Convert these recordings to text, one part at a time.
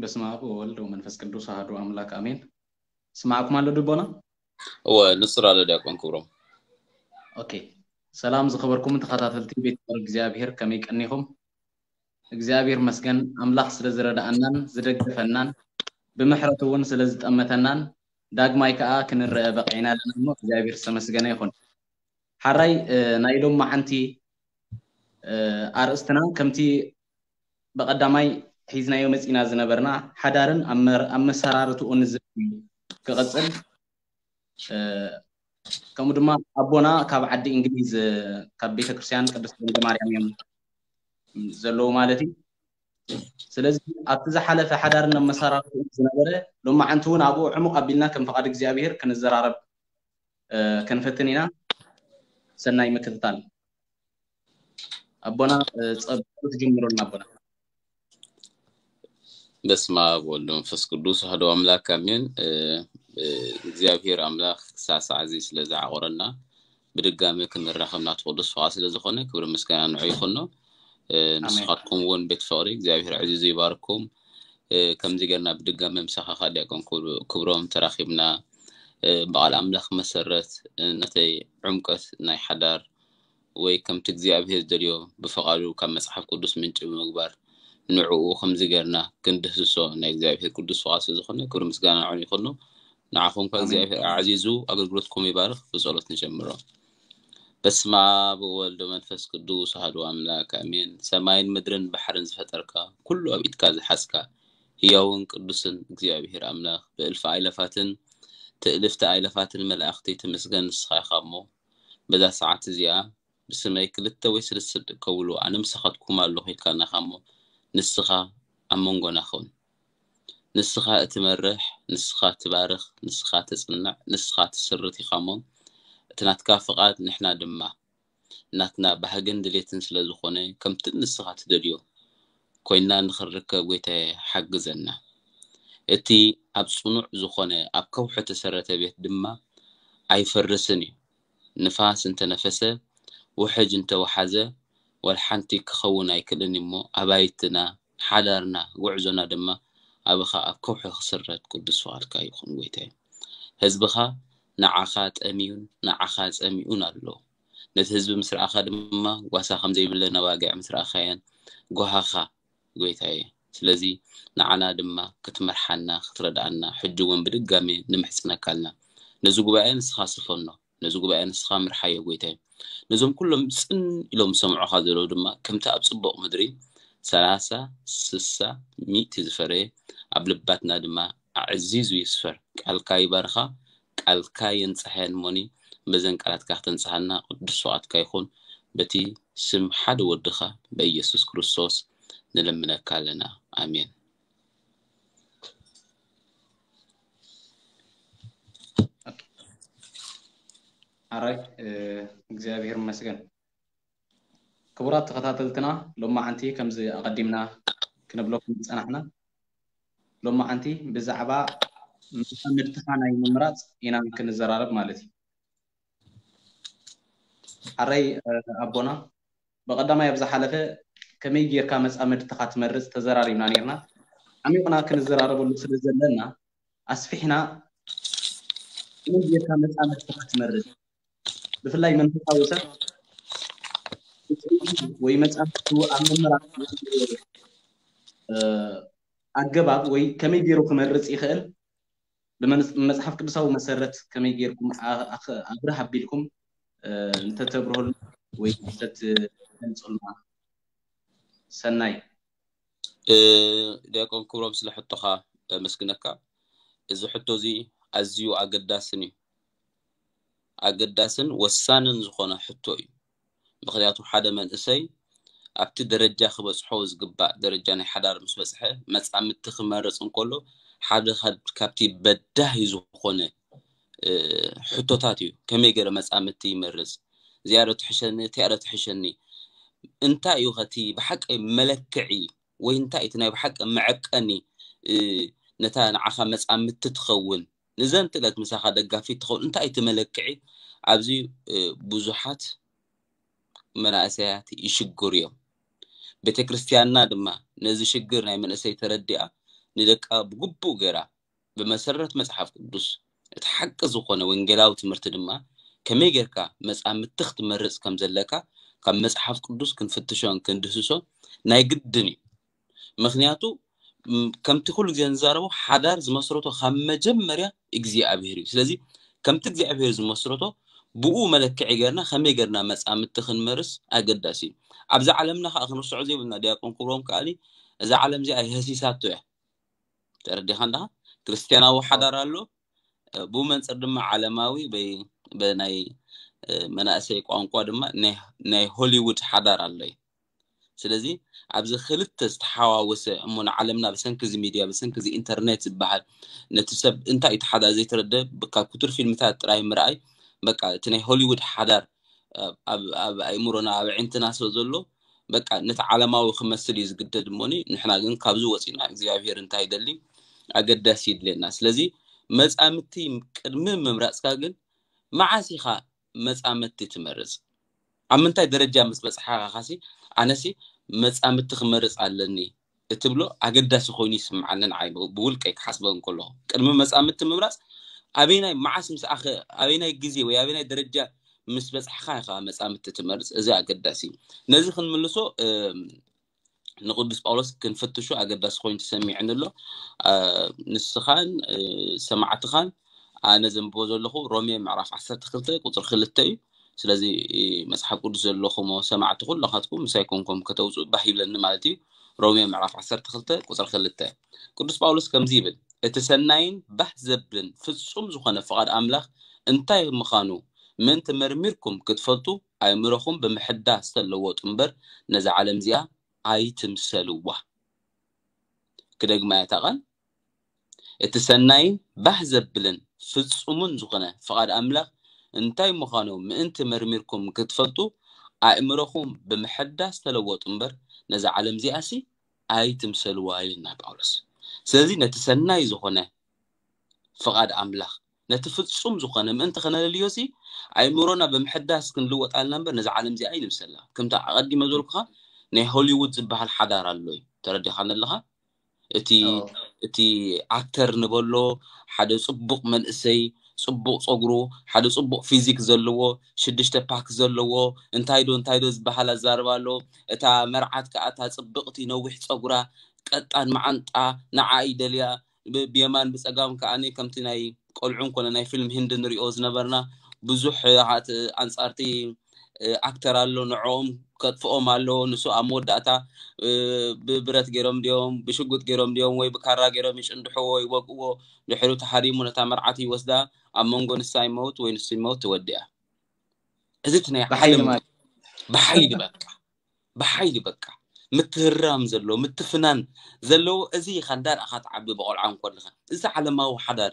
በስመ አብ ወወልድ ወመንፈስ ቅዱስ አሐዱ አምላክ አሜን። ስማዕኩም ኣሎ ድቦና? እወ፣ ንጹር ኣሎ ዲያቆን ክብሮም። ኦኬ። ሰላም ዝኸበርኩም ተኸታተልቲ ቤት ፍቕሪ እግዚኣብሔር፣ ከመይ ቀኒኹም? እግዚኣብሔር መስገን፣ ኣምላኽ ስለ ዝረዳኣናን ዝደገፈናን ብምሕረቱ እውን ስለ ዝጠመተናን ዳግማይ ከኣ ክንረአ በቂዕና ኣለና እሞ እግዚኣብሔር ዝተመስገነ ይኹን። ሓራይ፣ እ፣ ናይ ሎም መዓንቲ፣ እ፣ ኣርእስትና ከምቲ ብቐዳማይ ሒዝናዮ መጺና ዝነበርና ሓዳርን ኣመር-፣ ኣመሰራርትኡን ዝብል እዩ ክቕጽል። እ፣ ከምኡ ድማ ኣቦና ካብ ዓዲ እንግሊዝ፣ እ፣ ካብ ቤተ ክርስቲያን ቅድስት ድንግል ማርያም እዮም ዘለዉ ማለት እዩ። ስለዚ ኣብቲ ዝሓለፈ ሓዳርን ኣመሰራርትኡን ዝነበረ ሎማዓንቲ እውን ኣብኡ ዕሙቕ ኣቢልና ከም ፍቓድ እግዚኣብሔር ክንዘራረብ፣ እ፣ ክንፈትን ኢና። ሰናይ ምክትታል። ኣቦና፣ እ፣ ጸ-፣ ጸሎት ጀምሩልና ኣቦና። በስመ አብ ወወልድ ወመንፈስ ቅዱስ አሐዱ አምላክ አሜን። እ፣ እ፣ እግዚኣብሔር ኣምላኽ ክሳዕ ሰዓት እዚ ስለ ዝዓቆረና ብድጋሚ ክንራኸብ ናቱ ቅዱስ ፍቓድ ስለ ዝኾነ ክብሪ ምስጋና ንዑ ይኹኖ። እ፣ ኣሜን። ንስኻትኩም እውን ቤት ፍቕሪ እግዚኣብሔር ኣዕዚዙ ይባርኩም። እ፣ ከምዚ ጌርና ብድጋሚ ምሳኻ ዲያቆን ክብሩ-፣ ክብሮም ተራኺብና፣ እ፣ ብቓል ኣምላኽ መሰረት፣ እ፣ ነተይ ዕምቀት ናይ ሓዳር ወይ ከምቲ እግዚኣብሔር ዝደልዮ ብፍቓዱ ካብ መጽሓፍ ቅዱስ ምንጪ ብምግባር ንዕኡ ከምዚ ጌርና ክንድህስሶ ናይ እግዚኣብሔር ቅዱስ ፍቓድ ስለ ዝኾነ ክብሪ ምስጋና ንዑ ይኹኖ። ንዓኹም ከኣ ኣሜን። እግዚኣብሔር ኣዕዚዙ ኣገልግሎትኩም ይባርኽ። ብጸሎት ንጀምሮ። በስመ አብ ወወልድ ወመንፈስ ቅዱስ አሐዱ አምላክ አሜን። ሰማይን ምድርን ባሕርን ዝፈጠርካ፣ ኩሉ ኣብ ኢድካ ዝሓዝካ፣ ህያውን ቅዱስን እግዚኣብሔር ኣምላኽ፣ ብእልፊ ኣእላፋትን ትእልፍቲ ኣእላፋትን መላእኽቲ ትምስገን ንስኻ ኢኻ እሞ፣ በዛ ሰዓት እዚኣ ብስመይ ክልተ ወይ ሰለስተ ደቂ ከብሉ ኣነ ምሳኻትኩም ኣለኹ ኢልካና ኢኻ እሞ፣ ንስኻ ኣብ መንጎና ኩን። ንስኻ እትመርሕ፣ ንስኻ ትባርኽ፣ ንስኻ ተጽንዕ፣ ንስኻ ትስርት ኢኻ እሞ፣ እቲ ናትካ ፍቓድ ንሕና ድማ ናትና ባህግን ድሌትን ስለ ዝኾነ፣ ከምቲ ንስኻ ትደልዮ ኮይንና ንኽንርከብ ጎይታየ ሓግዘና። እቲ ኣብ ጽኑዕ ዝኾነ ኣብ ከውሒ እተሰረተ ቤት ድማ ኣይፈርስን እዩ። ንፋስ እንተነፈሰ፣ ውሕጅ እንተወሓዘ፣ ዋላ ሓንቲ ክኸውን ኣይክእልን እሞ፣ ኣባይትና፣ ሓዳርና፣ ጉዕዞና ድማ ኣብኻ ኣብ ከውሒ ክስረት ቅዱስ ፍቓድካ ይኹን ጎይታየ። ህዝብኻ ንዓኻ ጠምዩን ንዓኻ ጸሚኡን ኣሎ። ነቲ ህዝቢ ምስ ረኣኻ ድማ ጓሳ ከም ዘይብለን ኣባጊዕ ምስ ረኣኻየን ጓሃኻ ጎይታየ። ስለዚ ንዓና ድማ ክትመርሓና፣ ክትረድኣና ሕጂ እውን ብድጋሜ ንምሕጽነካ ኣለና። ነዚ ጉባኤ ንስኻ ስፈኖ፣ ነዚ ጉባኤ ንስኻ ምርሓዮ ጎይታየ። ነዞም ኩሎም ጽን ኢሎም ዝሰምዑኻ ዘለዉ ድማ ከምቲ ኣብ ጽቡቕ ምድሪ ሰላሳ፣ ስሳ፣ ሚእቲ ዝፈረየ ኣብ ልባትና ድማ ኣዕዚዙ ይስፈር። ቃልካ ይባርኻ፣ ቃልካ የንጽሐን እሞኒ በዘን ቃላትካ ክተንጽሃና ቅዱስ ፍቓድካ ይኹን። በቲ ስም ሓደ ወድኻ በኢየሱስ ክርስቶስ ንልምነካ ኣለና። ኣሜን። ኣራይ፣ እ፣ እግዚኣብሔር ይመስገን። ክቡራት ተኸታተልትና፣ ሎማዓንቲ ከምዚ ኣቐዲምና ክንብለኩም ዝጸናሕና፣ ሎማዓንቲ ብዛዕባ መጻምድትኻ ናይ ምምራጽ ኢና ክንዘራረብ ማለት እዩ። ሓራይ፣ እ፣ ኣቦና፣ ብቐዳማይ ኣብ ዝሓለፈ ከመይ ጌርካ መጻምድትኻ ትመርጽ ተዘራሪብና ኔርና። ዓሚቕና ክንዘራረበሉ ስለ ዘለና፣ ኣስፊሕና ከመይ ጌርካ መጻምድትኻ ትመርጽ፣ ብፍላይ መንፈሳዊ ሰብ ወይ መጻምድቱ ኣብ ምምራጽ፣ እ፣ ኣገባብ ወይ ከመይ ገይሩ ክመርጽ ይኽእል፣ ብመን-፣ ብመጽሓፍ ቅዱሳዊ መሰረት ከመይ ጌርኩም ኣ-፣ ኣኽ-፣ ኣብርህ ኣቢልኩም፣ እ፣ እንተተብርሁልና ወይ እንተትገልጹልና ሰናይ። እ፣ ዲያቆን ክብሮም፣ ስለ ሕቶኻ ኣመስግነካ። እዚ ሕቶ እዚ ኣዝዩ ኣገዳስን እዩ። ኣገዳስን ወሳንን ዝኾነ ሕቶ እዩ። ምኽንያቱ ሓደ መንእሰይ ኣብቲ ደረጃ ክበጽሖ ዝግባእ ደረጃ ናይ ሓዳር ምስ በጽሐ፣ መጻምድቲ ክመርጽ እንከሎ ሓደ ካብ-፣ ካብቲ በዳሂ ዝኾነ፣ እ፣ ሕቶታት እዩ። ከመይ ገይረ መጻምድቲ ይመርጽ? እዚኣ ዶ ትሕሸኒ? እቲኣ ዶ ትሕሸኒ? እንታይ እዩ ኸቲ ብሓቂ መለክዒ ወይ እንታይ እቲ ናይ ብሓቂ መዐቀኒ፣ እ፣ ነታ ንዓኻ መጻምድቲ ትኸውን፣ ንዘንትለት ምሳኻ ደጋፊት ትኸውን እንታይ እቲ መለክዒ? ኣብዚ፣ እ፣ ብዙሓት መናእሰያት ይሽግሩ እዮም። ቤተ ክርስቲያንና ድማ ነዚ ሽግር ናይ መንእሰይ ተረዲኣ ንደቃ ብግቡእ ገይራ ብመሰረት መጽሓፍ ቅዱስ እቲ ሓቂ ዝኾነ ወንጌላዊ ትምህርቲ ድማ ከመይ ጌርካ መጻምድቲ ክትመርጽ ከም ዘለካ ካብ መጽሓፍ ቅዱስ ክንፍትሾን ክንድህስሶን ናይ ግድን እዩ። ምኽንያቱ ከምቲ ኩሉ ግዜ ንዛረቦ ሓዳር ዝመስረቶ ካብ መጀመርያ እግዚኣብሄር እዩ። ስለዚ ከምቲ እግዚኣብሄር ዝመስረቶ ብኡ መለክዒ ጌርና ከመይ ጌርና መጻምድቲ ክንመርጽ ኣገዳሲ እዩ። ኣብዛ ዓለምና ከዓ ክንርስዖ ዘይብልና ዲያቆን ክብሮም ከዓኒ እዛ ዓለም እዚኣ የህሲሳቶ እያ። ተረዲኻ እንዳ ክርስትያናዊ ሓዳር ኣሎ፣ ብኡ መንፅር ድማ ዓለማዊ ናይ መናእሰይ ቋንቋ ድማ ናይ ሆሊውድ ሓዳር ኣሎ እዩ። ስለዚ ኣብዚ ክልተ ዝተሓዋወሰ እሞ ንዓለምና ብሰንኪ እዚ ሚድያ ብሰንኪ እዚ ኢንተርኔት ዝበሃል ነቲ ሰብ እንታይ እዩ ተሓዳ ዘይተረደ ካብ ክቱር ፊልምታት ጥራይ ምርኣይ በቃ እቲ ናይ ሆሊውድ ሓዳር ኣብ ኣእምሮና ኣብ ዕንትና ስለ ዘሎ በቃ ነቲ ዓለማዊ ክመስል እዩ ዝግደድ እሞኒ ንሕና ግን ካብዚ ወፂና እግዚኣብሔር እንታይ ይደሊ ኣገዳሲ ይድልየና። ስለዚ መፃምድቲ ቅድሚ ምምራፅካ ግን መዓስ ኢኻ መፃምድቲ ትመርፅ? ኣብ ምንታይ ደረጃ ምስ በፅሓኻ ካሲ ኣነሲ መፃምድቲ ክመርፅ ኣለኒ እትብሎ ኣገዳሲ ኮይኑ ይስምዓኒ ንዓይ ብውልቀይ ክሓስበ እንከለኹ ቅድሚ መፃምድቲ ምምራፅ ኣበይናይ መዓስ ምስ ኣበይናይ ግዜ ወይ ኣበይናይ ደረጃ ምስ በፃሕካ ኢኻ መፃምድቲ ትመርፅ። እዚ ኣገዳሲ እዩ። ነዚ ክንምልሶ ንቅዱስ ጳውሎስ ክንፍትሹ ኣገዳሲ ኮይኑ ተሰሚዕኒ ኣሎ። ንስኻን ሰማዕትኻን ኣነ ዘንብቦ ዘለኹ ሮሜ ምዕራፍ ዓሰርተ ክልተ ቁፅሪ ክልተ እዩ። ስለዚ መፅሓፍ ቅዱስ ዘለኹሞ ሰማዕቲ ኩላኻትኩም ምሳይ ኮንኩም ከተውፅኡ ባህ ይብለኒ ማለት እዩ። ሮሜ ምዕራፍ ዓሰርተ ክልተ ቁፅሪ ክልተ ቅዱስ ጳውሎስ ከምዚ ይብል፣ እቲ ሰናይን ባህ ዘብልን ፍጹም ዝኾነ ፍቓድ ኣምላኽ እንታይ ምዃኑ ምእንቲ መርሚርኩም ክትፈልጡ ኣእምሮኹም ብምሕዳስ ተለወጡ እምበር ነዛ ዓለም እዚኣ ኣይትምሰልዋ። ክደግማ እያ እታ ቃል፣ እቲ ሰናይን ባህ ዘብልን ፍጹምን ዝኾነ ፍቓድ ኣምላኽ እንታይ ምዃኑ ምእንቲ መርሚርኩም ክትፈልጡ ኣእምሮኹም ብምሕዳስ ተለወጡ እምበር ነዛ ዓለም እዚኣሲ ኣይትምሰልዋ ይልና ጳውሎስ። ስለዚ ነቲ ሰናይ ዝኾነ ፍቓድ ኣምላኽ ነቲ ፍጹም ዝኾነ ምእንቲ ከነለልዮ ሲ ኣእምሮና ብምሕዳስ ክንልወጥ ኣለና እምበር ነዚ ዓለም እዚኣ ኣይንምሰላ። ከምቲ ኣቐዲመ ዝበልኩኻ ናይ ሆሊውድ ዝበሃል ሓዳር ኣሎ እዩ። ተረዲኻ ኣለኻ? እቲ እቲ ኣክተር ንበሎ ሓደ ጽቡቕ መንእሰይ ጽቡቕ ጸጉሩ ሓደ ጽቡቕ ፊዚክ ዘለዎ ሽዱሽተ ፓክ ዘለዎ እንታይ ዶ እንታይ ዶ ዝበሃል ኣዛርባ ኣሎ። እታ መርዓት ከኣ እታ ጽብቕቲ ነዊሕ ጸጉራ ቀጣን መዓንጣ ንዓ ይደልያ ብየማን ብጸጋም ከኣ ከምቲ ናይ ቆልዑ እንኮነ ናይ ፊልም ህንድ ንሪኦ ዝነበርና ብዙሕ ኣንጻርቲ ኣክተር ኣሎ ንዕኦም ከጥፍኦም ኣሎ። ንሱ ኣብ መወዳእታ ብብረት ገይሮም ድዮም ብሽጉጥ ገይሮም ድዮም ወይ ብካራ ገይሮም ይጭንድሕዎ ይወግእዎ። ድሕሪ ተሃሪሙ ነታ መርዓት ይወስዳ ኣብ መንጎ ንሳ ይመውት ወይ ንሱ ይመውት ትወድያ። እዚ እቲ ናይ ብሓይሊ ዓለም ማለት ብሓይሊ በቃ ብሓይሊ በቃ ምትህራም ዘለዎ ምትፍናን ዘለዎ እዚ ኢኻ እንዳርኣኻ ትዓቢ ብቆልዓ እንኮለኻ እዚ ዓለማዊ ሓዳር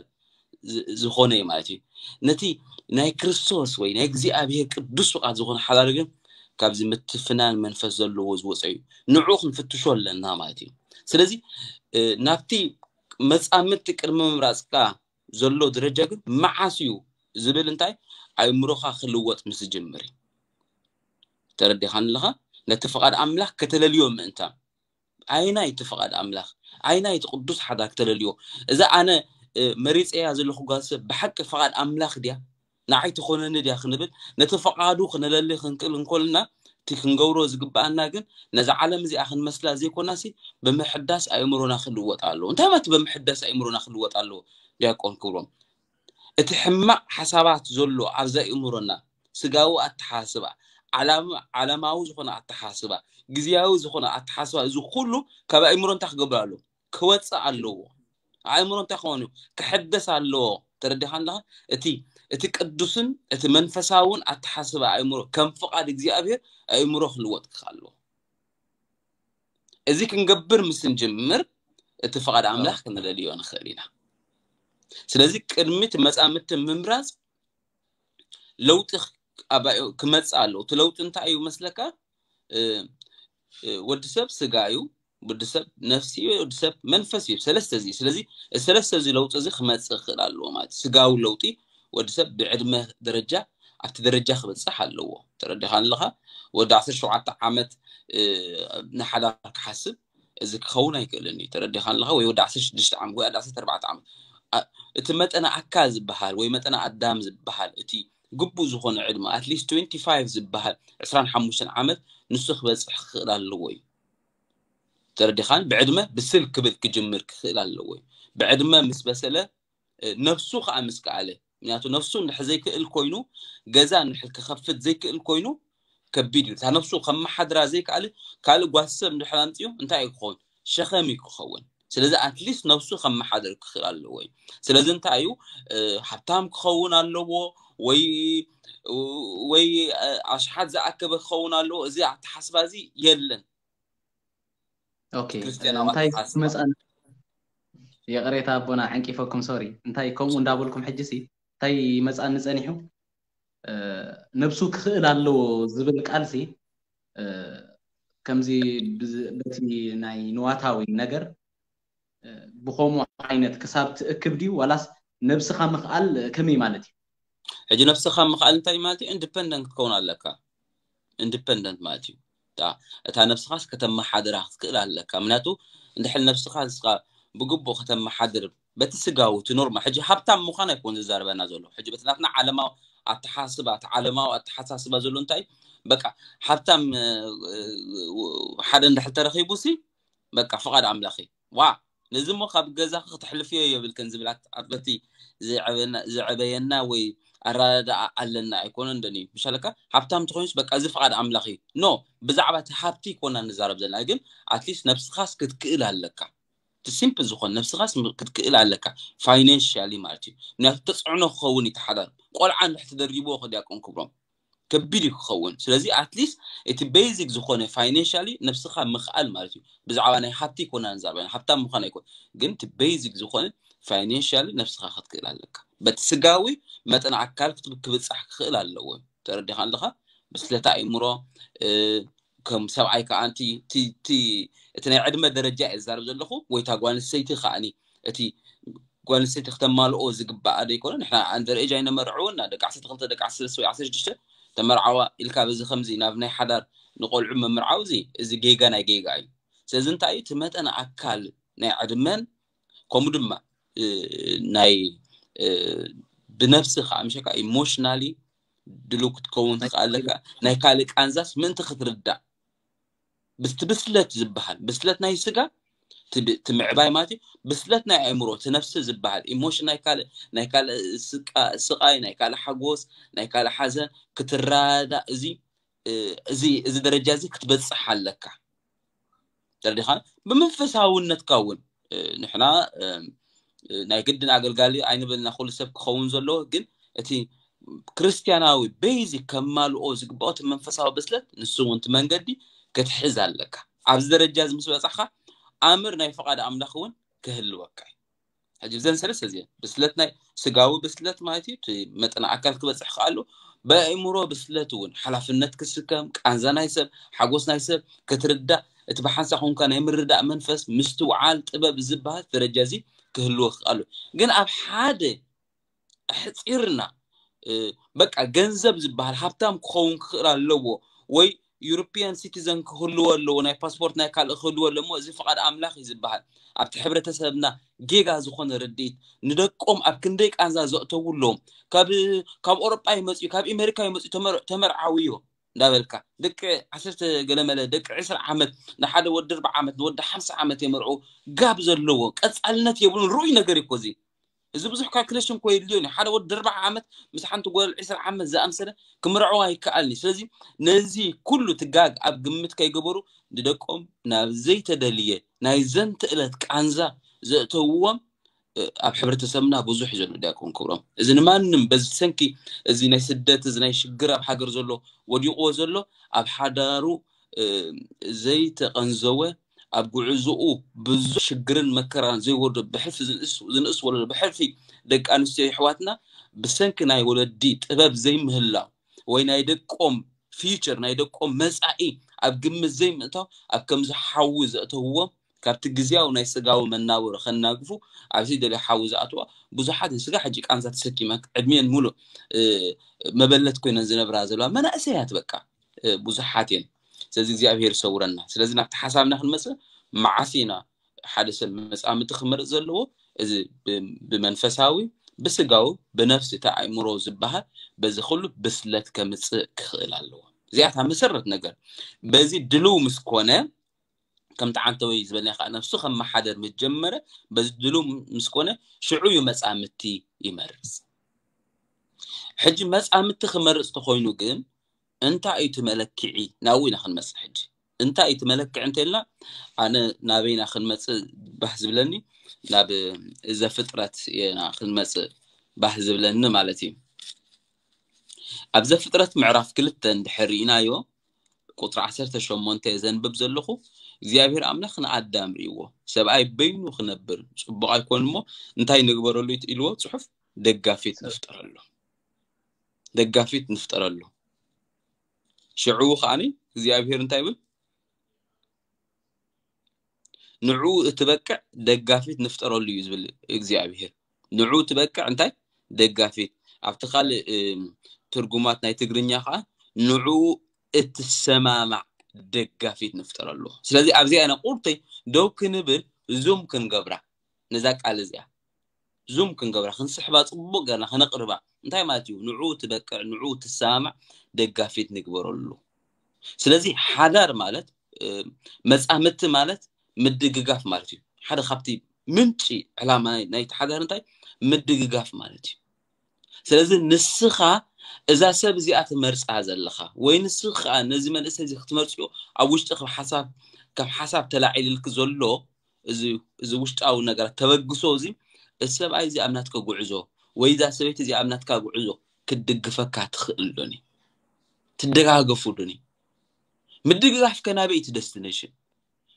ዝ- ዝኾነ እዩ ማለት እዩ። ነቲ ናይ ክርስቶስ ወይ ናይ እግዚኣብሔር ቅዱስ ፍቓድ ዝኾነ ሓዳር ግን ካብዚ ምትፍናን መንፈስ ዘለዎ ዝወፀ እዩ። ንዑ ክንፍትሾ ኣለና ማለት እዩ። ስለዚ እ፣ ናብቲ መፃምድቲ ቅድሚ ምምራፅካ ዘሎ ደረጃ ግን መዓስ እዩ ዝብል እንታይ ኣእምሮኻ ክልወጥ ምስ ዝጅምር እዩ። ተረዲኻን ኣለኻ? ነቲ ፍቓድ ኣምላኽ ከተለልዮ ምእንታን ኣይናይ እቲ ፍቓድ ኣምላኽ ኣይናይ እቲ ቅዱስ ሓዳር ክተለልዮ እዛ ኣነ መሪፀያ ዘለኹ ጓል ሰብ ብሓቂ ፍቓድ ኣምላኽ ድያ ንዓይ ትኾነኒ ድያ ክንብል ነቲ ፍቓዱ ክነለሊ ክንክእል እንኮልና እቲ ክንገብሮ ዝግባኣና ግን ነዛ ዓለም እዚኣ ክንመስላ ዘይኮናሲ ብምሕዳስ ኣእምሮና ክልወጥ ኣለዎ። እንታይ ማለት ብምሕዳስ ኣእምሮና ክልወጥ ኣለዎ? ዲያቆን ክብሮም እቲ ሕማቕ ሓሳባት ዘሎ ኣብዛ ኣእምሮና ስጋዊ ኣተሓስባ ዓላማዊ ዝኾነ ኣተሓስባ ግዝያዊ ዝኾነ ኣተሓስባ እዚ ኩሉ ካብ ኣእምሮ እንታይ ክገብር ኣለዎ? ክወፅእ ኣለዎ። ኣእምሮ እንታይ ክኾን እዩ? ክሕደስ ኣለዎ። ተረዲኻ ኣለኻ? እቲ እቲ ቅዱስን እቲ መንፈሳውን ኣተሓስባ ኣእምሮ ከም ፍቓድ እግዚኣብሔር ኣእምሮ ክልወጥ ክኽእል ኣለዎ። እዚ ክንገብር ምስ እንጅምር እቲ ፍቓድ ኣምላኽ ክንደልዮ ንኽእል ኢና። ስለዚ ቅድሚ እቲ መጻምድቲ ምምራፅ ለውጢ ክመፅእ ኣለዎ። እቲ ለውጢ እንታይ እዩ መስለካ? ወዲ ሰብ ስጋ እዩ፣ ወዲ ሰብ ነፍሲ እዩ፣ ወዲ ሰብ መንፈስ እዩ። ሰለስተ እዚ ስለዚ ሰለስተ እዚ ለውጢ እዚ ክመፅእ ክኽእል ኣለዎ ማለት ስጋዊ ለውጢ ወዲ ሰብ ብዕድመ ደረጃ ኣብቲ ደረጃ ክበፅሕ ኣለዎ። ተረዲኻ ኣለኻ? ወዲ ዓሰርተ ሸውዓተ ዓመት ንሓዳር ክሓስብ እዚ ክኸውን ኣይክእልን እዩ። ተረዲኻ ኣለኻ? ወይ ወዲ ዓሰርተ ሽዱሽተ ዓመት ወይ ወዲ ዓሰርተ ኣርባዕተ ዓመት። ኣ-፣ እቲ መጠነ ኣካል ዝበሃል ወይ መጠነ ኣዳም ዝበሃል፣ እቲ ግቡእ ዝኾነ ዕድመ፣ at least twenty five ዝበሃል፣ ዕስራን ሓሙሽተን ዓመት፣ ንሱ ክበጽሕ ክኽእል ኣለዎ እዩ። ተረዲኻን? ብዕድመ ብስል ክብል ክጅምር ክኽእል ኣለዎ እዩ። ብዕድመ ምስ በሰለ፣ እ፣ ነፍሱ ከኣ ምስ ከኣለ፣ ምክንያቱ ነፍሱ እንድሕር ዘይክእል ኮይኑ፣ ገዛ እንድሕር ክኸፍት ዘይክእል ኮይኑ፣ ከቢድ እዩ። እታ ነፍሱ ከመሓድራ ዘይከኣለ ካልእ ጓስ ሰብ እንድሕር ኣምጺኡ እንታይ እዩ ክኸውን? ሸኸም እዩ ክኸውን። ስለዚ ኣትሊስት ነፍሱ ከመሓድር ክኽእል ኣለዎ እዩ። ስለዚ እንታይ እዩ፣ እ፣ ሃብታም ክኸውን ኣለዎ ወይ፣ ወይ፣ እ፣ ኣሽሓት ዝኣከበ ክኸውን ኣለዎ። እዚ ኣተሓስባ እዚ የለን። ኦኬ፣ ክርስትያናዊ እንታይ ኣተሓስባ። መጻን፣ ይቕሬታ ኣቦና፣ ዓንቂፈኩም፣ ሶሪ። እንታይ ከምኡ እንዳበልኩም ሕጂ ሲ እንታይ መጻኒ ጸኒሑ? እ፣ ነብሱ ክኽእል ኣለዎ ዝብል ቃል ሲ፣ እ፣ ከምዚ ብዝ-፣ በቲ ናይ ንዋታዊ ነገር፣ እ፣ ብኸምኡ ዓይነት ክሳብ ትእክብ ድዩ፣ ዋላስ ነብስኻ ምኽኣል ከመይ ማለት እዩ? ሕጂ ነብስኻ ምኽኣል እንታይ ማለት እዩ? ኢንዲፐንደንት ክትከውን ኣለካ። ኢንዲፐንደንት ማለት እዩ፣ እታ፣ እታ ነብስኻስ ከተመሓድራ ክትክእል ኣለካ። ምክንያቱ እንድሕር ነብስኻ ንስኻ ብግቡእ ከተመሓድር፣ በቲ ስጋዊ፣ እቲ ኖርማል፣ ሕጂ ሃብታም ምዃን ኣይኮን ዝዛረበና ዘሎ። ሕጂ በቲ ናትና ዓለማዊ ኣተሓስባ፣ እቲ ዓለማዊ ኣተሓሳስባ ዘሎ እንታይ እዩ? በቃ፣ ሃብታም፣ እ፣ እ፣ ሓደ እንድሕር ተረኺቡ ሲ፣ በቃ፣ ፍቓድ ኣምላኽ እዩ። ዋ፣ ነዚ እሞ ካብ ገዛኺ ክተሕልፍዮ የብልክን ዝብል ኣት-፣ ኣት-፣ በቲ ዝዕበና-፣ ዝዕበየና ወይ ኣረዳድኣ ኣለና ኣይኮነን ደኒ። ምሻለካ፣ ሃብታም ትኾይንስ በቃ፣ እዚ ፍቓድ ኣምላኽ እዩ። ኖ፣ ብዛዕባ እቲ ሃብቲ ይኮና ንዛረብ ዘለና፣ ግን ኣትሊስት ነብስኻስ ክትክእል ኣለካ። እቲ ሲምፕል ዝኾነ ነብስኻስ ም-፣ ክትክእል ኣለካ። ፋይናንሻሊ ማለት እዩ። ምክንያቱ ተጽዕኖ ክኸውን እዩ፣ እቲ ሓዳር። ቆልዓ እንድሕር ትደርብዎ፣ ዲያቆን ክብሮም፣ ከቢድ እዩ ክኸውን። ስለዚ ኣትሊስት እቲ ቤዚክ ዝኾነ ፋይናንሻሊ ነብስኻ ምኽኣል ማለት እዩ። ብዛዕባ ናይ ሃብቲ ይኮና ንዛረብ፣ ሃብታም ምዃን ኣይኮን፣ ግን እቲ ቤዚክ ዝኾነ ፋይናንሻሊ ነብስኻ ክትክእል ኣለካ። በቲ ስጋዊ መጠን ኣካል ክት-፣ ክብጻሕ ክኽእል ኣለዎ። ተረዲኻ ኣለኻ? ብስለት ኣእምሮ፣ እ፣ ከም ሰብኣይ ከኣ እቲ፣ እቲ፣ እቲ፣ እቲ ናይ ዕድመ ደረጃ እየ ዝዛረብ ዘለኹ፣ ወይ እታ ጓል ኣንስተይቲ ከኣኒ እቲ ጓል ኣንስተይቲ ክተማልኦ ዝግባኣ ዶ ይኮነ? ንሕና ኣንደር ኤጅ ኣይነመርዕውን፣ ደቂ ዓሰርተ ክልተ፣ ደቂ ዓሰርተ ሰለስተ ወይ ዓሰርተ ሽዱሽተ ተመርዓዋ ኢልካ በዚ ከምዚ ናብ ናይ ሓዳር ንቆልዑ ምምርዓው፣ እዚ፣ እዚ ጌጋ ናይ ጌጋ እዩ። ስለዚ እንታይ እዩ? እቲ መጠን ኣካል ናይ ዕድመን ከምኡ ድማ፣ እ፣ ናይ፣ እ፣ ብነብሲ ከዓ ምሸካ ኢሞሽናሊ ድሉው ክትከውን ትኽእል ኣለካ። ናይ ካልእ ቃንዛስ ምእንቲ ክትርዳእ፣ ብስቲ ብስለት ዝበሃል፣ ብስለት ናይ ስጋ፣ እቲ ብ-፣ እቲ ምዕባይ ማለት እዩ። ብስለት ናይ ኣእምሮ፣ እቲ ነፍሲ ዝበሃል፣ ኢሞሽን ናይ ካልእ፣ ናይ ካልእ ስቃ-፣ ስቃይ፣ ናይ ካልእ ሓጎስ፣ ናይ ካልእ ሓዘን ክትረዳእ፣ እዚ፣ እ፣ እዚ፣ እዚ ደረጃ እዚ ክትበጽሕ ኣለካ። ተረዲኻ? ብመንፈሳውነትካ እውን፣ እ፣ ንሕና፣ እ፣ እ፣ ናይ ግድን ኣገልጋሊ ኣይንበልና፣ ኩሉ ሰብ ክኸውን ዘለዎ፣ ግን እቲ ክርስትያናዊ ቤዚክ ከማልኦ ዝግባኦ እቲ መንፈሳዊ ብስለት፣ ንሱ እውን እቲ መንገዲ ክትሕዝ ኣለካ። ኣብዚ ደረጃ እዚ ምስ በጻሕካ፣ ኣምር ናይ ፍቓድ ኣምላኽ እውን ክህልወካ እዩ። ሕጂ እዘን ሰለስተ እዚአን፣ ብስለት ናይ ስጋዊ ብስለት ማለት እዩ፣ እቲ መጠን ኣካል ክበጽሕ ከኣሉ፣ ብኣእምሮ ብስለት እውን ሓላፍነት ክስከም፣ ቃንዛ ናይ ሰብ፣ ሓጎስ ናይ ሰብ ክትርዳእ፣ እቲ ብሓንሳእ ኮንካ ናይ ምርዳእ መንፈስ፣ ምስትውዓል፣ ጥበብ ዝበሃል ደረጃ እዚ ክህልወካ ከኣሉ። ግን ኣብ ሓደ ኣሕጺርና፣ እ፣ በቃ ገንዘብ ዝበሃል ሃብታም ክኸውን ክኽእል ኣለዎ ወይ ዩሮፒያን ሲቲዘን ክህልዎ ኣለዎ፣ ናይ ፓስፖርት ናይ ካልእ ክህልዎ ኣለዎ። እዚ ፍቓድ ኣምላኽ እዩ ዝበሃል። ኣብቲ ሕብረተሰብና ጌጋ ዝኾነ ርድኢት፣ ንደቆም ኣብ ክንደይ ቃንዛ ዘእተዉ ኣለዎም። ካብ፣ ካብ ኣውሮጳ ይመጽኡ፣ ካብ ኣሜሪካ ይመጽኡ፣ ተመር-፣ ተመርዓውዮ እንዳበልካ፣ ደቂ ዓሰርተ ገለመለ፣ ደቂ ዕስራ ዓመት፣ ንሓደ ወዲ ኣርብዓ ዓመት፣ ንወዲ ሓምሳ ዓመት የመርዑ፣ ጋብ ዘለዎ ቀጻልነት የብሉን። ርኡይ ነገር እዩ እኮ እዚ። እዚ ብዙሕ ካልኩሌሽን እኮ የድልዮን እዩ። ሓደ ወዲ ኣርብዓ ዓመት ምስ ሓንቲ ጓል ዕስራ ዓመት ዝኣምሰለ ክምርዐዋ ኣይከኣልን እዩ። ስለዚ ነዚ ኩሉ ትጋግ ኣብ ግምት ከይገበሩ ንደቆም ናብ ዘይተደልየ ናይ ዘንተ ዕለት ቃንዛ ዘእተውዎም፣ እ፣ ኣብ ሕብረተሰብና ብዙሕ እዩ ዘሎ ዲያቆን ክብሮም። እዚ ንማንም በዚ ሰንኪ እዚ ናይ ስደት፣ እዚ ናይ ሽግር ኣብ ሃገር ዘሎ ወዲቕዎ ዘሎ፣ ኣብ ሓዳሩ፣ እ፣ ዘይተቐንዘወ፣ ኣብ ጉዕዞኡ ብዙሕ ሽግርን መከራን ዘይወርዶ ብሕልፊ ዝንእስ፣ ዝንእስ ወለዶ ብሕልፊ ደቂ ኣንስትዮ የሕዋትና ብሰንኪ ናይ ወለዲ ጥበብ ዘይምህላው ወይ ናይ ደቆም ፊውቸር፣ ናይ ደቆም መጻኢ ኣብ ግምት ዘይምእታው፣ ኣብ ከምዚ ሓዊ ዘእተውዎም፣ ካብቲ ግዝያዊ ናይ ስጋዊ መናብሮ ከናግፉ ኣብዚ ደልዮ ሓዊ ዝኣትዋ ብዙሓት እየን። ስጋ ሕጂ ቃንዛ ተሰኪመን ዕድሜን ሙሉእ፣ እ፣ መበለት ኮይነን ዝነብራ ዘለዋ መናእሰያት በቃ፣ እ፣ ብዙሓት እየን። ስለዚ እግዚኣብሔር ይሰውረና። ስለዚ ናብቲ ሓሳብና ክንመጽእ፣ መዓስ ኢና ሓደ ሰብ መጻምቲ ክመርጽ ዘለዎ? እዚ ብመንፈሳዊ፣ ብስጋዊ፣ ብነፍሲ፣ እቲ ኣእምሮ ዝበሃል፣ በዚ ኩሉ ብስለት ከምጽእ ክኽእል ኣለዎ። እዚኣታ መሰረት ነገር። በዚ ድልው ምስ ኮነ፣ ከምቲ ዓንተወይ ዝበልና ከዓ ነፍሱ ከመሓደር ምስ ጀመረ፣ በዚ ድልው ምስ ኮነ ሽዑ እዩ መጻምቲ ይመርጽ። ሕጂ መጻምቲ ክመርጽ ተኾይኑ ግን እንታይ እዩ እቲ መለክዒ? ናብኡ ኢና ክንመጽእ ሕጂ። እንታይ እዩ እቲ መለክዒ እንተልና፣ ኣነ ናበይና ክንመጽእ ባህ ዝብለኒ፣ ናብ ዘፍጥረት ኢና ክንመጽእ ባህ ዝብለኒ ማለት እዩ። ኣብ ዘፍጥረት ምዕራፍ ክልተ እንድሕር ርኢናዮ፣ ቁጽሪ ዓሰርተ ሸሞንተ ዘንብብ ዘለኹ፣ እግዚኣብሔር ኣምላኽ ንኣዳም ርእይዎ፣ ሰብኣይ በይኑ ክነብር ጽቡቕ ኣይኮን እሞ እንታይ ንግበረሉ ኢልዎ ጽሑፍ? ደጋፊት ንፍጠረሉ። ደጋፊት ንፍጠረሉ። ሽዑ ከዓኒ እግዚኣብሔር እንታይ ይብል? ንዑ እትበቅዕ ደጋፊት ንፍጠረሉ እዩ ዝብል እግዚኣብሔር። ንዑ እትበቅዕ እንታይ? ደጋፊት። ኣብቲ ካልእ ትርጉማት ናይ ትግርኛ ከዓ ንዑ እትሰማማዕ ደጋፊት ንፍጠረሉ። ስለዚ ኣብዚኣ ኢና ቁርተይ ደው ክንብል፣ ዙም ክንገብራ ነዛ ቃል እዚኣ ዙም ክንገብራ፣ ክንስሕባ፣ ጽቡቕ ገርና ከነቕርባ። እንታይ ማለት እዩ? ንዑ ትበቅዕ፣ ንዑ ትሰማማዕ ደጋፊት ንግበረሉ። ስለዚ ሓዳር ማለት መጻምድቲ ማለት ምድግጋፍ ማለት እዩ። ሓደ ካብቲ ምንጪ ዕላማ ናይቲ ሓዳር እንታይ? ምድግጋፍ ማለት እዩ። ስለዚ ንስኻ እዛ ሰብ እዚኣ ትመርጻ ዘለኻ ወይ ንስኻ ነዚ መንእሰይ እዚ ክትመርጽዮ ኣብ ውሽጢ ካብ ሓሳብ ካብ ሓሳብ ተላዒልልክ ዘሎ እዚ ውሽጣዊ ነገራት ተበግሶ እዚ፣ እዚ ሰብኣይ እዚ ኣብ ናትካ ጉዕዞ ወይ እዛ ሰበይቲ እዚ ኣብ ናትካ ጉዕዞ ክትድግፈካ ትኽእል ዶኒ? ትደጋገፉ ዶኒ? ምድግጋፍ ከናበይ እቲ ደስቲኔሽን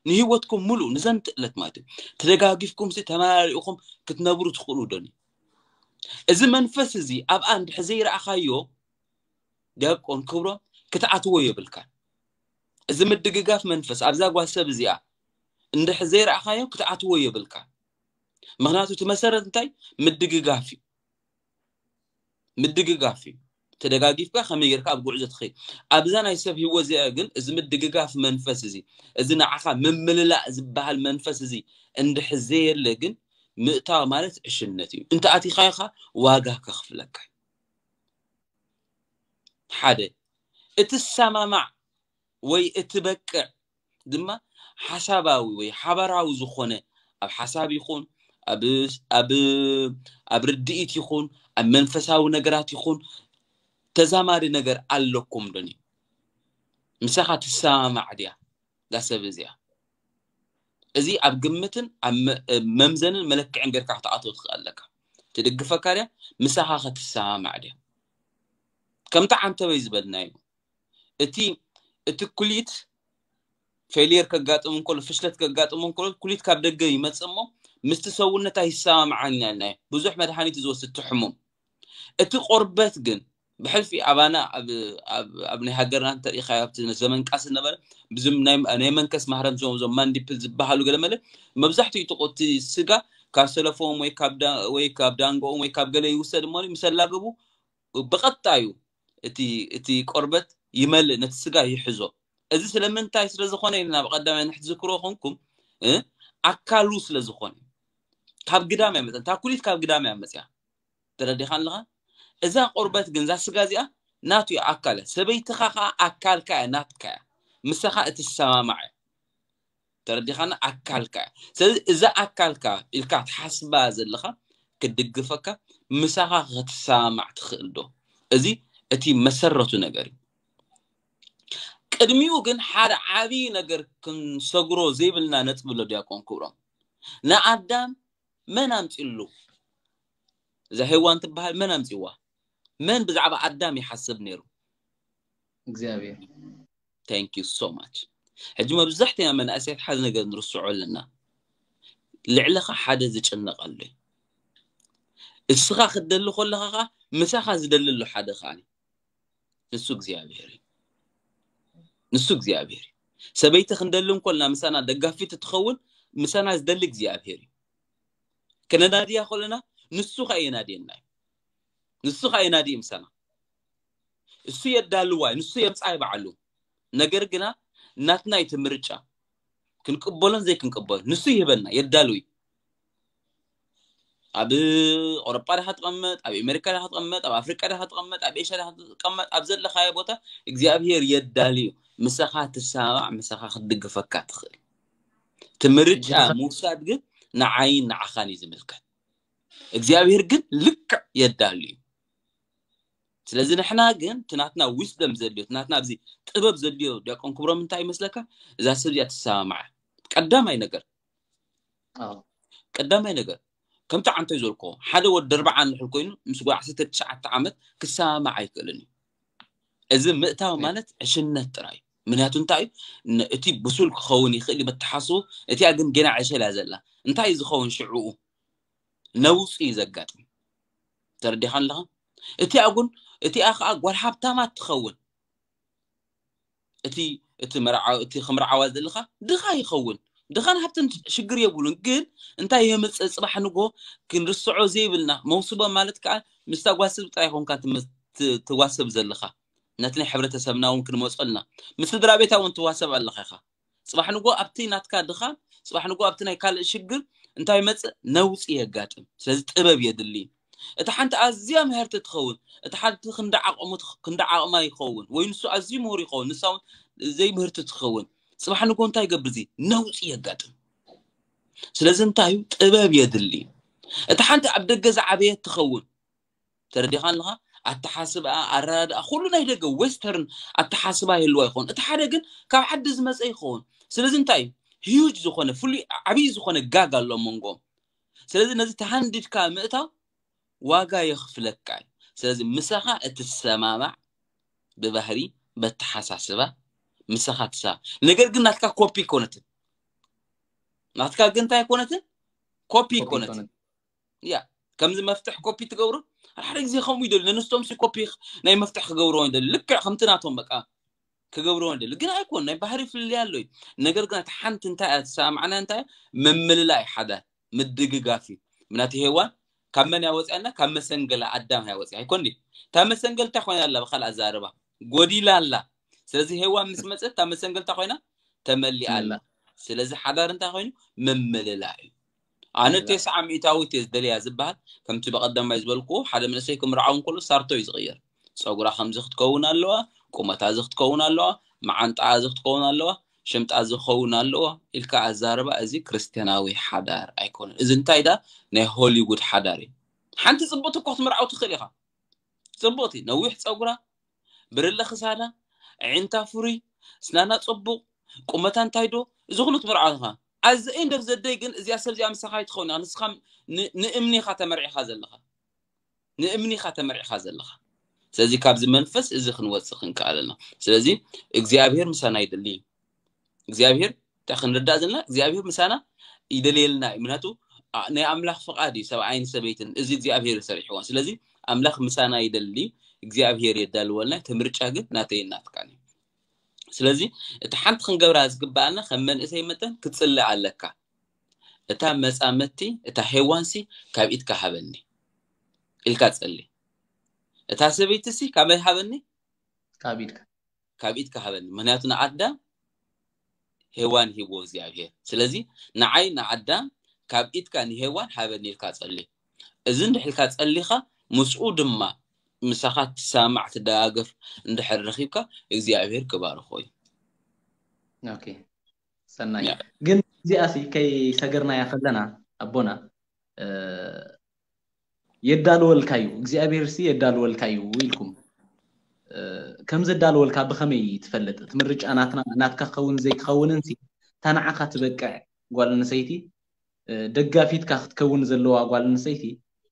ንህይወትኩም ሙሉ ንዘንትእለት ማለት እዩ። ተደጋጊፍኩም ሲ ተመራሪእኹም ክትነብሩ ትኽእሉ ዶኒ? እዚ መንፈስ እዚ ኣብኣ እንድሕር ዘይረኣኻዮ ዲያቆን ክብሮም ክትኣትዎ የብልካ። እዚ ምድግጋፍ መንፈስ ኣብዛ ጓል ሰብ እዚኣ እንድሕር ዘይረኣኻዮ ክትኣትዎ የብልካ። ምክንያቱ እቲ መሰረት እንታይ? ምድግጋፍ እዩ። ምድግጋፍ እዩ። ተደጋጊፍካ ከመይ ጌርካ ኣብ ጉዕዞ ትኸይድ? ኣብዛ ናይ ሰብ ህይወት እዚኣ ግን እዚ ምድግጋፍ መንፈስ እዚ፣ እዚ ንዓኻ ምምልላእ ዝበሃል መንፈስ እዚ እንድሕር ዘየለ ግን ምእታው ማለት ዕሽነት እዩ። እንተ ኣቲኻዮ ኸኣ ዋጋ ከኽፍለካ እዩ። ሓደ እትሰማማዕ ወይ እትበቅዕ ድማ ሓሳባዊ ወይ ሓባራዊ ዝኾነ ኣብ ሓሳብ ይኹን ኣብ ኣብ ኣብ ርድኢት ይኹን ኣብ መንፈሳዊ ነገራት ይኹን ተዛማዲ ነገር ኣለኩም ዶኒ? ምሳኻ ትሰማማዕ ድያ እዛ ሰብ እዚኣ? እዚ ኣብ ግምትን ኣብ መምዘንን መለክዕን ጌርካ ክትኣትዎ ትኽእል ኣለካ። ትድግፈካ ድያ? ምሳኻ ክትሰማማዕ ድያ? ከምቲ ዓንተበይ ዝበልናዮ እቲ እቲ ኩሊት ፌልየር ከጋጥም እንከሎ ፍሽለት ከጋጥም እንከሎ ኩሊት ካብ ደገ ይመጽእ እሞ ምስቲ ሰውነት ኣይሰማማዓን ኢልናዮ። ብዙሕ መድሃኒት ዝወስድ እቲ ሕሙም። እቲ ቆርበት ግን ብሕልፊ ኣባና ኣብ ናይ ሃገርና እንተሪኢኻዮ ኣብቲ ዘመን ቃስ ዝነበረ ብዙም ናይ መንከስ ማህረም ዞም ዞም ማንዲፕል ዝበሃሉ ገለ መለ መብዛሕትኡ እቲ ስጋ ካብ ሰለፎም ወይ ካብ ወይ ካብ ዳንጎኦም ወይ ካብ ገለ ይውሰድ እሞ ምስ ኣላገቡ ብቐጣዩ እቲ እቲ ቆርበት ይመልእ፣ ነቲ ስጋ ይሕዞ። እዚ ስለምንታይ ስለ ዝኾነ ኢና ናብ ቀዳማይ ንሕትዝክሮ ኮንኩም ኣካሉ ስለ ዝኾነ ካብ ግዳም ኣይመፀን። እታ ኩሊት ካብ ግዳም እያ መፅያ። ተረዲኻ ኣለኻ? እዛ ቆርበት ግን እዛ ስጋ እዚኣ ናቱ እያ፣ ኣካል እያ። ሰበይትኻ ከዓ ኣካልካ እያ፣ ናትካ እያ። ምሳኻ እትሰማማዕ እያ። ተረዲኻና? ኣካልካ እያ። ስለዚ እዛ ኣካልካ ኢልካ ትሓስባ ዘለኻ ክድግፈካ ምሳኻ ክትሰማማዕ ትኽእል ዶ? እዚ እቲ መሰረቱ ነገር እዩ። ቅድሚኡ ግን ሓደ ዓብዪ ነገር ክንሰግሮ ዘይብልና ነጥቢ ኣሎ ዲያቆን ክብሮም። ንኣዳም መን ኣምፂሉ? እዛ ሄዋን ትበሃል መን ኣምፂዋ? መን ብዛዕባ ኣዳም ይሓስብ ነይሩ? እግዚኣብሔር። Thank you so much። ሕጂ መብዛሕትና መናእሰያት ሓደ ነገር ንርስዖ ኣለና። ልዕለኻ ሓደ ዝጭነቕ ኣሎ እዩ። እስኻ ክትደሊ ከለኻ ከዓ ምሳኻ ዝደሊ ኣሎ ሓደ ከዓ እዩ። ንሱ እግዚኣብሔር እዩ። ንሱ እግዚኣብሔር እዩ። ሰበይቲ ክንደሊ እንኮልና ምሳና ደጋፊት ትኸውን፣ ምሳና ዝደሊ እግዚኣብሔር እዩ። ከነናድያ ከለና ንሱ ከዓ የናድየና እዩ። ንሱ ከዓ የናድይ ምሳና። እሱ የዳልዋ እዩ፣ ንሱ የምፃ ባዕሉ። ነገር ግና ናትና እቲ ምርጫ ክንቅበሎን ዘይክንቅበሎ ንሱ ይህበና፣ የዳሉ እዩ። ኣብ ኣውሮጳ ዳኻ ትቐመጥ፣ ኣብ ኣሜሪካ ዳኻ ትቐመጥ፣ ኣብ ኣፍሪቃ ዳኻ ትቐመጥ፣ ኣብ ኤሽያ ዳኻ ትቐመጥ፣ ኣብ ዘለኻዮ ቦታ እግዚኣብሔር የዳልዩ። ምሳኻ ትሰማማዕ፣ ምሳኻ ክትድግፈካ ትኽእል። እቲ ምርጫ ምውሳድ ግን ንዓይን ንዓኻን እዩ ዝምልከት። እግዚኣብሔር ግን ልክዕ የዳልዩ። ስለዚ ንሕና ግን እቲ ናትና ዊስደም ዘድልዮ፣ እቲ ናትና ኣብዚ ጥበብ ዘድልዮ ዲያቆን ክብሮም እንታይ ይመስለካ? እዛ ሰብ እዚኣ ትሰማማዕ። ቀዳማይ ነገር ቀዳማይ ነገር ከምቲ ዓንቶይ ዝበልክዎ ሓደ ወዲ ኣርባዓ ንሕል ኮይኑ ምስ ጓል ዓሰርተ ትሽዓተ ዓመት ክሰማማዕ ኣይክእልን እዩ። እዚ ምእታው ማለት ዕሽነት ጥራይ እዩ። ምክንያቱ እንታይ እዩ? እቲ ብሱል ክኸውን ይኽእል እዩ መተሓስቡ፣ እቲኣ ግን ገና ዕሸል እያ ዘላ። እንታይ እዩ ዝኸውን ሽዕኡ? ነውፂ እዩ ዘጋጥም። ተረዲኻ ኣለኻ? እቲኣ ግን እቲኣ ከዓ ጓል ሃብታማት ትኸውን። እቲ እቲ መርዓ እቲ ክምርዓዋ ዘለኻ ድኻ ይኸውን። ድኻን ሃብትን ሽግር የብሉን፣ ግን እንታይ የምፅእ? ፅባሕ ንጎ ክንርስዖ ዘይብልና መውስቦ ማለት ከዓ ምስታ ጓስብ ጥራይ ይኾንካ ትዋስብ ዘለኻ። ነቲ ናይ ሕብረተሰብና እውን ክንመፀልና ምስ ስድራ ቤታ እውን ትዋሰብ ኣለኻ ኢኻ። ፅባሕ ንጎ ኣብቲ ናትካ ድኻ፣ ፅባሕ ንጎ ኣብቲ ናይ ካልእ ሽግር እንታይ መፅእ? ነውፂ የጋጥም። ስለዚ ጥበብ የድሊ። እቲ ሓንቲ ኣዝያ ምህርቲ ትኸውን፣ እቲ ሓንቲ ክንዲ ዓቕሙ ክንዲ ዓቕማ ይኸውን፣ ወይ ንሱ ኣዝዩ ምሁር ይኸውን፣ ንሳ እውን ዘይምህርቲ ትኸውን። ፅባሕ ንጎ እንታይ ይገብር? እዚ ነውፂ የጋጥም። ስለዚ እንታይ እዩ? ጥበብ የድሊ። እቲ ሓንቲ ኣብ ደገ ዝዓበየት ትኸውን። ተረዲኻ ኣለኻ? ኣተሓስብኣ፣ ኣረዳድኣ፣ ኩሉ ናይ ደገ ዌስተርን ኣተሓስባ ይህልዋ ይኸውን። እቲ ሓደ ግን ካብ ዓዲ ዝመፀ ይኸውን። ስለዚ እንታይ እዩ? ሂዩጅ ዝኾነ ፍሉይ ዓብዪ ዝኾነ ጋግ ኣሎ መንጎም። ስለዚ ነዚ ተሃንዲድካ ምእታው ዋጋ የኽፍለካ እዩ። ስለዚ ምሳኻ እትሰማማዕ ብባህሪ በተሓሳስባ ምሳኻ ትሰማማዕ። ነገር ግን ናትካ ኮፒ ኣይኮነትን። ናትካ ግን እንታይ ኣይኮነትን? ኮፒ ኣይኮነትን። ያ ከምዚ መፍትሕ ኮፒ ትገብሮ ሓደ ግዜ ከምኡ ይደሉ ነንስቶም ሲ ኮፒ ናይ መፍትሕ ክገብርዎ ይደሉ ልክዕ ከምቲ ናቶም በቃ ክገብርዎ ይደሉ ግን ኣይኮን ናይ ባህሪ ፍልልይ ኣሎ እዩ። ነገር ግን እቲ ሓንቲ እንታይ እያ ትሰማማዕና እንታይ ምምልላይ ሓደ ምድግጋፍ እዩ። ምናቲ ሄዋን ካብ መን ያወፅያና? ካብ መሰንገላ ኣዳም ያወፅያ ኣይኮን ድዩ? እታ መሰንገል እንታይ ኮይና ኣላ? ብካልእ ኣዛርባ ጎዲላ ኣላ። ስለዚ ሄዋን ምስ መፀት እታ መሰንገል እንታይ ኮይና? ተመሊኣ ኣላ። ስለዚ ሓዳር እንታይ ኮይኑ? ምምልላ እዩ። ኣነ ተስዓ ሚእታዊት እየ ዝደልያ ዝበሃል ከምቲ በቐዳማይ ዝበልኩዎ ሓደ መንእሰይ ክምርዓው እንከሎ ሳርቶ እዩ ዝቕየር። ፀጉራ ከምዚ ክትከውን ኣለዋ፣ ቁመታ እዚ ክትከውን ኣለዋ፣ መዓንጣኣ እዚ ክትከውን ኣለዋ፣ ሽምጣ እዚ ክኸውን ኣለዋ ኢልካ ኣዛርባ እዚ ክርስትያናዊ ሓዳር ኣይኮነን። እዚ እንታይ ዳ ናይ ሆሊውድ ሓዳር እዩ። ሓንቲ ፅብቕቲ እኮ ክትምርዓው ትኽእል ኢኻ። ፅብቕቲ ነዊሕ ፀጉራ ብርለ ክሳዳ ኣዒንታ ፍሩይ ስናና ፅቡቕ ቁመታ እንታይ ዶ እዚ ኩሉ ትምርዓው ኢኻ። ኣዚ ኤንድ ኦፍ ዘደይ ግን እዚኣ ሰብ እዚኣ ምሳኻ ኣይትኸውን ኢኻ። ንስኻ ንእምኒ ኢኻ ተመርዒኻ ዘለኻ ንእምኒ ኢኻ ተመርዒኻ ዘለኻ። ስለዚ ካብዚ መንፈስ እዚ ክንወፅእ ክንከኣለና። ስለዚ እግዚኣብሔር ምሳና ይደሊ እዩ። እግዚኣብሔር እንታይ ክንርዳእ ዘለና እግዚኣብሔር ምሳና ይደልየልና እዩ። ምክንያቱ ናይ ኣምላኽ ፍቓድ እዩ ሰብኣይን ሰበይትን እዚ እግዚኣብሔር ይሰርሕዎ። ስለዚ ኣምላኽ ምሳና ይደሊ እግዚኣብሔር የዳልወልና። እቲ ምርጫ ግን ናተይ ናትካን እዩ። ስለዚ እቲ ሓንቲ ክንገብራ ዝግበኣና ከም መንእሰይ መጠን ክትፅልእ ኣለካ። እታ መፃመቲ እታ ሄዋንሲ ካብ ኢድካ ሃበኒ ኢልካ ፀሊ። እታ ሰበይትሲ ካበይ ሃበኒ? ካብ ኢድካ ካብ ኢድካ ሃበኒ። ምክንያቱ ንኣዳም ሄዋን ሂብዎ እግዚኣብሔር። ስለዚ ንዓይ ንኣዳም ካብ ኢድካ ንሄዋን ሃበኒ ኢልካ ፀሊ። እዚ እንድሕልካ ፀሊኻ ምስኡ ድማ ምሳኻ ትሰማማዕ ትደጋገፍ እንድሕር ረኺብካ እግዚኣብሔር ክባርኾ እዩ። ኦኬ ሰናይ ግን እዚኣ ሲ ከይሰገርናያ ከለና ኣቦና የዳልወልካ እዩ እግዚኣብሔር ሲ የዳልወልካ እዩ ኢልኩም ከም ዘዳልወልካ ብኸመይ ትፈልጥ? እቲ ምርጫ ናትና ናትካ ክኸውን ዘይክኸውንን ሲ እታ ንዓኻ ትበቅዕ ጓል ኣንስተይቲ ደጋፊትካ ክትከውን ዘለዋ ጓል ኣንስተይቲ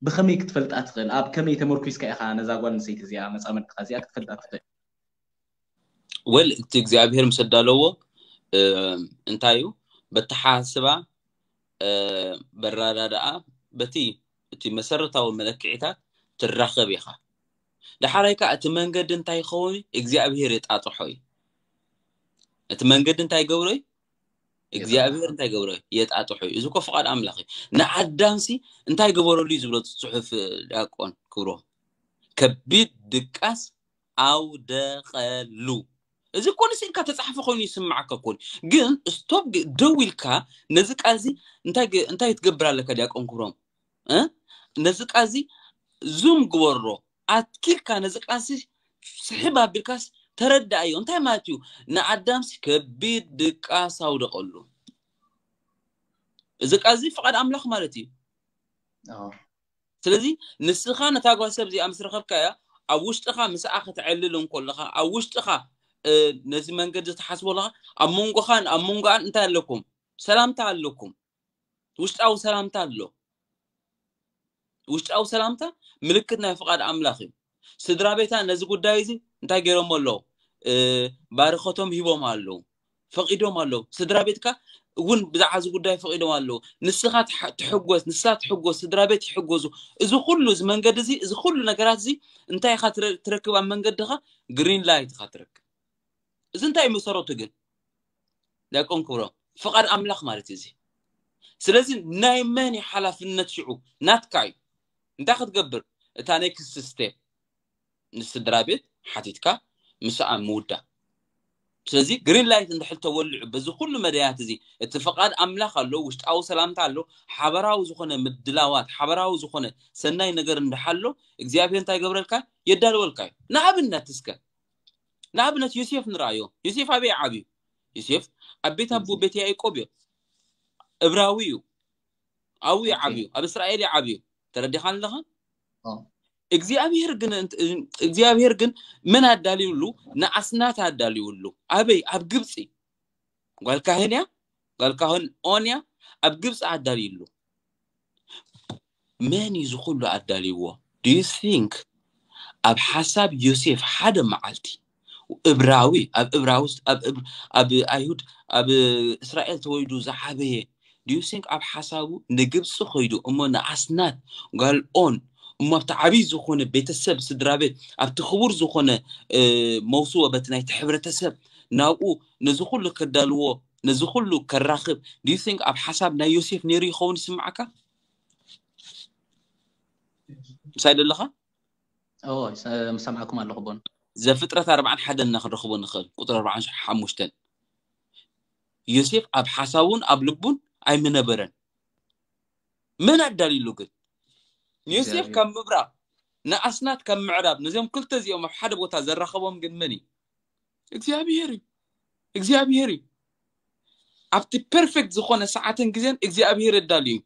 ብኸመይ ክትፈልጣ ትኽእል? ኣብ ከመይ ተመርኩስካ ኢኻ ነዛ ጓል ኣንስተይቲ እዚኣ መፃመድትኻ እዚኣ ክትፈልጣ ትኽእል? ወል እቲ እግዚኣብሔር ምስ ኣዳለዎ እንታይ እዩ በተሓስባ በራዳዳኣ በቲ እቲ መሰረታዊ መለክዒታት ትራኸብ ኢኻ። ዳሕራይ ከዓ እቲ መንገዲ እንታይ ይኸውን? እግዚኣብሔር የጣጥሖ እዩ። እቲ መንገዲ እንታይ ገብሮ እዩ? እግዚኣብሔር እንታይ ገብሮ? የጣጥሖ እዩ። እዚ እኮ ፍቓድ ኣምላኽ እዩ። ንኣዳምሲ እንታይ ገበረሉ እዩ ዝብሎ ጽሑፍ ዲያቆን ክብሮ? ከቢድ ድቃስ ኣውደቐሉ። እዚ እኮ ንስኢልካ ተጻሕፈ ኮይኑ ይስምዓካ እኮ። ግን ስቶፕ፣ ደው ኢልካ ነዚ ቃል እዚ እንታይ ግ- እንታይ ትገብር ኣለካ? ዲያቆን ክብሮም፣ እ? ነዚ ቃል እዚ ዙም ግበሮ። ኣትኪልካ ነዚ ቃል እዚ ስሕብ ኣቢልካስ ተረዳእዮ። እንታይ ማለት እዩ? ንኣዳምሲ ከቢድ ድቃስ ኣውደቐሉ። እዚ ቃል እዚ ፍቓድ ኣምላኽ ማለት እዩ። ስለዚ ንስኻ ነታ ጓል ሰብ እዚኣ ምስ ረኸብካያ፣ ኣብ ውሽጥኻ ምስኣ ክትዕልል እንከለኻ፣ ኣብ ውሽጥኻ ነዚ መንገዲ ትሓስቦ ኣለኻ፣ ኣብ መንጎኻን ኣብ መንጎኣን እንታይ ኣለኩም? ሰላምታ ኣለኩም። ውሽጣዊ ሰላምታ ኣሎ። ውሽጣዊ ሰላምታ ምልክት ናይ ፍቓድ ኣምላኽ እዩ። ስድራ ቤታ ነዚ ጉዳይ እዚ እንታይ ገይሮም ኣለዉ? ባርኸቶም ሂቦም ኣለዉ፣ ፈቒዶም ኣለዉ። ስድራ ቤትካ እውን ብዛዕባ እዚ ጉዳይ ፈቒዶም ኣለዉ። ንስኻ ትሓ- ትሕጎስ፣ ንሳ ትሕጎስ፣ ስድራ ቤት ይሕጎዙ። እዚ ኩሉ እዚ መንገዲ እዚ፣ እዚ ኩሉ ነገራት እዚ እንታይ ኢኻ ትረ- ትረክብ? ኣብ መንገድኻ ግሪን ላይት ኢኻ ትረክብ። እዚ እንታይ መሰረቱ ግን? ዲያቆን ክብሮም፣ ፍቓድ ኣምላኽ ማለት እዩ እዚ። ስለዚ ናይ መን እዩ ሓላፍነት ሽዑ? ናትካ እዩ። እንታይ ክትገብር? እታ ኔክስት ስቴፕ ንስድራ ቤት ሓቲትካ ምስኣ ምውዳ። ስለዚ ግሪን ላይት እንድሕር ተወልዑ በዚ ኩሉ መዳያት እዚ፣ እቲ ፍቓድ ኣምላኽ ኣሎ፣ ውሽጣዊ ሰላምታ ኣሎ፣ ሓበራዊ ዝኾነ ምድላዋት፣ ሓበራዊ ዝኾነ ሰናይ ነገር እንድሓሎ እግዚኣብሔር እንታይ ገብረልካ? የዳልወልካ እዩ። ንኣብነት እስከ ንኣብነት ዮሴፍ ንርኣዮ። ዮሴፍ ኣበይ ዓብዩ? ዮሴፍ ኣብ ቤት ኣቦ ቤት ያዕቆብ እዩ። እብራዊ እዩ። ኣብኡ እዩ ዓብዩ፣ ኣብ እስራኤል እዩ ዓብዩ። ተረዲኻ ኣለኻ? እግዚኣብሔር ግን እንት- እግዚኣብሔር ግን መን ኣዳልዩሉ? ንኣስናት ኣዳልዩሉ። ኣበይ? ኣብ ግብፂ። ጓል ካህን እያ፣ ጓል ካህን ኦን እያ። ኣብ ግብፂ ኣዳልዩሉ። መን እዩ ዝኹሉ ኣዳልይዎ? Do you think ኣብ ሓሳብ ዮሴፍ ሓደ መዓልቲ እብራዊ ኣብ እብራዊ ኣብ እብ- ኣብ ኣይሁድ ኣብ እስራኤል ተወሊዱ ዝዓበየ do you think ኣብ ሓሳቡ ንግብፂ ከይዱ እሞ ንኣስናት ጓል ኦን እሞ ኣብቲ ዓብይ ዝኾነ ቤተሰብ ስድራ ቤት ኣብቲ ክቡር ዝኾነ እ፣ መውስቦ በቲ ናይቲ ሕብረተሰብ ናብኡ ነዚ ኩሉ ከዳልዎ ነዚ ኩሉ ከራኽብ do you think ኣብ ሓሳብ ናይ ዮሴፍ ነይሩ ይኸውን ይስምዓካ? ምሳይ ደለኻ? ኦ ሰ- ምሰምዓኩም ኣለኹ ቦን ዘፍጥረት ኣርባዓን ሓደን እና ክንረኽቦ ንኽእል። ቁጥሪ ኣርባዓን ሓሙሽተን ዮሴፍ ኣብ ሓሳቡን ኣብ ልቡን ኣይምነበረን። መን ኣዳልዩሉ ግን? ንዮሴፍ ካብ ምብራቕ ንኣስናት ካብ ምዕራብ ነዚኦም ክልተ እዚኦም ኣብ ሓደ ቦታ ዘራኸቦም ግን መን እዩ? እግዚኣብሔር እዩ። እግዚኣብሔር እዩ። ኣብቲ ፐርፌክት ዝኾነ ሰዓትን ግዜን እግዚኣብሔር ኣዳልዩ እዩ።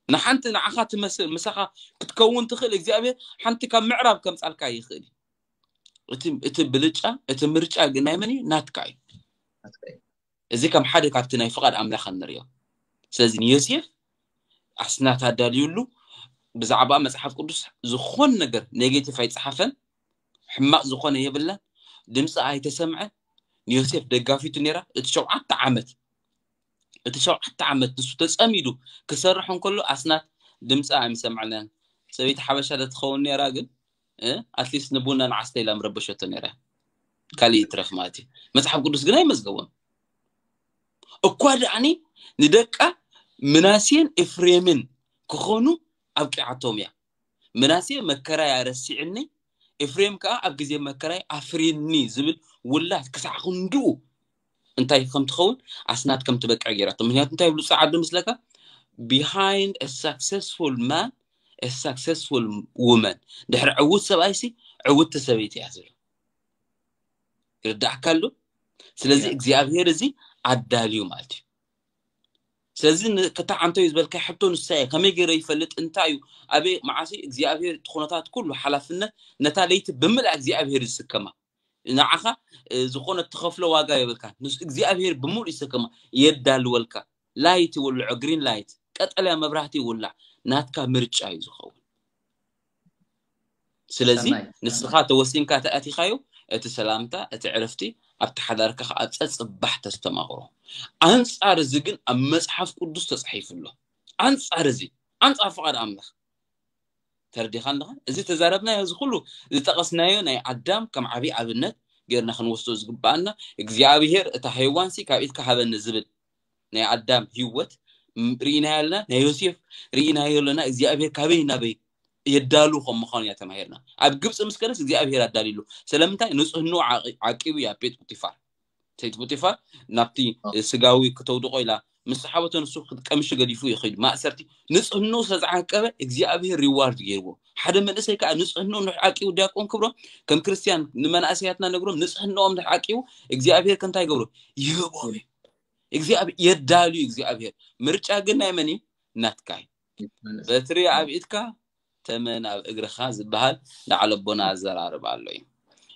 ንሓንቲ ንዓኻ ትመስል ምሳኻ ክትከውን ትኽእል እግዚኣብሔር ሓንቲ ካብ ምዕራብ ከምጻልካ ይኽእል እዩ። እቲ እቲ ብልጫ እቲ ምርጫ ግን ናይ መን እዩ? ናትካ እዩ። እዚ ከም ሓደ ካብቲ ናይ ፍቓድ ኣምላኽ ንሪኦ። ስለዚ ንዮሴፍ ኣስናት ኣዳልዩሉ ብዛዕባ መጽሓፍ ቅዱስ ዝኾን ነገር ኔጌቲቭ ኣይጸሓፈን፣ ሕማቕ ዝኾነ የብላን፣ ድምፂ ኣይተሰምዐ። ንዮሴፍ ደጋፊቱ ነይራ። እቲ ሸውዓተ ዓመት እቲ ሸውዓተ ዓመት ንሱ ተጸሚዱ ክሰርሕ እንከሎ ኣስናት ድምፂ ኣይምሰምዐለን። ሰበይቲ ሓበሻ ዶ ትኸውን ነይራ ግን ኣትሊስት ንቡና ንዓስተ ኢላ ምረበሸቶ ነይራ። ካልእ ይትረፍ ማለት እዩ። መጽሓፍ ቅዱስ ግን ኣይመዝገቦን። እኳ ደኣኒ ንደቃ ምናሴን ኤፍሬምን ክኾኑ ኣብቂዓቶም እያ። ምናሴ መከራይ ኣረሲዕኒ፣ ኤፍሬም ከዓ ኣብ ግዜ መከራይ ኣፍርየኒ ዝብል ውላድ ክሳዕ ክንድኡ እንታይ ከም ትኸውን ኣስናት ከም ትበቅዕ ገይራቶ። ምክንያቱ እንታይ ይብሉ ጸዓዱ ምስለካ? Behind a successful man a successful woman። ድሕሪ ዕውት ሰብኣይሲ ዕውቲ ሰበይቲ እያ ዝብሉ። ይርዳእካ ኣሎ? ስለዚ እግዚኣብሔር እዚ ኣዳልዩ ማለት እዩ። ስለዚ ክታዕ ኣንተዩ ዝበልካይ ሕቶ ንሳ እየ። ከመይ ገይረ ይፈልጥ? እንታይ እዩ? ኣበይ መዓሲ እግዚኣብሔር እቲ ኩነታት ኩሉ ሓላፍነት ነታ ለይቲ ብምልኣ እግዚኣብሔር ዝስከማ። ንዓኻ ዝኾነ ትኸፍሎ ዋጋ የብልካ። ንስ እግዚኣብሔር ብምሉእ ይስከማ፣ የዳልወልካ። ላይት ይውልዖ፣ ግሪን ላይት፣ ቀጠልያ መብራህቲ ይውላዕ፣ ናትካ ምርጫ እዩ ዝኸውን። ስለዚ ንስኻ ተወሲንካ ተኣቲኻዮ፣ እቲ ሰላምታ፣ እቲ ዕረፍቲ ኣብቲ ሓዳርካ ከዓ ፀፅባሕ ተስተማቕሮ። ኣንፃር እዚ ግን ኣብ መፅሓፍ ቅዱስ ተፃሒፉ ኣሎ። ኣንፃር እዚ፣ ኣንፃር ፍቓድ ኣምላኽ ተረዲኻ ኣለኻ? እዚ ተዛረብናዮ፣ እዚ ኩሉ ዝጠቐስናዮ ናይ ኣዳም ከም ዓብዪ ኣብነት ገይርና ክንወስዶ ዝግባኣና፣ እግዚኣብሔር እታ ሄዋንሲ ካብ ኢድካ ሃበኒ ዝብል ናይ ኣዳም ህይወት ም- ርኢናዮ ኣለና፣ ናይ ዮሴፍ ርኢናዮ ኣለና። እግዚኣብሔር ካበይ ናበይ የዳሉ ከም ምዃኑ እያ ተማሂርና። ኣብ ግብፂ ምስ ከደስ እግዚኣብሔር ኣዳልዩሉ። ስለምንታይ? ንፅህንኡ ዓቂ- ዓቂቡ እዩ ኣብ ቤት ፖቲፋር። ሰይቲ ፖቲፋር ናብቲ ስጋዊ ክተውድቆ ኢላ ምስ ሰሓበቶ ንሱ ክትቀምሽ ገዲፉ ይኸይድ ማእሰርቲ። ንፅህንኡ ስለዝዓቀበ እግዚኣብሔር ሪዋርድ ገይርዎ። ሓደ መንእሰይ ከዓ ንፅህንኡ ንድሕር ዓቂቡ፣ ዲያቆን ክብሮም ከም ክርስትያን ንመናእሰያትና ነግሮም፣ ንፅህንኦም ንድሕር ዓቂቡ እግዚኣብሔር ከምታይ ይገብሮ? ይህቦም እዩ። እግዚኣብሔር የዳልዩ። እግዚኣብሔር ምርጫ ግን ናይ መን እዩ? ናትካ እዩ። በትሪ ኣብ ኢድካ ተመን ኣብ እግርኻ ዝበሃል ንዓለቦና ኣዘራርባ ኣሎ እዩ።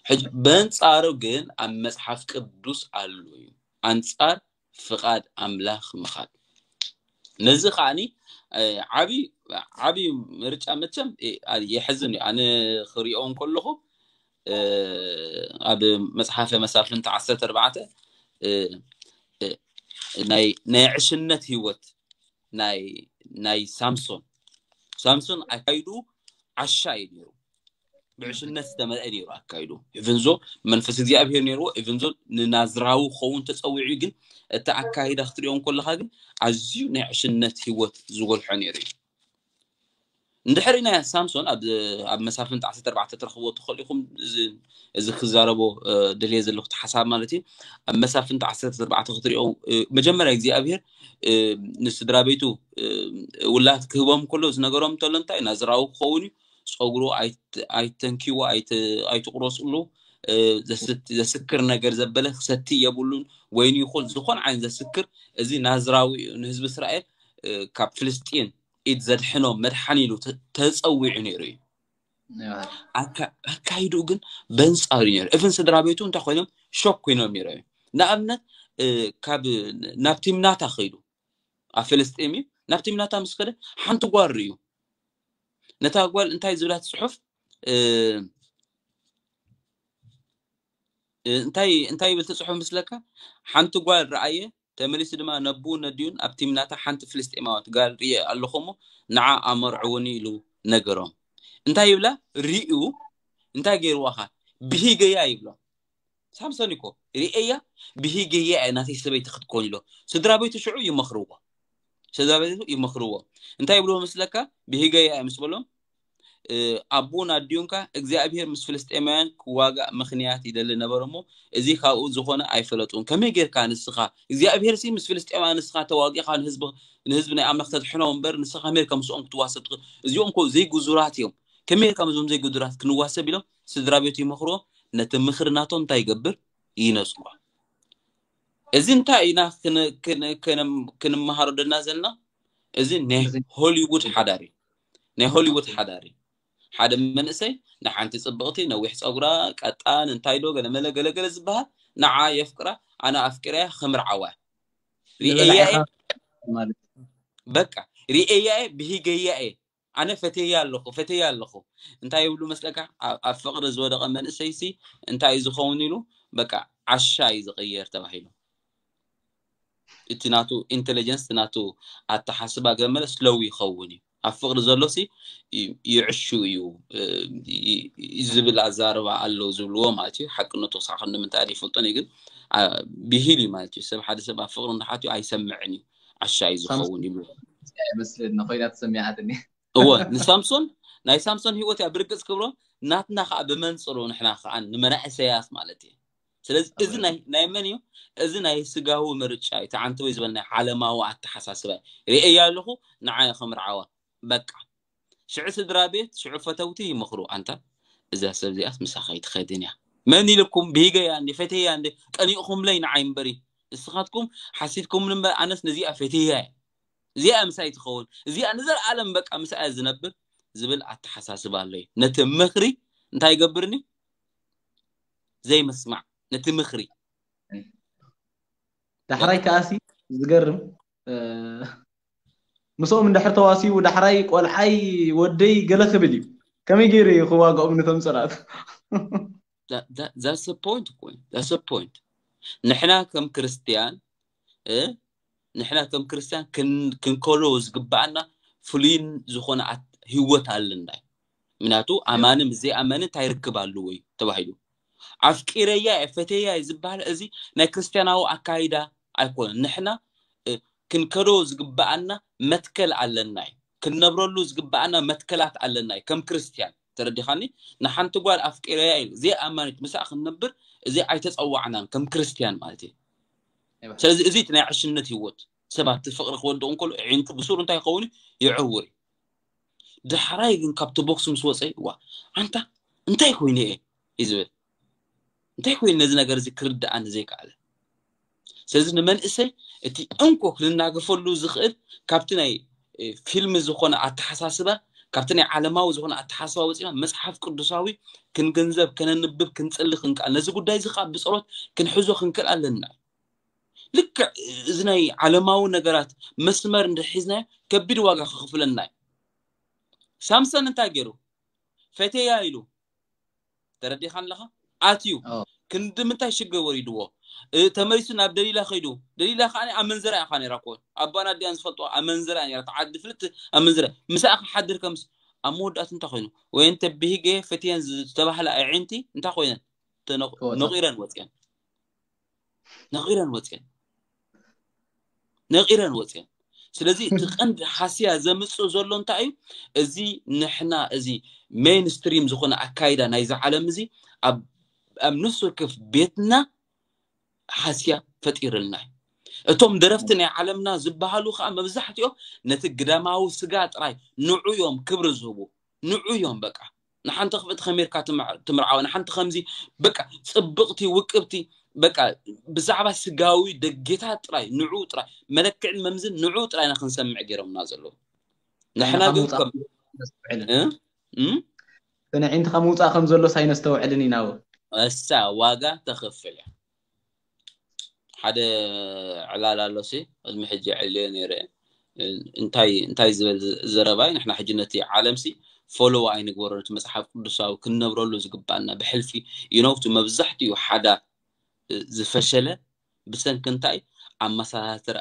ሕጂ በንጻሩ ግን ኣብ መጽሓፍ ቅዱስ ኣሎ እዩ። ኣንጻር ፍቓድ ኣምላኽ ምኻድ። ነዚ ከዓኒ ዓቢ ዓቢ ምርጫ መቸም የሕዝን እዩ። ኣነ ክሪኦ እንከለኹ ኣብ መጽሓፈ መሳፍንቲ ዓሰርተ ኣርባዕተ ናይ ዕሽነት ህይወት ናይ ናይ ሳምሶን ሳምሶን ኣካይዱ ዓሻ እዩ ነይሩ። ብዕሽነት ዝተመልአ ነይሩ ኣካይዱ። ኢቨንዞ መንፈስ እግዚኣብሔር ነይርዎ። ኢቨንዞ ንናዝራዊ ክኸውን ተጸዊዑ። ግን እቲ ኣካይዳ ክትሪኦ እንከለኻ ግን ኣዝዩ ናይ ዕሽነት ህይወት ዝጎልሖ ነይሩ እዩ። እንድሕሪ ናይ ሳምሶን ኣብ ኣብ መሳፍንቲ ዓሰርተ ኣርባዕተ ትረኽብዎ ትኽእሉ ኢኹም። እዚ ክዛረቦ ደልየ ዘለኹ ሓሳብ ማለት እዩ። ኣብ መሳፍንቲ ዓሰርተ ኣርባዕተ ክትሪኦ መጀመርያ እግዚኣብሔር ንስድራ ቤቱ ውላት ክህቦም ከሎ ዝነገሮም እንተሎ እንታይ ናዝራዊ ክኸውን እዩ። ፀጉሩ ኣይተንኪዎ፣ ኣይትቁረፅሉ። ዘስክር ነገር ዘበለ ክሰቲ የብሉን። ወይኒ ይኹን ዝኾን ዓይነት ዘስክር እዚ ናዝራዊ እዩ። ንህዝቢ እስራኤል ካብ ፍልስጢን ኢድ ዘድሕኖም መድሓኒ ኢሉ ተፀዊዑ ነይሩ እዩ። ኣካይድኡ ግን በንፃሩ ነይሩ። እፍን ስድራ ቤቱ እንታይ ኮይኖም ሾክ ኮይኖም ነይሩ እዩ። ንኣብነት ካብ ናብ ቲምናታ ከይዱ ኣብ ፍልስጤም እዩ። ናብ ቲምናታ ምስ ከደ ሓንቲ ጓል ርእዩ። ነታ ጓል እንታይ ዝብላት ፅሑፍ እንታይ እንታይ ይብል ትፅሑፍ ምስለካ? ሓንቲ ጓል ረኣየ፣ ተመሊሱ ድማ ነብኡ ነዲኡን ኣብ ቲምናታ ሓንቲ ፍልስጤማዊት ጋል ርእየ ኣለኹ እሞ ንዓ ኣመርዕውኒ ኢሉ ነገሮም። እንታይ ይብላ? ርእዩ እንታይ ገይርዋኻ? ብሂገያ ይብሎ። ሳምሶን እኮ ርእያ ብሂገያ እያ ናተይ ሰበይቲ ክትኮን ኢሎ። ስድራ ቤቱ ሽዑ ይመኽርዎ። ስድራ ቤቱ ይመኽርዎ። እንታይ ይብልዎ መስለካ? ብሂገያ እያ ምስ በሎም ኣቦን ኣዲኡንካ እግዚኣብሔር ምስ ፍልስጤማውያን ክዋጋእ ምኽንያት ይደሊ ነበረ እሞ እዚ ካብኡ ዝኾነ ኣይፈለጡን። ከመይ ጌርካ ንስኻ እግዚኣብሔር ሲ ምስ ፍልስጤማውያን ንስኻ ተዋጊእኻ ንህዝቢ ንህዝቢ ናይ ኣምላኽ ተድሕኖ እምበር ንስኻ ከመይ ጌርካ ምስኦም ክትዋሰብ ትኽእል? እዚኦም እኮ ዘይጉዙራት እዮም። ከመይ ጌርካ ምስኦም ዘይጉዙራት ክንዋሰብ ኢሎም ስድራ ቤቱ ይመኽርዎ። ነቲ ምኽሪ ናቶም እንታይ ይገብር? ይነጽጎ። እዚ እንታይ ኢና ክንመሃሮ ደና ዘለና? እዚ ናይ ሆሊውድ ሓዳር እዩ። ናይ ሆሊውድ ሓዳር እዩ። ሓደ መንእሰይ ንሓንቲ ጽብቕቲ ነዊሕ ጸጉራ ቀጣን እንታይ ዶ ገለመለ ገለገለ ዝበሃል ንዓ የፍቅራ ኣነ ኣፍቂረያ ክምርዓዋ ርእየያ በቃ ርእየያ ብሂገያ እየ ኣነ ፈትያ ኣለኹ ፈትያ ኣለኹ እንታይ ይብሉ መስለካ? ኣብ ፍቕሪ ዝወደቐ መንእሰይሲ እንታይ እዩ ዝኸውን ኢሉ በቃ ዓሻ እዩ ዝቕየር ተባሂሉ። እቲ ናቱ ኢንቴሊጀንስ ናቱ ኣተሓስባ ገመለ ስለው ይኸውን እዩ። ኣብ ፍቕሪ ዘሎሲ ይዕሹ እዩ ዝብል ኣዛረባ ኣለዉ ዝብልዎ ማለት እዩ። ሓቅነቱ ክሳዕ ክንዲ ምንታይ ኣይፈልጦን እዩ ግን ብሂል እዩ ማለት እዩ። ሰብ ሓደ ሰብ ኣብ ፍቕሪ እንዳሓትዩ ኣይሰምዕን እዩ። ዓሻ እዩ ዝኸውን ይብልዎ። ይመስለኒ ኮይና ተሰሚዓትኒ። እወ ንሳምሶን ናይ ሳምሶን ህይወት እያ ብርግፅ ክብሮ ናትና ከዓ ብመንፅሩ ንሕና ከዓ ንመናእሰያት ማለት እዩ። ስለዚ እዚ ናይ መን እዩ? እዚ ናይ ስጋዊ ምርጫ እዩ። ተዓንተወይ ዝበል ናይ ዓለማዊ ኣተሓሳስባ ርእያ ኣለኹ ንዓይ ክምርዓዋ በቃ ሽዑ ስድራ ቤት ሽዑ ፈተውቲ ይመኽሩ ኣንታ እዛ ሰብ እዚኣስ ምሳኻ ይትኸድን እያ መን ኢልኩም ብሂገያ እንዲ ፈተያ እንዲ ቀኒቕኹምለይ ንዓይ እምበሪ ንስኻትኩም ሓሲድኩምኒ እምበር ኣነስ ነዚኣ ፈትያ እየ እዚኣ ምሳይ ትኸውን እዚኣ ንዘለኣለም በቃ ምሳያ ዝነብር ዝብል ኣተሓሳስባ ኣለዩ ነቲ ምኽሪ እንታይ ይገብርኒ ዘይምስማዕ ነቲ ምኽሪ ዳሕራይ ከኣሲ ዝገርም ምስኦም እንድሕር ተዋሲቡ ዳሕራይ ቆልዓይ ወደይ ገለ ክብል እዩ ከመይ ገይሩ እዩ ክዋግኦም ንቶም ፅላት that's the point እኮ እዩ that's the point ንሕና ከም ክርስትያን ንሕና ከም ክርስትያን ክንከሎ ዝግባኣና ፍሉይን ዝኾነ ህይወት ኣለና እዩ ምክንያቱ ኣማኒ ምስ ዘይኣመኒ እንታይ ርክብ ኣለዎ እዩ ተባሂሉ ኣፍቂረያ እየ ፈተያ እየ ዝበሃል እዚ ናይ ክርስትያናዊ ኣካይዳ ኣይኮነን ንሕና ክንከዶ ዝግባኣና መትከል ኣለና እዩ ክንነብረሉ ዝግባኣና መትከላት ኣለና እዩ ከም ክርስትያን። ተረዲኻኒ? ንሓንቲ ጓል ኣፍቂረያ ኢሉ ዘይኣማኒት ምስኣ ክንነብር እዚ ኣይተጸዋዕናን ከም ክርስትያን ማለት እዩ። ስለዚ እዚ እቲ ናይ ዕሽነት ህይወት ሰባት እቲ ፍቕሪ ክወድቕ እንከሎ ኣዒንቱ ብሱሩ እንታይ ይኸውን? ይዕውር እዩ። ዳሕራይ ግን ካብቲ ቦክስ ምስ ወፀ ዋ ኣንታ እንታይ ኮይኑ እየ እዩ ዝብል። እንታይ ኮይኑ ነዚ ነገር እዚ ክርድኣኒ ዘይከኣለ? ስለዚ ንመንእሰይ እቲ እንኮ ክንናገፈሉ ዝኽእል ካብቲ ናይ ፊልም ዝኾነ ኣተሓሳስባ፣ ካብቲ ናይ ዓለማዊ ዝኾነ ኣተሓሳስባ ወፂና መፅሓፍ ቅዱሳዊ ክንግንዘብ፣ ከነንብብ፣ ክንፅሊ ክንክኣል፣ ነዚ ጉዳይ እዚ ከዓ ብፀሎት ክንሕዞ ክንክእል ኣለና። ልክዕ እዚ ናይ ዓለማዊ ነገራት መስመር እንድሕር ሒዝናዮ ከቢድ ዋጋ ክኽፍለና እዩ። ሳምሰን እንታይ ገይሩ? ፈቴያ ኢሉ ተረዲኻ ኣለኻ ኣትዩ ክንዲ ምንታይ ሽግር ወሪድዎ? ተመሊሱ ናብ ደሊላ ከይዱ፣ ደሊላ ከዓ ኣመንዝራ ኢኻ ነራ ኮ ኣባን ኣዲኣን ዝፈልጦ ኣመንዝራ ነራ ተዓዲ ፍልት ኣመንዝራ ምስኣ ክሓድር ከምስ ኣብ መወዳእቱ እንታይ ኮይኑ? ወይን ተብሂገ ፈትየን ዝተባህላ ኣዒንቲ እንታይ ኮይነን? ነቂረን ወፅየን ነቂረን ወፅየን ነቂረን ወፅየን። ስለዚ እቲ ቀንዲ ሓስያ ዘምፅእ ዘሎ እንታይ እዩ? እዚ ንሕና እዚ ሜንስትሪም ዝኾነ ኣካይዳ ናይዚ ዓለም እዚ ኣብ ኣብ ነፍሲ ወከፍ ቤትና ሓስያ ፈጢርልና እዩ። እቶም ደረፍቲ ናይ ዓለምና ዝበሃሉ ከዓ መብዛሕትኦም ነቲ ግዳማዊ ስጋ ጥራይ ንዑ እዮም ክብሪ ዝህቡ ንዑ እዮም በቃ ንሓንቲ ክፍእቲ ከመርካ ትምርዓወ ንሓንቲ ከምዚ በቃ ፅብቕቲ ውቅብቲ በቃ ብዛዕባ ስጋዊ ደጌታት ጥራይ ንዑ ጥራይ መለክዕን መምዝን ንዑ ጥራይ ኢና ክንሰምዕ ገይሮምና ዘለዉ። ንሕና ግን ከም ንዕንትኻ ምውፃእ ከም ዘሎ ሳይነስተውዕልን ኢና። እሳ ዋጋ ተኽፍል እያ። ሓደ ዕላል ኣሎ ሲ ቅድሚ ሕጂ ዕልዮ ነይረ እንታይ እንታይ ዝበል ዘረባይ ንሕና ሕጂ ነቲ ዓለም ሲ ፎሎው ኣይንግበሮ ነቲ መጽሓፍ ቅዱሳዊ ክንነብረሉ ዝግባና ብሕልፊ ይነውቱ መብዛሕትኡ ሓዳር ዝፈሸለ ብሰንኪ እንታይ ኣመሳሳትር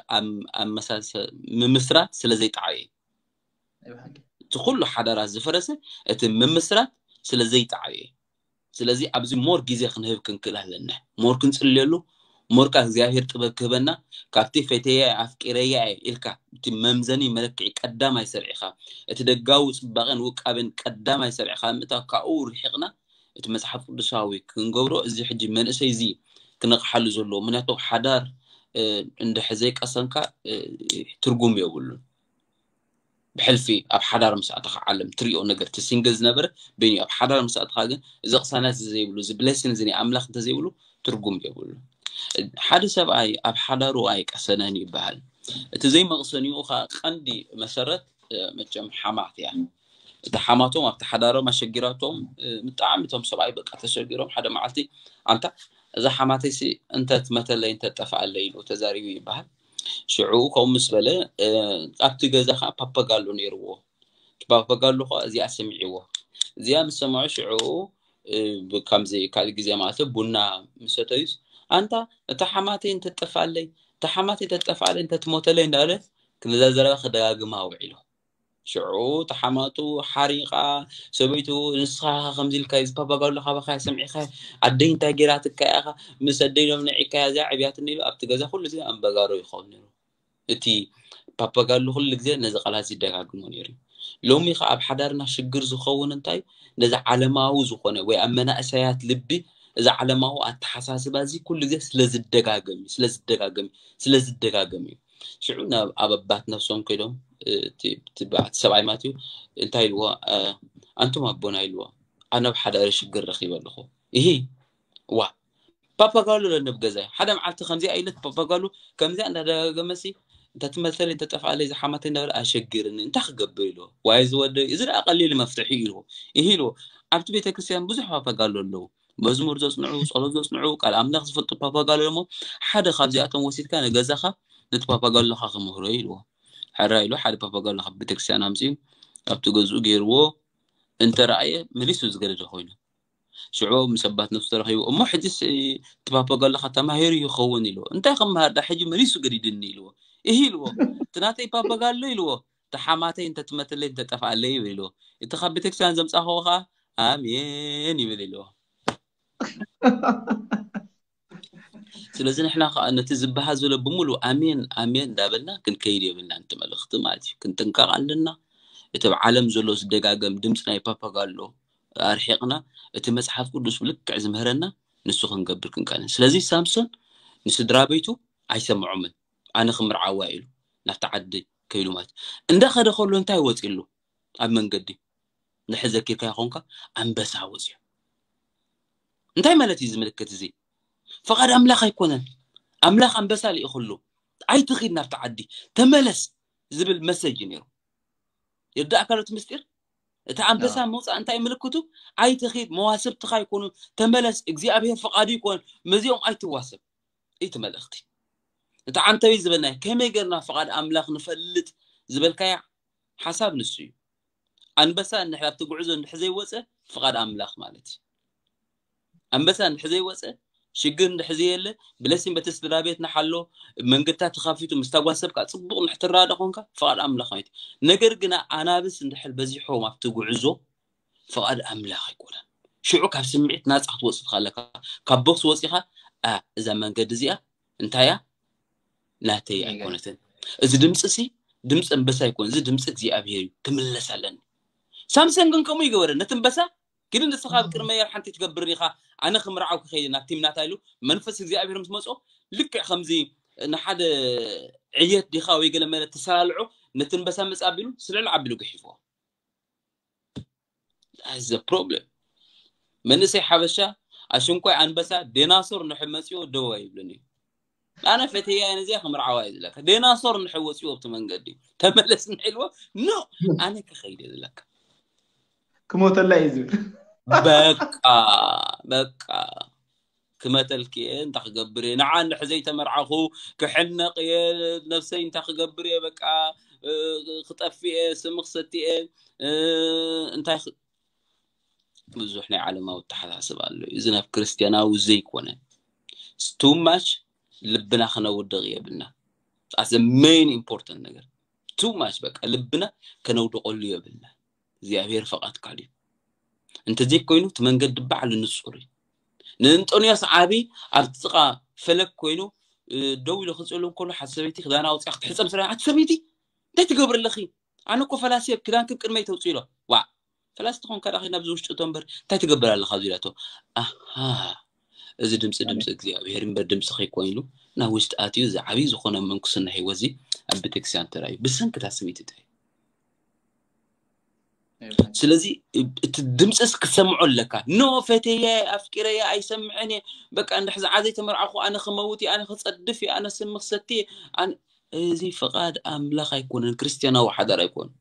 ምምስራት ስለ ዘይጠዓየ እቲ ኩሉ ሓዳራት ዝፈረሰ እቲ ምምስራት ስለ ዘይጠዓየ ስለዚ ኣብዚ ሞር ግዜ ክንህብ ክንክእል ኣለና ሞር ክንፅልየሉ ሞር ካ እግዚኣብሔር ጥበብ ክህበና ካብቲ ፈተየ ኣፍቂረያ ኢልካ እቲ መምዘኒ መለክዒ ቀዳማይ ሰርዒኻ እቲ ደጋዊ ፅባቐን ውቃቤን ቀዳማይ ሰርዒኻ ምእታው ካብኡ ርሒቕና እቲ መፅሓፍ ቅዱሳዊ ክንገብሮ እዚ ሕጂ መንእሰይ እዚ ክነቕሓሉ ዘለዎ ምክንያቱ ሓዳር እንድሕ ዘይቀሰንካ ትርጉም የብሉን ብሕልፊ ኣብ ሓዳር ምስ ኣተኻ ዓለም ትሪኦ ነገር እቲ ሲንግል ዝነበረ በይኑ ኣብ ሓዳር ምስ ኣተኻ ግን እዚ ቅሳነት እዚ ዘይብሉ እዚ ብሌሲን እዚ ናይ ኣምላኽ እንተዘይብሉ ትርጉም የብሉ ሓደ ሰብኣይ ኣብ ሓዳሩ ኣይቀሰነን ይበሃል እቲ ዘይመቕሰኒኡ ኸ ቀንዲ መሰረት መቸም ሓማት እያ እቲ ሓማቶም ኣብቲ ሓዳሮም ኣሸጊራቶም ብጣዕሚ እቶም ሰብኣይ በቃ ተሸጊሮም ሓደ መዓልቲ ኣንታ እዛ ሓማተይሲ እንተ ትመተለይ እንተ ጠፍኣለይ ኢሉ ተዛሪቡ ይበሃል ሽዑ ከምኡ ምስ በለ ኣብቲ ገዛ ከዓ ፓፓጋሎ ነይርዎ እቲ ፓፓጋሎ ከዓ እዚኣ ሰሚዕዎ እዚኣ ምስ ሰምዖ ሽዑ ከምዚ ካልእ ግዜ ማለት ቡና ምሰተዩስ ኣንታ እታ ሓማተይ እንተትጠፍኣለይ እታ ሓማተይ እንተትጠፍኣለይ እንተትሞተለይ እንዳበለ ነዛ ዘረባ ክደጋግማ ውዒሉ ሽዑ ተሓማቱ ሓሪቓ ሰበይቱ ንስኻ ከምዚ ኢልካ እዚ ፓፓጋሎ ካባኻ ሰምዒኻ ኣደይ እንታይ ገይራትካ ኢኻ ምስ ኣደይ ሎም ንዒካ እዚኣ ዕብያትኒ ኢሉ ኣብቲ ገዛ ኩሉ ግዜ ኣንበጋሮ ይኸውን ነይሩ እቲ ፓፓጋሎ ኩሉ ግዜ ነዚ ቃላት ይደጋግሞ ነይሩ ሎሚ ከ ኣብ ሓዳርና ሽግር ዝኸውን እንታይ ነዚ ዓለማዊ ዝኾነ ወይ ኣብ መናእሰያት ልቢ እዚ ዓለማዊ ኣተሓሳስባ እዚ ኩሉ ግዜ ስለዝደጋገም እዩ ስለዝደጋገም እዩ ስለዝደጋገም እዩ ሽዑ ናብ ኣብ ኣባት ነፍሶም ከይዶም ሰብኣይ ማለት እዩ እንታይ ኢልዎ ኣንቱም ኣቦና ኢልዎ ኣነ ኣብ ሓዳሪ ሽግር ረኺበ ኣለኹ ይሂ ዋ ፓፓጋሎ ለነብ ገዛይ ሓደ መዓልቲ ከምዚኣ ኢለት ፓፓጋሎ ከምዚኣ እንዳደጋገመሲ እንተትመልሰለይ እንተጠፍኣለይ ዝሓማተይ እንዳበለ ኣሸግርኒ እንታይ ክገብር ኢልዎ ዋይ ዝወደ እዚ ደኣ ቀሊል መፍትሒ ኢልዎ ይሂ ኢልዎ ኣብቲ ቤተክርስትያን ብዙሕ ፓፓጋሎ ኣለዉ መዝሙር ዘጽንዑ ጸሎት ዘጽንዑ ቃል ኣምላኽ ዝፈልጡ ፓፓጋሎ ደሞ ሓደ ካብዚኣቶም ወሲድካ ንገዛኻ ነቲ ፓፓጋሎኻ ክምህሮ ኢልዎ ሕራ ኢሉ ሓደ ፓፓጋሎ ካብ ቤተክርስትያን ኣምፅኡ ኣብቲ ገዝኡ ገይርዎ እንተረኣየ መሊሱ ዝገደደ ኮይኑ ሽዑ ምስ ኣባት ነፍሱ ተረኺቡ እሞ ሕጂስ እቲ ፓፓጋሎኻ ተማሂሩ ይኸውን ኢልዎ እንታይ ክምሃር ዳ ሕጂ መሊሱ ገዲድኒ ኢልዎ እሂ ኢልዎ እቲ ናተይ ፓፓጋሎ ኢልዎ ተሓማተይ እንተትመተለይ እንተጠፍኣለይ ይብል ኢልዎ እቲ ካብ ቤተክርስትያን ዘምፃኸዎ ከዓ ኣሜን ይብል ኢልዎ ስለዚ ንሕና ከዓ ነቲ ዝበሃል ዘሎ ብምሉእ ኣሜን ኣሜን እንዳበልና ክንከይድ የብልና ነቲ መልእኽቲ ማለት እዩ ክንጥንቀቕ ኣለና እቲ ኣብ ዓለም ዘሎ ዝደጋገም ድምፂ ናይ ፓፓጋሎ ኣርሒቕና፣ እቲ መፅሓፍ ቅዱስ ብልክዕ ዝምህረና ንሱ ክንገብር ክንቀንን። ስለዚ ሳምሶን ንስድራ ቤቱ ኣይሰምዖምን። ኣነ ክምርዓዋ ኢሉ ናብቲ ዓዲ ከይዱ ማለት። እንዳኸደ ከሎ እንታይ ወፂሉ? ኣብ መንገዲ ንሕዘኪርካ ይኾንካ ኣንበሳ ወፂኡ። እንታይ ማለት እዩ ዝምልክት እዚ? ፍቓድ ኣምላኽ ኣይኮነን። ኣምላኽ ኣንበሳ ልኢኹሉ፣ ኣይትኺድ ናብቲ ዓዲ፣ ተመለስ ዝብል መሰጅ ነይሩ። ይርዳእካ ዶ እቲ ምስጢር? እቲ ኣንበሳ ምውፃእ እንታይ ምልክቱ? ኣይትኺድ፣ መዋስብትኻ ይኮኑ፣ ተመለስ፣ እግዚኣብሔር ፍቓዱ ይኮን፣ መዚኦም ኣይትዋሰብ። እቲ መልእኽቲ እቲ ዓንተዊ ዝበልናዮ ከመይ ገርና ፍቓድ ኣምላኽ ንፈልጥ ዝበልካያ ሓሳብ ንሱ እዩ። ኣንበሳ እንድሕር ኣብቲ ጉዕዞ እንድሕር ዘይወፀ ፍቓድ ኣምላኽ ማለት እዩ። ኣንበሳ እንድሕር ዘይወፀ ሽግር እንድሕር ዘየለ ብለሲን በቲ ስድራ ቤት ንሓሎ መንገድታት ተኻፊቱ ምስታ ጓል ሰብካ ፅቡቕ እንድሕር ትረዳዳ ኮንካ ፍቓድ ኣምላኽ ማለት እዩ። ነገር ግና ኣናብስ እንድሕር በዚሖም ኣብቲ ጉዕዞ ፍቓድ ኣምላኽ ኣይኮነን። ሽዑ ካብ ስምዒት ናፃ ክትወፅእ ትኽእል ኣለካ። ካብ ቦክስ ወፂኻ፣ "ኣ፣ እዛ መንገዲ እዚኣ እንታይ እያ? ናተይ ኣይኮነትን። እዚ ድምፂ ሲ ድምፂ ኣንበሳ ኣይኮን፣ እዚ ድምፂ እግዚኣብሔር እዩ፣ ክምለስ ኣለኒ።" ሳምሰን ግን ከምኡ ይገበረ። ነቲ ኣንበሳ፣ "ግዲ ንስኻ ኣብ ቅድመይ ሓንቲ ትገብር ኢኻ፣ ኣነ ክምርዓው ክኸይድ ናብ ቲምናታ" ኢሉ መንፈስ እግዚኣብሔር ምስ መጾ፣ ልክዕ ከምዚ ንሓደ ዕየት ዲኻ ወይ ገለ መለ ትሰላልዖ፣ ነቲ ኣንበሳ መጽ ኣቢሉ ስለል ኣቢሉ ገሒፍዎ። That's the problem። መንእሰይ ሓበሻ ኣሽንኳይ ኣንበሳ ዴናሶር ንሕ መጽዮ ደው ኣይብልን እዩ። ኣነ ፈትያ እዚኣ ክምርዓዋ እዩ ዝለካ። ዴናሶር ንሕ ወጽዮ ኣብቲ መንገዲ ተመለስ ንሕ ኢልዎ፣ ኖ፣ ኣነ ክኸይድ እየ ዝለካ። ክሞተላ እዩ ዝብል። በቃ፣ በቃ። ክመተልክ እየ፣ እንታይ ክገብር እየ? ንዓ እንድሕር ዘይተመርዓኹ ክሕነቕ እየ፣ ነብሰይ እንታይ ክገብር እየ? በቃ፣ እ፣ ክጠፍእ እየ፣ ስም ክሰቲ እየ፣ እ፣ እንታይ ክ-፣ ብዙሕ ናይ ዓለማዊ ኣተሓሳስባ ኣሎ። እዚ ናብ ክርስትያናዊ ዘይኮነ። It's too much ልብና ክነውድቕ የብልና። That's the main important ነገር። Too much በቃ ልብና ከነውድቐሉ የብልና። እግዚኣብሔር ፈቓድ ካልእ እዩ። እንተዘይኮይኑ እቲ መንገዲ ባዕሉ ንጹር እዩ። ንእንጦንዮስ ዓቢ ኣብ ጥቓ ፈለግ ኮይኑ፣ እ፣ ደው ኢሉ ክጽሉ እንከሎ ሓንቲ ሰበይቲ ክዳና ኣውጺኣ ክትሕጸብ ስለ፣ "ኣቲ ሰበይቲ፣ እንታይ ትገብሪ ኣለኺ? ኣነ እኮ ፈላሲ እየ፣ ክዳንኪ ቅድመይ ተውጽኢ" ኢሎ። ዋዕ፣ ፈላሲ ተኾንካ ደኣ ኸይድ ናብዚ ውሽጢ እቶ እምበር፣ እንታይ ትገብር ኣለኻ? ኣብዚ ኢላቶ። ኣሃ፣ እዚ ድምፂ ድምፂ እግዚኣብሔር እምበር ድምፂ ከይኮይኑ ናብ ውሽጢ ኣትዩ፣ እዚ ዓብዪ ዝኾነ ምንኩስና ህይወት እዚ ኣብ ቤተክርስትያን ተራእዩ። ብሰንክታ ስምዒት እንታይ እዩ? ስለዚ እቲ ድምፅስ ክትሰምዖ ኣለካ። ኖ፣ ፈትየ፣ ኣፍቂረየ፣ ኣይሰምዕን እየ። በቃ፣ እንድሕር ዝዓ ዘይተመርዓኹ ኣነ ክመውት እየ፣ ኣነ ክፀድፍ እየ፣ ኣነ ስሚ ክሰቲ እየ። ኣነ፣ እዚ ፍቓድ ኣምላኽ ኣይኮነን፣ ክርስትያናዊ ሓዳር ኣይኮነን።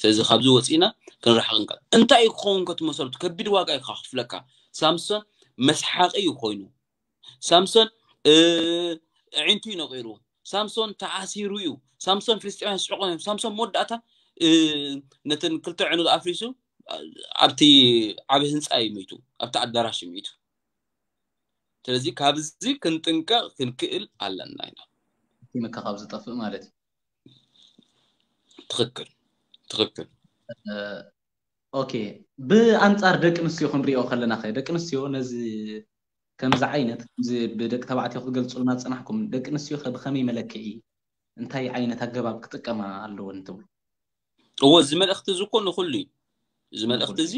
ስለዚ ካብዚ ወፂና ክንረሓቕ ንካል። እንታይ እዩ ክኸውን ከትመሰሉ? ከቢድ ዋጋ እዩ ከኽፍለካ። ሳምሶን መስሓቂ እዩ ኮይኑ። ሳምሶን፣ እ፣ ኣዒንቱ እዩ ነቒሩ። ሳምሶን ተኣሲሩ እዩ። ሳምሶን ፍልስጤማውያን ስሕቆም እዮም። ሳምሶን መወዳእታ፣ እ፣ ነተን ክልተ ኣዕኑድ ኣፍሪሱ፣ እ፣ ኣብቲ ዓቢ ህንጻ እዩ ሚቱ። ኣብቲ ኣዳራሽ እዩ ሚቱ። ስለዚ ካብዚ ክንጥንቀቕ ክንክእል ኣለና ኢና። ቲምካ ካብ ዝጠፍእ ማለት እዩ። ትኽክል፣ ትኽክል። እ፣ ኦኬ፣ ብኣንጻር ደቂ ኣንስትዮ ክንሪኦ ከለና ኸ፣ ደቂ ኣንስትዮ ነዚ ከምዚ ዓይነት፣ ከምዚ ብደቂ ተባዕትዮ ክትገልጹልና ዝጸናሕኩም፣ ደቂ ኣንስትዮ ኸ ብኸመይ መለክዒ፣ እንታይ ዓይነት ኣገባብ ክጥቀማ ኣለወን ትብሉ? እዎ፣ እዚ መልእኽቲ እዚ እኮ ንኹሉ እዩ። እዚ መልእኽቲ ንኹሉ። እዚ፣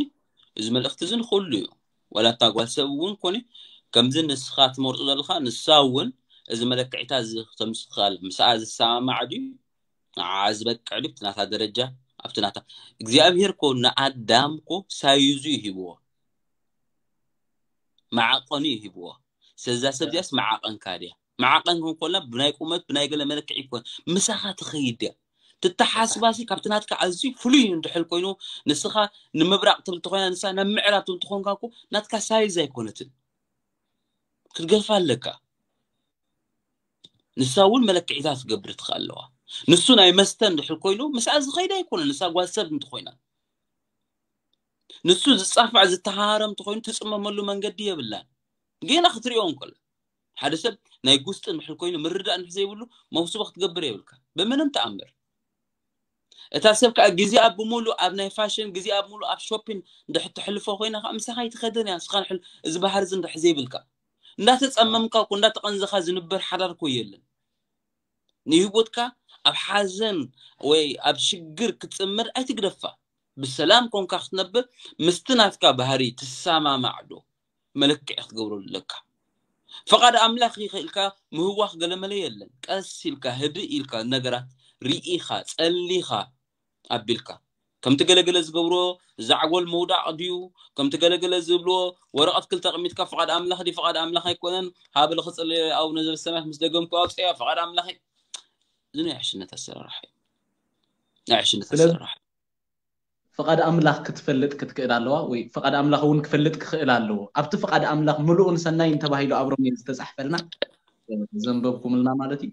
እዚ መልእኽቲ እዚ ንኹሉ እዩ። ዋላ እታ ጓል ሰብ እውን ኮነ፣ ከምዚ ንስኻ ትመርጾ ዘለኻ፣ ንሳ እውን እዚ መለክዒታ እዚ ክተምጽእ ትኽእል። ምስኣ ዝሰማማዕ ድዩ? ንዓ ዝበቅዕ ድዩ? ኣብቲ ናታ ደረጃ፣ ኣብቲ ናታ። እግዚኣብሔር እኮ ንኣዳም እኮ ሳይዙ እዩ ሂብዎ። መዓቐኑ እዩ ሂብዎ። ስለዛ ሰብ እዚኣስ መዓቐንካ ድያ? መዓቐን ክንኮልና ብናይ ቁመት፣ ብናይ ገለ መለክዒ ይኮን። ምሳኻ ትኸይድ ድያ? ትተሓስባሲ ካብቲ ናትካ ኣዝዩ ፍሉይ እንድሕል ኮይኑ፣ ንስኻ ንምብራቕ ትብል ተኾይና፣ ንሳ ናብ ምዕራብ ትብል ተኾንካ እኮ ናትካ ሳይዝ ኣይኮነትን። ክትገድፋ ኣለካ። ንሳ እውን መለክዒታት ክትገብር ትኽእል ኣለዋ። ንሱ ናይ መስተ እንድሕር ኮይኑ፣ ምስኣ ዝኸይድ ኣይኮነን፣ ንሳ ጓል ሰብ እንተኾይና። ንሱ ዝጻፋዕ ዝተሃረም እንተኾይኑ፣ ትጽመመሉ መንገዲ የብላን። ጌና ክትሪኦ እንከሎ፣ ሓደ ሰብ ናይ ጉስጢ እንድሕር ኮይኑ፣ ምርዳእ እንድሕር ዘይብሉ፣ መውስቦ ክትገብር የብልካ። ብምንም ተኣምር። እታ ሰብ ከኣ ግዜኣ ብምሉእ ኣብ ናይ ፋሽን፣ ግዜኣ ብምሉእ ኣብ ሾፒን እንድሕር ተሕልፎ ኮይና ከኣ፣ ምሳኻ ኣይትኸድን እያ። ንስኻ ንሕል-፣ እዚ ባህሪ እዚ እንድሕር ዘይብልካ፣ እንዳተጸመምካ እኮ፣ እንዳተቐንዘኻ ዝንበር ሓዳር እኮ የለን። ንህይወትካ ኣብ ሓዘን ወይ ኣብ ሽግር ክትጽምር ኣይትግደፋ። ብሰላም ኮንካ ክትነብር ምስቲ ናትካ ባህሪ ትሰማማዕ ዶ መለክዒ ክትገብረሉ ኣለካ። ፍቓድ ኣምላኽ ይኽእልካ ምህዋኽ ገለመለ የለን። ቀስ ኢልካ ህድእ ኢልካ ነገራት ርኢኻ ጸሊኻ ኣቢልካ ከምቲ ገለገለ ዝገብሮ ዛዕጎል ምውዳቕ ድዩ ከምቲ ገለገለ ዝብልዎ ወረቐት ክልተ ኣቕሚጥካ ፍቓድ ኣምላኽ ድዩ ፍቓድ ኣምላኽ ኣይኮነን ሃበለ ክጽልዮ ኣቡነ ዘበሰማያት ምስ ደገምኩ ኣውፅያ ፍቓድ ኣምላኽ እዩ። እዚ ናይ ዕሽነት ኣሰራርሓ እዩ። ናይ ዕሽነት ስለዚ- ኣሰራርሓ እዩ። ፍቓድ ኣምላኽ ክትፈልጥ ክትክእል ኣለዋ ወይ ፍቓድ ኣምላኽ እውን ክፈልጥ ክኽእል ኣለዎ። ኣብቲ ፍቓድ ኣምላኽ ምሉእን ሰናይን ተባሂሉ ኣብ ሮሜ ዝተጻሕፈልና ዘንበብኩምልና ማለት እዩ።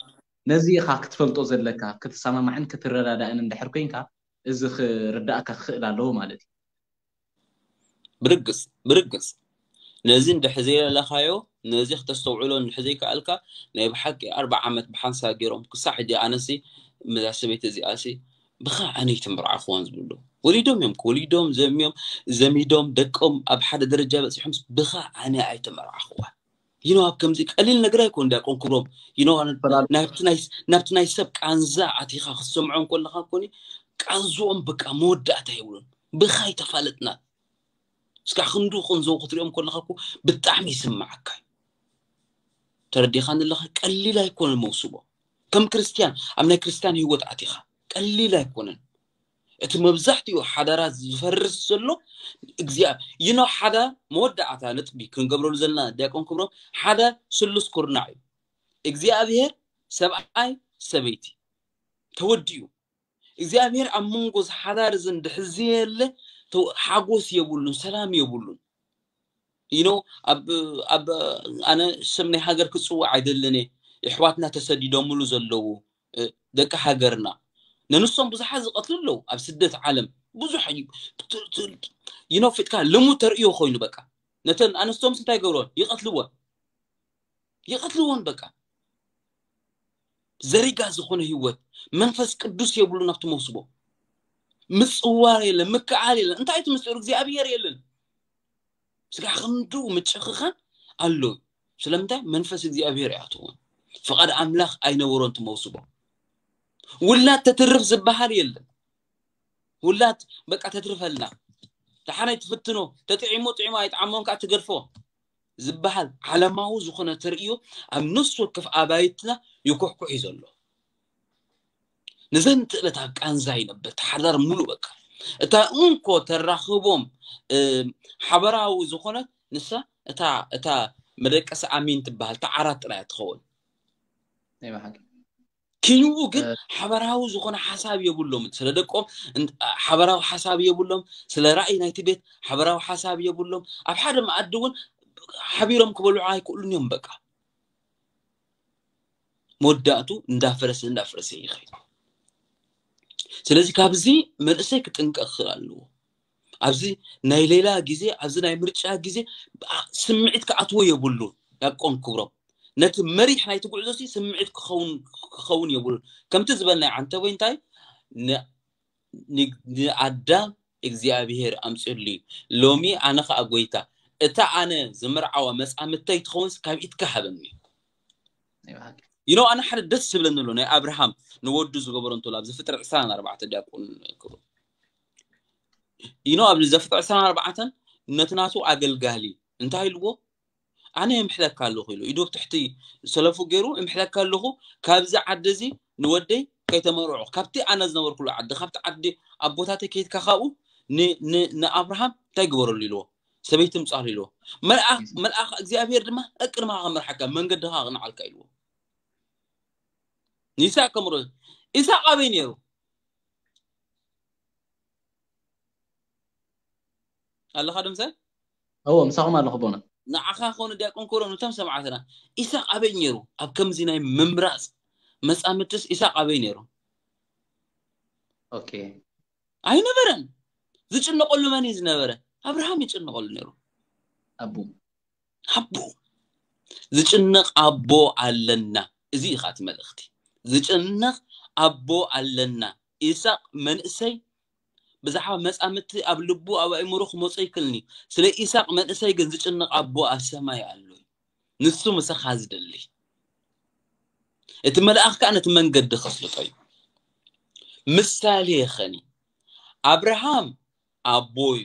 ነዚ ኢኻ ክትፈልጦ ዘለካ ክትሰማማዕን ክትረዳዳእን እንድሕር ኮንካ እዚ ክርዳእካ ክኽእል ኣለዎ ማለት እዩ። ብርግጽ ብርግጽ ነዚ እንድሕር ዘይለለኻዮ ነዚ ክተስተውዕሎ እንድሕር ዘይከኣልካ ናይ ብሓቂ ኣርባዓ ዓመት ብሓንሳብ ገይሮም ክሳዕ ሕጂ ኣነሲ መዛ ሰበይቲ እዚኣሲ ብኻ ኣነ ኣይተመርዓኽዋን ዝብሉ ወሊዶም እዮም ወሊዶም ዘሚዮም ዘሚዶም ደቆም ኣብ ሓደ ደረጃ በፂሖም ብኻ ኣነ ኣይተመርዓኽዋን ይኖ ኣብ ከምዚ ቀሊል ነገር ኣይኮን ዲያቆን ክብሮም ይኖ ናብቲ ናይ ሰብ ቃንዛ ኣቲኻ ክትሰምዖም ከለኻ ኮኒ ቃንዝኦም በቃ መወዳእታ የብሉን ብኻ ኣይተፋለጥና እስካ ክንዱ ቅንዘው ክትሪኦም ከለካ እኮ ብጣዕሚ ይስምዓካ እዩ። ተረዲኻኒ ኣለካ ቀሊል ኣይኮነን መውስቦ ከም ክርስትያን ኣብ ናይ ክርስትያን ህይወት ኣቲኻ ቀሊል ኣይኮነን እቲ መብዛሕትኡ ሓዳራት ዝፈርስ ዘሎ እግዚኣብ ይኖ ሓዳር መወዳእታ ነጥቢ ክንገብረሉ ዘለና ዲያቆን ክብሮም ሓዳር ስሉስ ኩርናዕ እዩ እግዚኣብሔር ሰብኣይ ሰበይቲ ተወዲኡ እግዚኣብሔር ኣብ መንጎ ዝሓዳር እዚ እንድሕር ዘየለ ሓጎስ የብሉን ሰላም የብሉን you know ኣብ ኣብ ኣነ ስም ናይ ሃገር ክፅውዕ ኣይደልን እየ የሕዋትና ተሰዲዶምሉ ዘለዉ ደቂ ሃገርና ነንሶም ብዙሓት ዝቐትሉ ኣለዉ ኣብ ስደት ዓለም ብዙሕ you know ፍጥካ ልሙድ ተርእዮ ኮይኑ በቃ ነተን ኣንስቶም እንታይ ገብሮን ይቐትልወን ይቐትልዎን በቃ ዘሪጋ ዝኾነ ህይወት መንፈስ ቅዱስ የብሉን ኣብቲ መውስቦ ምፅዋር የለን ምክዓል የለን እንታይ እቲ ምስጢሩ እግዚኣብሔር የለን ስጋ ክንዱ ምጭኽኻን ኣሎ ስለምንታይ መንፈስ እግዚኣብሔር ይኣትዎም ፍቓድ ኣምላኽ ኣይነበሮን ትመውስቦ ውላድ ተትርፍ ዝበሃል የለን ውላድ በቃ ተትርፈልና ደሓናይ ትፍትኖ ተጥዒሞ ጥዒሞ ኣይጥዓሞን ከዓ ትገድፎ ዝበሃል ዓለማዊ ዝኾነ ተርእዮ ኣብ ነፍሲ ወከፍ ኣባይትና ይኩሕኩሕ እዩ ዘሎ ንዘን ትእለት ኣብ ቃንዛ ይነብር ተሓዳር ሙሉ በቃ እታ እንኮ ተራኽቦም ሓበራዊ ዝኾነት ንሳ እታ እታ መደቀሲ ኣሚን ትበሃል ተዓራት ጥራያ ትኸውን ኪንኡ ግን ሓበራዊ ዝኾነ ሓሳብ የብሎም ስለ ደቆም ሓበራዊ ሓሳብ የብሎም ስለ ራእይ ናይቲ ቤት ሓበራዊ ሓሳብ የብሎም ኣብ ሓደ መኣዲ እውን ሓቢሮም ክበልዑ ኣይክእሉን እዮም በቃ መወዳእቱ እንዳፈረሰ እንዳፈረሰ ይኸይድ ስለዚ ካብዚ መንእሰይ ክጥንቀቅ ክኽእል ኣለዎ ኣብዚ ናይ ሌላ ግዜ ኣብዚ ናይ ምርጫ ግዜ ስምዒት ክኣትዎ የብሉ ያቆን ክብሮም ነቲ መሪሕ ናይቲ ጉዕዞ ሲ ስምዒት ክኸውን ክኸውን የብሉ ከምቲ ዝበልናይ ዓንተ ወይ እንታይ ንኣዳም እግዚኣብሄር ኣምፅሉ እዩ ሎሚ ኣነ ከዓ ጎይታ እታ ኣነ ዝምርዓዋ መፃምተይ ትኸውን ካብ ኢድካ ሃበኒ you know ኣነ ሓደ ደስ ዝብለኒ ኣሎ ናይ ኣብርሃም ንወዱ ዝገበሮ እንተሎ ኣብዚ ፍጥረት ዕስራን ኣርባዕተ ዲያቆን ክብሩ you know ኣብዚ ዘፍጥረት ዕስራን ኣርባዕተን ነቲ ናቱ ኣገልጋሊ እንታይ ኢልዎ ኣነ እምሕለካ ኣለኹ ኢሉ ኢዱ ኣብ ትሕቲ ሰለፉ ገይሩ እምሕለካ ኣለኹ ካብዚ ዓዲ እዚ ንወደይ ከይተመርዑ ካብቲ ኣነ ዝነበርኩሉ ዓዲ ካብቲ ዓዲ ኣቦታተይ ከይድካ ካብኡ ንኣብርሃም እንታይ ግበረሉ ኢልዎ ሰበይቲ ምፃሉ ኢልዎ መልኣኽ መልኣኽ እግዚኣብሔር ድማ እቅድማ ከመርሓካ መንገድኻ ኣቕንዓልካ ኢልዎ ንይስሐቅ ከምሮ ኢሳቅ ኣበይ ነይሩ ኣለኻ ድምሰ እዎ ምሳኹም ኣለኹ ቦነ ንዓኻ ኮነ ዲያቆን ኮሎ ነቶም ሰማዕትና ኢሳቅ ኣበይ ነይሩ ኣብ ከምዚ ናይ ምምራፅ መፃምድትስ ኢሳቅ ኣበይ ነይሩ ኦኬ ኣይነበረን ዝጭነቀሉ መን እዩ ዝነበረ ኣብርሃም ይጭነቀሉ ነይሩ ኣቡ ኣቦ ዝጭነቕ ኣቦ ኣለና እዚ ኢኻ እቲ መልእኽቲ ዝጭነቕ ኣቦ ኣለና ኢሳቅ መንእሰይ ብዛዕባ መጻምድቲ ኣብ ልቡ ኣብ ኣእምሮ ክመጾ ይክልኒ ስለ ኢሳቅ መንእሰይ ግን ዝጭነቕ ኣቦ ኣብ ሰማይ ኣሎ ንሱ ምሳኻ ዝደሊ እቲ መልኣኽ ከዓ ነቲ መንገዲ ከስልጦ እዩ። ምሳሌ ኸኒ ኣብርሃም ኣቦ እዩ፣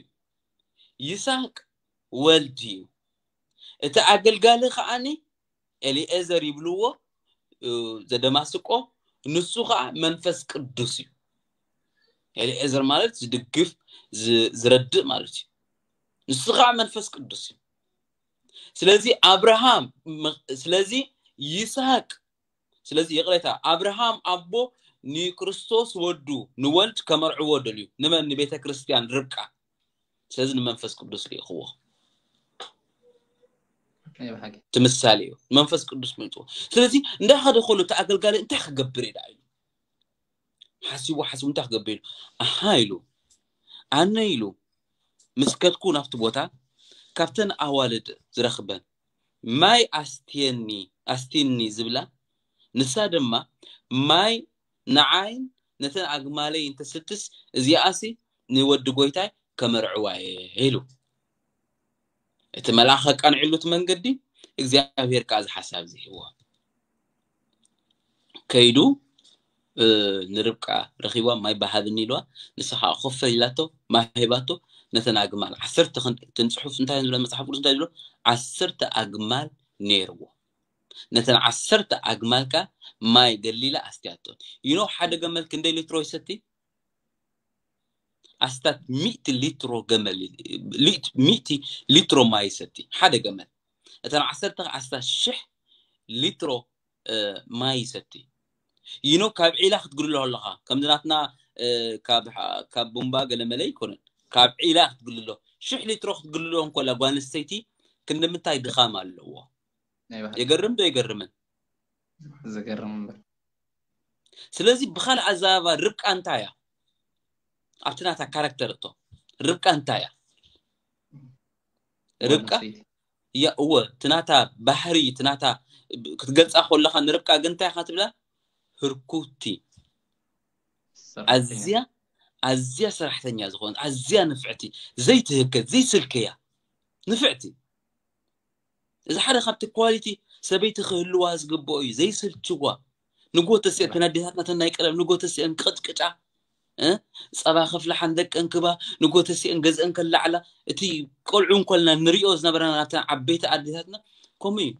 ይስሐቅ ወልድ እዩ። እቲ ኣገልጋሊ ከዓኒ ኤሊኤዘር ይብልዎ፣ እ፣ ዘደማስቆ፣ ንሱ ከዓ መንፈስ ቅዱስ እዩ። ኤሊኤዘር ማለት ዝድግፍ፣ ዝ-፣ ዝረድእ ማለት እዩ። ንሱ ከዓ መንፈስ ቅዱስ እዩ። ስለዚ ኣብርሃም መ-፣ ስለዚ ይስሐቅ፣ ስለዚ ይቕሬታ፣ ኣብርሃም ኣቦ ንክርስቶስ ወዱ ንወልድ ከመርዕዎ ደልዩ። ንመን? ንቤተ ክርስቲያን ርብቃ። ስለዚ ንመንፈስ ቅዱስ ልኢኽዎ። ናይ ብሓቂ እቲ ምሳሌ እዩ። መንፈስ ቅዱስ መይጥዎ። ስለዚ እንዳኸደ ከሎ እቲ ኣገልጋሊ እንታይ ክገብር እየ ደኣ ኢሉ ሓሲቡ ሓሲቡ እንታይ ክገብር ኢሉ ኣሃ ኢሉ ኣነ ኢሉ ምስ ከድኩ ናብቲ ቦታ ካብተን ኣዋልድ ዝረኽበን ማይ ኣስትየኒ ኣስትኒ ዝብላ ንሳ ድማ ማይ ንዓይን ነተን ኣግማለይ እንተስትስ እዚኣሲ ንወዲ ጎይታይ ከመርዕዋ እየ ኢሉ። እቲ መልኣኽ ኣቃንዕሉ እቲ መንገዲ እግዚኣብሔር ከዓ እዚ ሓሳብ እዚ ሂብዎ። ከይዱ እ፣ ንርብቃ ረኺባ ማይ በሃብኒ ኢልዋ። ንሳ ከዓ ኮፍ ኢላቶ ማይ ሂባቶ። ነተን ኣግማል ዓሰርተ ክንድ እትን ፅሑፍ እንታይ ዝብለ መፅሓፍ ቅዱስ እንታይ ዝብሎ ዓሰርተ ኣግማል ነይርዎ። ነተን ዓሰርተ ኣግማል ከዓ ማይ ገሊላ ኣስትያቶ። ይኖ ሓደ ገመል ክንደይ ሊትሮ ይሰቲ? ኣስታት ሚእቲ ሊትሮ ገመል ሚእቲ ሊትሮ ማይ ይሰቲ ሓደ ገመል። እተን ዓሰርተ ኣስታት ሽሕ ሊትሮ እ፣ ማይ ይሰቲ። ይኖ ካብ ዒላ ክትግልሎ ኣለኻ ከምዚ ናትና እ፣ ካብ ካብ ቡምባ ገለመለ ይኮነን። ካብ ዒላ ክትግልሎ ሽሕ ሊትሮ ክትግልሎ እንኮላ ጓል ኣንስተይቲ ክንዲ ምንታይ ድኻም ኣለዎ። ናይ ብሓቂ የገርም ዶ የገርምን? ዘገርም እምበር ስለዚ ብኻልእ ኣዛባ ርብቃ እንታይ እያ? ኣብቲ ናታ ካራክተር እቶ ርብቃ እንታይ እያ? ርብቃ ጓል ኣንስተይቲ። ያ እወ እቲ ናታ ባህሪ እቲ ናታ ክትገልፃ ከለካ ንርብቃ ግን እንታይ ኢኻ ትብላ? ህርኩቲ ሰራሕተኛ። ኣዝያ ኣዝያ ሰራሕተኛ ዝኾነት ኣዝያ ንፍዕቲ ዘይትህከት ዘይስልክያ ንፍዕቲ እዚ ሓደ ካብቲ ኳሊቲ ሰበይቲ ክህልዋ ዝግብኦ እዩ ዘይስልችዋ ንጎ ተሲአን ተን ኣዴታትና ተን ናይ ቀደም ንጎ ተሲአን ቅጥቅጫ እ? ፀባ ከፍልሓን ደቀን ክባ ንጎ ተሲአን ገዝአን ከላዕላ እቲ ቆልዑ እንኮልና ንሪኦ ዝነበረና ናብተን ዓበይቲ ኣዴታትና ከምኡ እዩ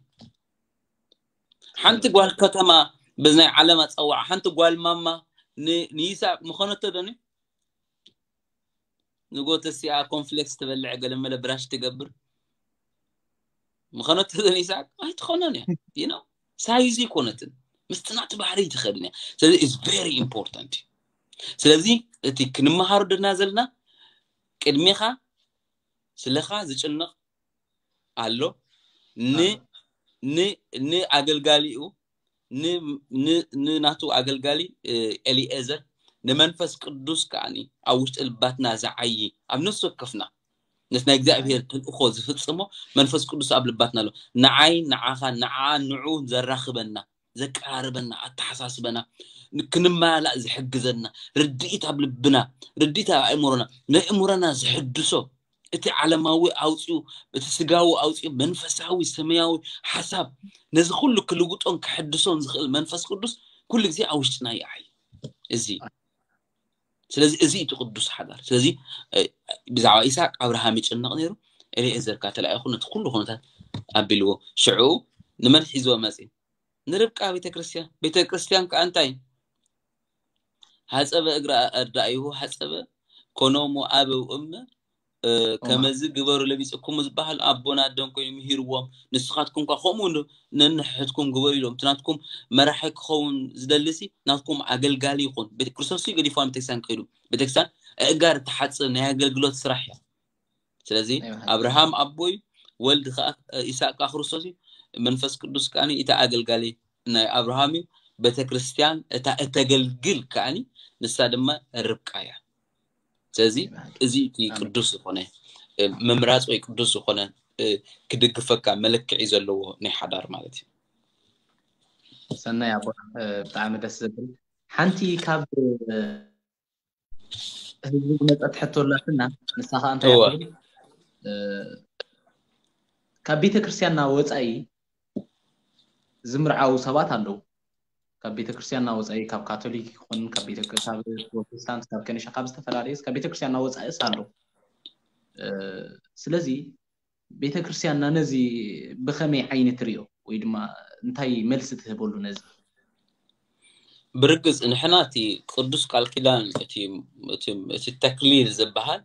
ሓንቲ ጓል ከተማ በዚ ናይ ዓለም ኣፀዋዓ ሓንቲ ጓል ማማ ን- ንይስሐቅ ምኾነቶ ዶኒ ንጎ ተሲኣ ኮንፍሌክስ ትበልዕ ገለ መለ ብራሽ ትገብር ምኾነቶ ዶኒ ይስሐቅ ኣይትኾነን እያ you know ሳይዙ ይኮነትን ምስቲ ናቲ ባህሪ ትኸድን እያ ስለዚ is very important ስለዚ እቲ ክንመሃሮ ደና ዘለና ቅድሜኻ ስለኻ ዝጭነቕ ኣሎ ን ን ንኣገልጋሊኡ ን- ን- ንናቱ ኣገልጋሊ እ፣ ኤሊኤዘር ንመንፈስ ቅዱስ ከዓኒ ኣብ ውሽጢ ልባትና ዝዓዪ ኣብ ነፍሲ ወከፍና ነቲ ናይ እግዚኣብሔር ተልእኮ ዝፍጽሞ መንፈስ ቅዱስ ኣብ ልባትና ኣሎ ንዓይ ንዓኻ ንዓ ንዑ ዘራኽበና ዘቀራርበና ኣተሓሳስበና ክንመላእ ዝሕግዘና ርድኢት ኣብ ልብና ርድኢት ኣብ ኣእምሮና ነእምሮና ዝሕድሶ እቲ ዓለማዊ ኣውፅኡ እቲ ስጋዊ ኣውፅኡ መንፈሳዊ ሰማያዊ ሓሳብ ነዚ ኩሉ ክልውጦን ክሕድሶን ዝኽእል መንፈስ ቅዱስ ኩሉ ግዜ ኣብ ውሽጥና ይዓይ እዚ ስለዚ እዚ እቲ ቅዱስ ሓዳር ስለዚ ብዛዕባ ኢሳቅ ኣብርሃም ይጭነቕ ነይሩ ኤሌኤዘር ካ ተላኢኹ ነቲ ኩሉ ኩነታት ኣቢልዎ ሽዑ ንመን ሒዝዎ መፂ ንርብቃ ቤተክርስትያን ቤተክርስትያን ከዓ እንታይ ሓፀበ እግረ ኣርዳኢሁ ሓፀበ ኮኖሙ ኣበው እመ ከመዚ ግበሩ ለቢፅኩሙ ዝበሃል ኣቦና ኣደን ኮይኑ ምሂርዎም ንስኻትኩም ኳ ከምኡ ነንሕሕትኩም ግበሩ ኢሎም እቲ ናትኩም መራሒ ክኸውን ዝደልሲ ናትኩም ኣገልጋሊ ይኹን ቤተክርስቶስ ገዲፍዋ ቤተክርስትያን ክኸዱ ቤተክርስትያን እእጋር እትሓፅብ ናይ ኣገልግሎት ስራሕ እያ ስለዚ ኣብርሃም ኣቦይ ወልድ ከዓ ኢሳቅ ከዓ ክርስቶስ እዩ መንፈስ ቅዱስ ከዓ እቲ ኣገልጋሊ ናይ ኣብርሃም እዩ ቤተክርስትያን እታ እተገልግል ከዓ ንሳ ድማ ርብቃ እያ ስለዚ እዚ እቲ ቅዱስ ዝኾነ ምምራፅ ወይ ቅዱስ ዝኾነ ክድግፈካ መለክዒ ዘለዎ ናይ ሓዳር ማለት እዩ ሰናይ ኣቦ ብጣዕሚ ደስ ዘብል ሓንቲ ካብ ህዝቢ ዝመፀት ሕቶ ኣላትና ንሳ ከዓ እንታይ ካብ ቤተ ክርስቲያንና ወፃኢ ዝምርዓው ሰባት ኣለዉ ካብ ቤተክርስትያንና ወፃኢ፣ ካብ ካቶሊክ ይኹን ካብ ቤተ ካብ ፕሮቴስታንት፣ ካብ ከኒሻ፣ ካብ ዝተፈላለየስ ካብ ቤተክርስትያንና ወፃኢስ ኣሎ። ስለዚ ቤተክርስትያንና ነዚ ብኸመይ ዓይኒ ትሪኦ ወይ ድማ እንታይ መልሲ ትህበሉ ነዚ? ብርግፅ ንሕና እቲ ቅዱስ ቃል ኪዳን እቲ ተክሊል ዝበሃል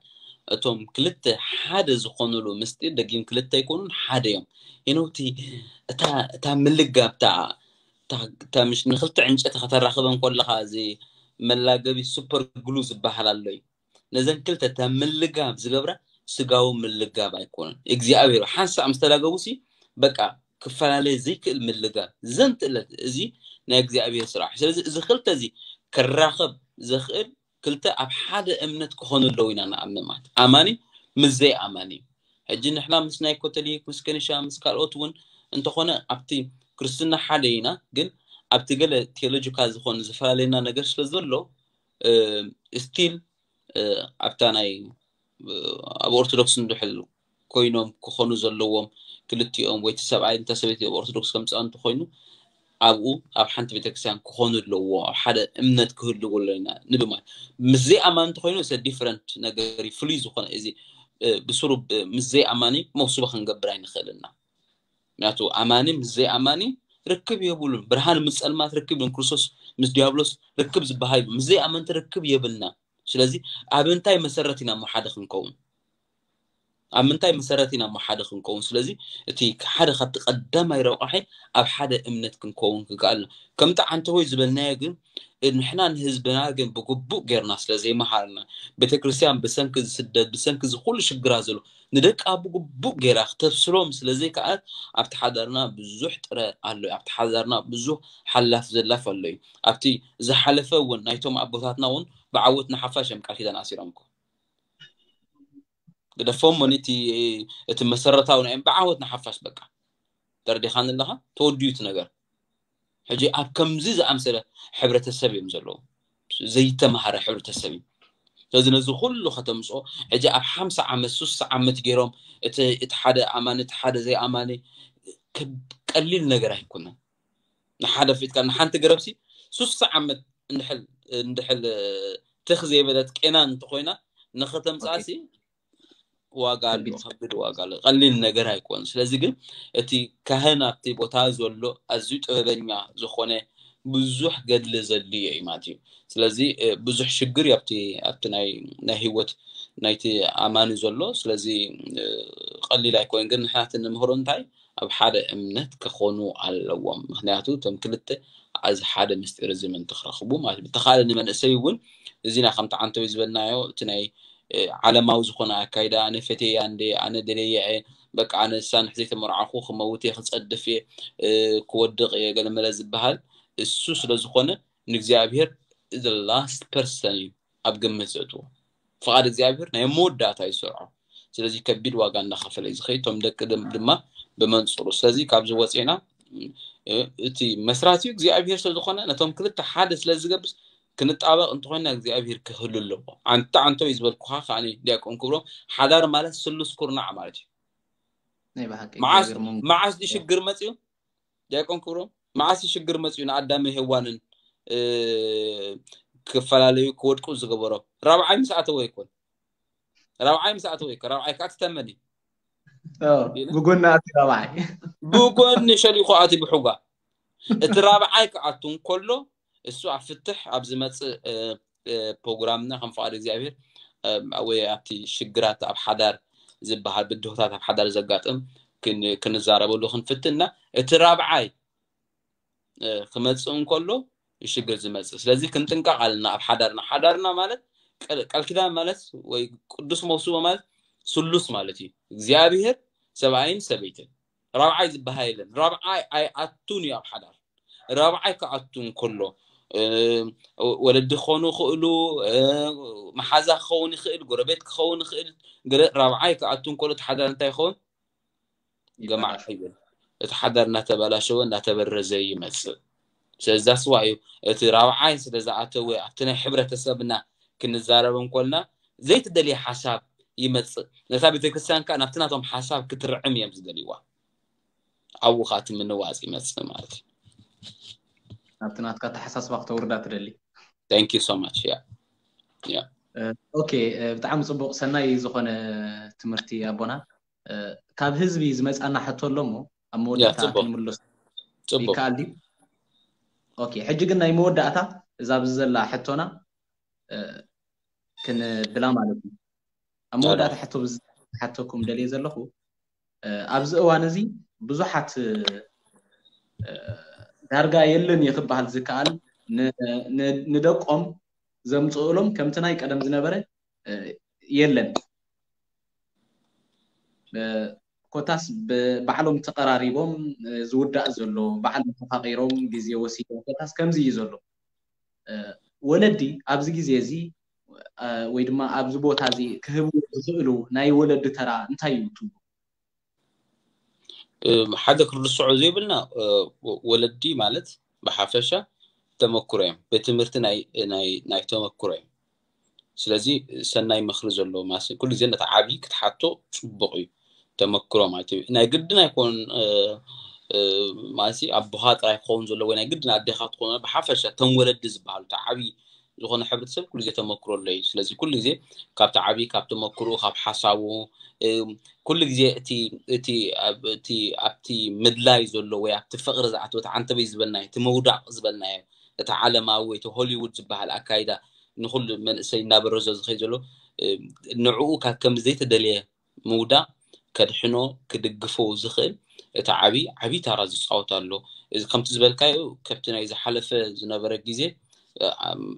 እቶም ክልተ ሓደ ዝኾኑሉ ምስጢር ደጊም ክልተ ኣይኮኑን፣ ሓደ እዮም። ሄኖቲ እታ ምልጋብ ንክልተ ዕንጨቲ ከተራኽበን ከለኻ እዚ መላገቢ ሱፐር ግሉ ዝበሃል ኣሎ እዩ። ነዘን ክልተ እታ ምልጋብ ዝገብራ ስጋዊ ምልጋብ ኣይኮነን። እግዚኣብሔር ሓንሳእ ምስ ተላገቡ ሲ በቃ ክፈላለየ ዘይክእል ምልጋብ ዘንትእለት እዚ ናይ እግዚኣብሔር ስራሕ። ስለዚ እዚ ክልተ እዚ ክራኸብ ዘኽእል ክልተ ኣብ ሓደ እምነት ክኾኑ ኣለዉ ኢና ንኣምን ማለት ኣማኒ ምስ ዘይኣማኒ። ሕጂ ንሕና ምስ ናይ ኮቶሊክ ምስ ከኒሻ ምስ ካልኦት እውን እንተኾነ ኣብቲ ክርስትና ሓደ ኢና፣ ግን ኣብቲ ገለ ቴዎሎጂካል ዝኾነ ዝፈላለየና ነገር ስለ ዘሎ ስቲል ኣብታ ናይ ኣብ ኦርቶዶክስ እንድሕል ኮይኖም ክኾኑ ዘለዎም ክልቲኦም ወይ እቲ ሰብኣይ እንተ ሰበይቲ ኣብ ኦርቶዶክስ ከምፅኣ እንተኮይኑ ኣብኡ ኣብ ሓንቲ ቤተክርስትያን ክኾኑ ኣለዎ ኣብ ሓደ እምነት ክህልዎ ኣለና ንብል ማለት ምስ ዘይኣማን እንተኮይኑ ሰ ዲፍረንት ነገር እዩ ፍሉይ ዝኾነ እዚ ብስሩ ምስ ዘይኣማኒ መውስቦ ክንገብር ኣይንኽእልና። ምክንያቱ ኣማኒ ምስ ዘይኣማኒ ርክብ የብሉን። ብርሃን ምስ ፀልማት ርክብ የብሉን። ክርስቶስ ምስ ዲያብሎስ ርክብ ዝበሃል ምስ ዘይኣመንቲ ርክብ የብልና። ስለዚ ኣብ እንታይ መሰረት ኢና እሞ ሓደ ክንከውን? ኣብ ምንታይ መሰረት ኢና እሞ ሓደ ክንከውን? ስለዚ እቲ ሓደ ካብቲ ቀዳማይ ረቋሒ ኣብ ሓደ እምነት ክንከውን ክከኣልና ከምቲ ዓንተወይ ዝበልናዮ ግን ንሕና ንህዝብና ግን ብግቡእ ጌርና ስለ ዘይመሃርና ቤተክርስትያን ብሰንኪ ዝስደድ ብሰንኪ ዝኩሉ ሽግራ ዘሎ ንደቃ ብግቡእ ጌራ ክተብስሎም ስለ ዘይከኣለት ኣብቲ ሓዳርና ብዙሕ ጥረ ኣሎ። ኣብቲ ሓዳርና ብዙሕ ሓላፍ ዘላፍ ኣሎ እዩ። ኣብቲ ዝሓለፈ እውን ናይቶም ኣቦታትና እውን ብዓወት ንሓፋሽ እዮም ቃል ኪዳን ኣሲሮም እኮ ግደፎም ሞኒ እቲ እቲ መሰረታዊ ናይ ብዓወት ንሓፋሽ በቃ ተረዲኻኒ ኣለኻ ተወዲዩ እቲ ነገር። ሕጂ ኣብ ከምዚ ዝኣምሰለ ሕብረተሰብ እዮም ዘለዉ ዘይተማሃረ ሕብረተሰብ እዩ። ስለዚ ነዚ ኩሉ ከተምፅኦ ሕጂ ኣብ ሓምሳ ዓመት ሱሳ ዓመት ገይሮም እቲ ሓደ ኣማኒ እቲ ሓደ ዘይኣማኒ ቀሊል ነገር ኣይኮነን። ንሓደ ፊትካ ንሓንቲ ገረብሲ ሱሳ ዓመት እንድሕል እንድሕል ትኽ ዘይበለት ቄና እንተኮይና ንኸተምፃሲ ዋጋ ኣሎ፣ ከቢድ ዋጋ ኣሎ። ቀሊል ነገር ኣይኮን። ስለዚ ግን እቲ ካህን ኣብቲ ቦታ ዘሎ ኣዝዩ ጥበበኛ ዝኾነ ብዙሕ ገድሊ ዘድልዮ እዩ ማለት እዩ። ስለዚ ብዙሕ ሽግር ኣብቲ ኣብቲ ናይ ናይ ህይወት ናይቲ ኣማኒ ዘሎ ስለዚ ቀሊል ኣይኮን። ግን ንሕናት ንምህሮ እንታይ ኣብ ሓደ እምነት ክኾኑ ኣለዎም። ምክንያቱ እቶም ክልተ እዚ ሓደ ምስጢር እዚ ምእንቲ ክረኽቡ ማለት እዩ። ብተኻለ ንመንእሰይ እውን እዚና ከምቲ ዓንተዊ ዝበልናዮ እቲ ናይ ዓለማዊ ዝኾነ ኣካይዳ ኣነ ፈቴያ እንደ ኣነ ደለየ በቃ ኣነ እሳ ንሕዘይ ተመርዓኹ ክመውት እየ ክፀድፍ እየ ክወድቕ እየ ገለመለ ዝበሃል እሱ ስለ ዝኾነ ንእግዚኣብሔር the last person እዩ ኣብ ግምት ዘእትዎ። ፍቓድ እግዚኣብሔር ናይ መወዳእታ ይሰርዖ። ስለዚ ከቢድ ዋጋ እንዳኸፈለ እዩ ዝኸይድ። እቶም ደቂ ድማ ብመንፅሩ። ስለዚ ካብዚ ወፂና እቲ መስራቲ እግዚኣብሔር ስለ ዝኾነ ነቶም ክልተ ሓደ ስለ ዝገብስ ክንጣበቕ እንተኮይና እግዚኣብሔር ክህሉ ኣለዎ። ኣንተ ኣንተ እዩ ዝበልኩኻ ከኣ ዲያቆን ክብሮም ሓዳር ማለት ስሉስ ኩርናዕ ማለት እዩ። ናይ ብሓቂ መዓስ እግዚኣብሔር መንጎ- መዓስ ድዩ ሽግር መፅዩ? ዲያቆን ክብሮም መዓስ እዩ ሽግር መፅዩ ንኣዳምን ሄዋንን እ፣ ክፈላለዩ ክወድቁ ዝገበሮ? ራብዓይ ምስ ኣተወ ይኮን? ራብዓይ ምስ ኣተወ ይኮን? ራብዓይ ከዓ ትተመኒ ኦ፣ ብጎኒ ኣቲ ራብዓይ ብጎኒ ሸሊኮ ኣቲ ብሑጋ እቲ ራብዓይ ክኣቱ እንከሎ እሱ ኣብ ፍትሕ ኣብ ዝመፅእ እ፣ እ፣ ፕሮግራምና ከም ፍቓድ እግዚኣብሔር እ፣ ወይ ኣብቲ ሽግራት ኣብ ሓዳር ዝበሃል ብድሆታት ኣብ ሓዳር ዘጋጥም ክን- ክንዛረበሉ ክንፍትና እቲ ራብዓይ እ፣ ክመፅእ እንከሎ እዩ ሽግር ዝመፅእ። ስለዚ ክንጥንቀቕ ኣለና ኣብ ሓዳርና። ሓዳርና ማለት ቀል- ቃል ኪዳን ማለት ወይ ቅዱስ መውስቦ ማለት ስሉስ ማለት እዩ። እግዚኣብሔር ሰብኣይን ሰበይትን ራብዓይ ዝበሃል የለን። ራብዓይ ኣይኣቱን እዩ ኣብ ሓዳር። ራብዓይ ክኣቱ እንከሎ እ፣ ወለዲ ክኾኑ ይኽእሉ፣ እ፣ መሓዛ ክኸውን ይኽእል፣ ጎረቤት ክኸውን ይኽእል። ገለ ራብዓይ ክኣቱ እንከሎ እቲ ሓዳር እንታይ ይኸውን? ገማዕ ይበላሽ። ይብል። እቲ ሓዳር እናተበላሸወ እናተበረዘ ይመፅእ። ስለዚ that's why እዩ እቲ ራብዓይ ስለ ዝኣተወ ኣብቲ ናይ ሕብረተሰብና ክንዛረብ እንኮልና ዘይትደልየ ሓሳብ ይመፅእ። ነታ ቤተክርስትያን ከዓ ናብቲ ናቶም ሓሳብ ክትርዕም እዮም ዝደልይዋ። ኣብኡ ከዓ እቲ ምንዋፅ ይመፅእ ማለት እዩ። ናብቲ ናትካ ኣተሓሳስባ ክተውርዳ ትደሊ? Thank you so much. Yeah. Yeah. ኦኬ፣ ብጣዕሚ ፅቡቕ፣ ሰናይ ዝኾነ ትምህርቲ ኣቦና። ካብ ህዝቢ ዝመፃና ሕቶ ኣሎ እሞ ኣብ መወዳእታ ክንምለስ ይከኣል ድዩ? ኦኬ፣ ሕጂ ግን ናይ መወዳእታ እዛ ኣብዚ ዘላ ሕቶና ክንብላ ማለት እዩ። ኣብ መወዳእታ ሕቶ ሓተኩም ደልየ ዘለኹ፣ ኣብዚ እዋን እዚ ብዙሓት ዳርጋ የለን የክበሃል ዝከኣል ንደቆም ዘምፅእሎም ከምቲ ናይ ቀደም ዝነበረ የለን። ኮታስ ባዕሎም ተቐራሪቦም ዝውዳእ ዘሎ፣ ባዕሎም ተፋቒሮም ግዜ ወሲዶም፣ ኮታስ ከምዚ እዩ ዘሎ። ወለዲ ኣብዚ ግዜ እዚ ወይ ድማ ኣብዚ ቦታ እዚ ክህቡ ዝኽእሉ ናይ ወለዲ ተራ እንታይ እዩ ትብሉ? ሓደ ክርድስዖ ዘይብልና፣ ወለዲ ማለት ብሓፈሻ ተመክሮ እዮም። ቤት ትምህርቲ ናይ ተመክሮ እዮም። ስለዚ ሰናይ ምኽሪ ዘለዎ ማለት ኩሉ ግዜ ነቲ ዓብዪ ክትሓቶ ፅቡቕ እዩ። ተመክሮ ማለት እዩ። ናይ ግድን ኣይኮን ማለት ኣቦኻ ጥራይ ክኸውን ዘለዎ ወይ ናይ ግድን ኣዴኻ ትኾኑ፣ ብሓፈሻ ተም ወለዲ ዝበሃሉ እቲ ዓብዪ ዝኾነ ሕብረተሰብ ኩሉ ግዜ ተመክሮ ኣሎ እዩ። ስለዚ ኩሉ ግዜ ካብቲ ዓብዪ ካብ ተመክሮ ካብ ሓሳቡ ኩሉ ግዜ እቲ እቲ ኣብቲ ምድላይ ዘሎ ወይ ኣብቲ ፍቕሪ ዝኣተወ እቲ ዓንተበይ ዝበልናዮ እቲ ምውዳቕ ዝበልናዮ እቲ ዓለማዊ ወይ እቲ ሆሊውድ ዝበሃል ኣካይዳ ንኩሉ መንእሰይ እናበረዞ ዝኸይ ዘሎ ንዕኡ ካብ ከም ዘይተደልየ ምውዳቕ ከድሕኖ ክድግፎ ዝኽእል እቲ ዓብዪ ዓብዪ ታራ ዝፃወት ኣሎ። እዚ ከምቲ ዝበልካዮ ከብቲ ናይ ዝሓለፈ ዝነበረ ግዜ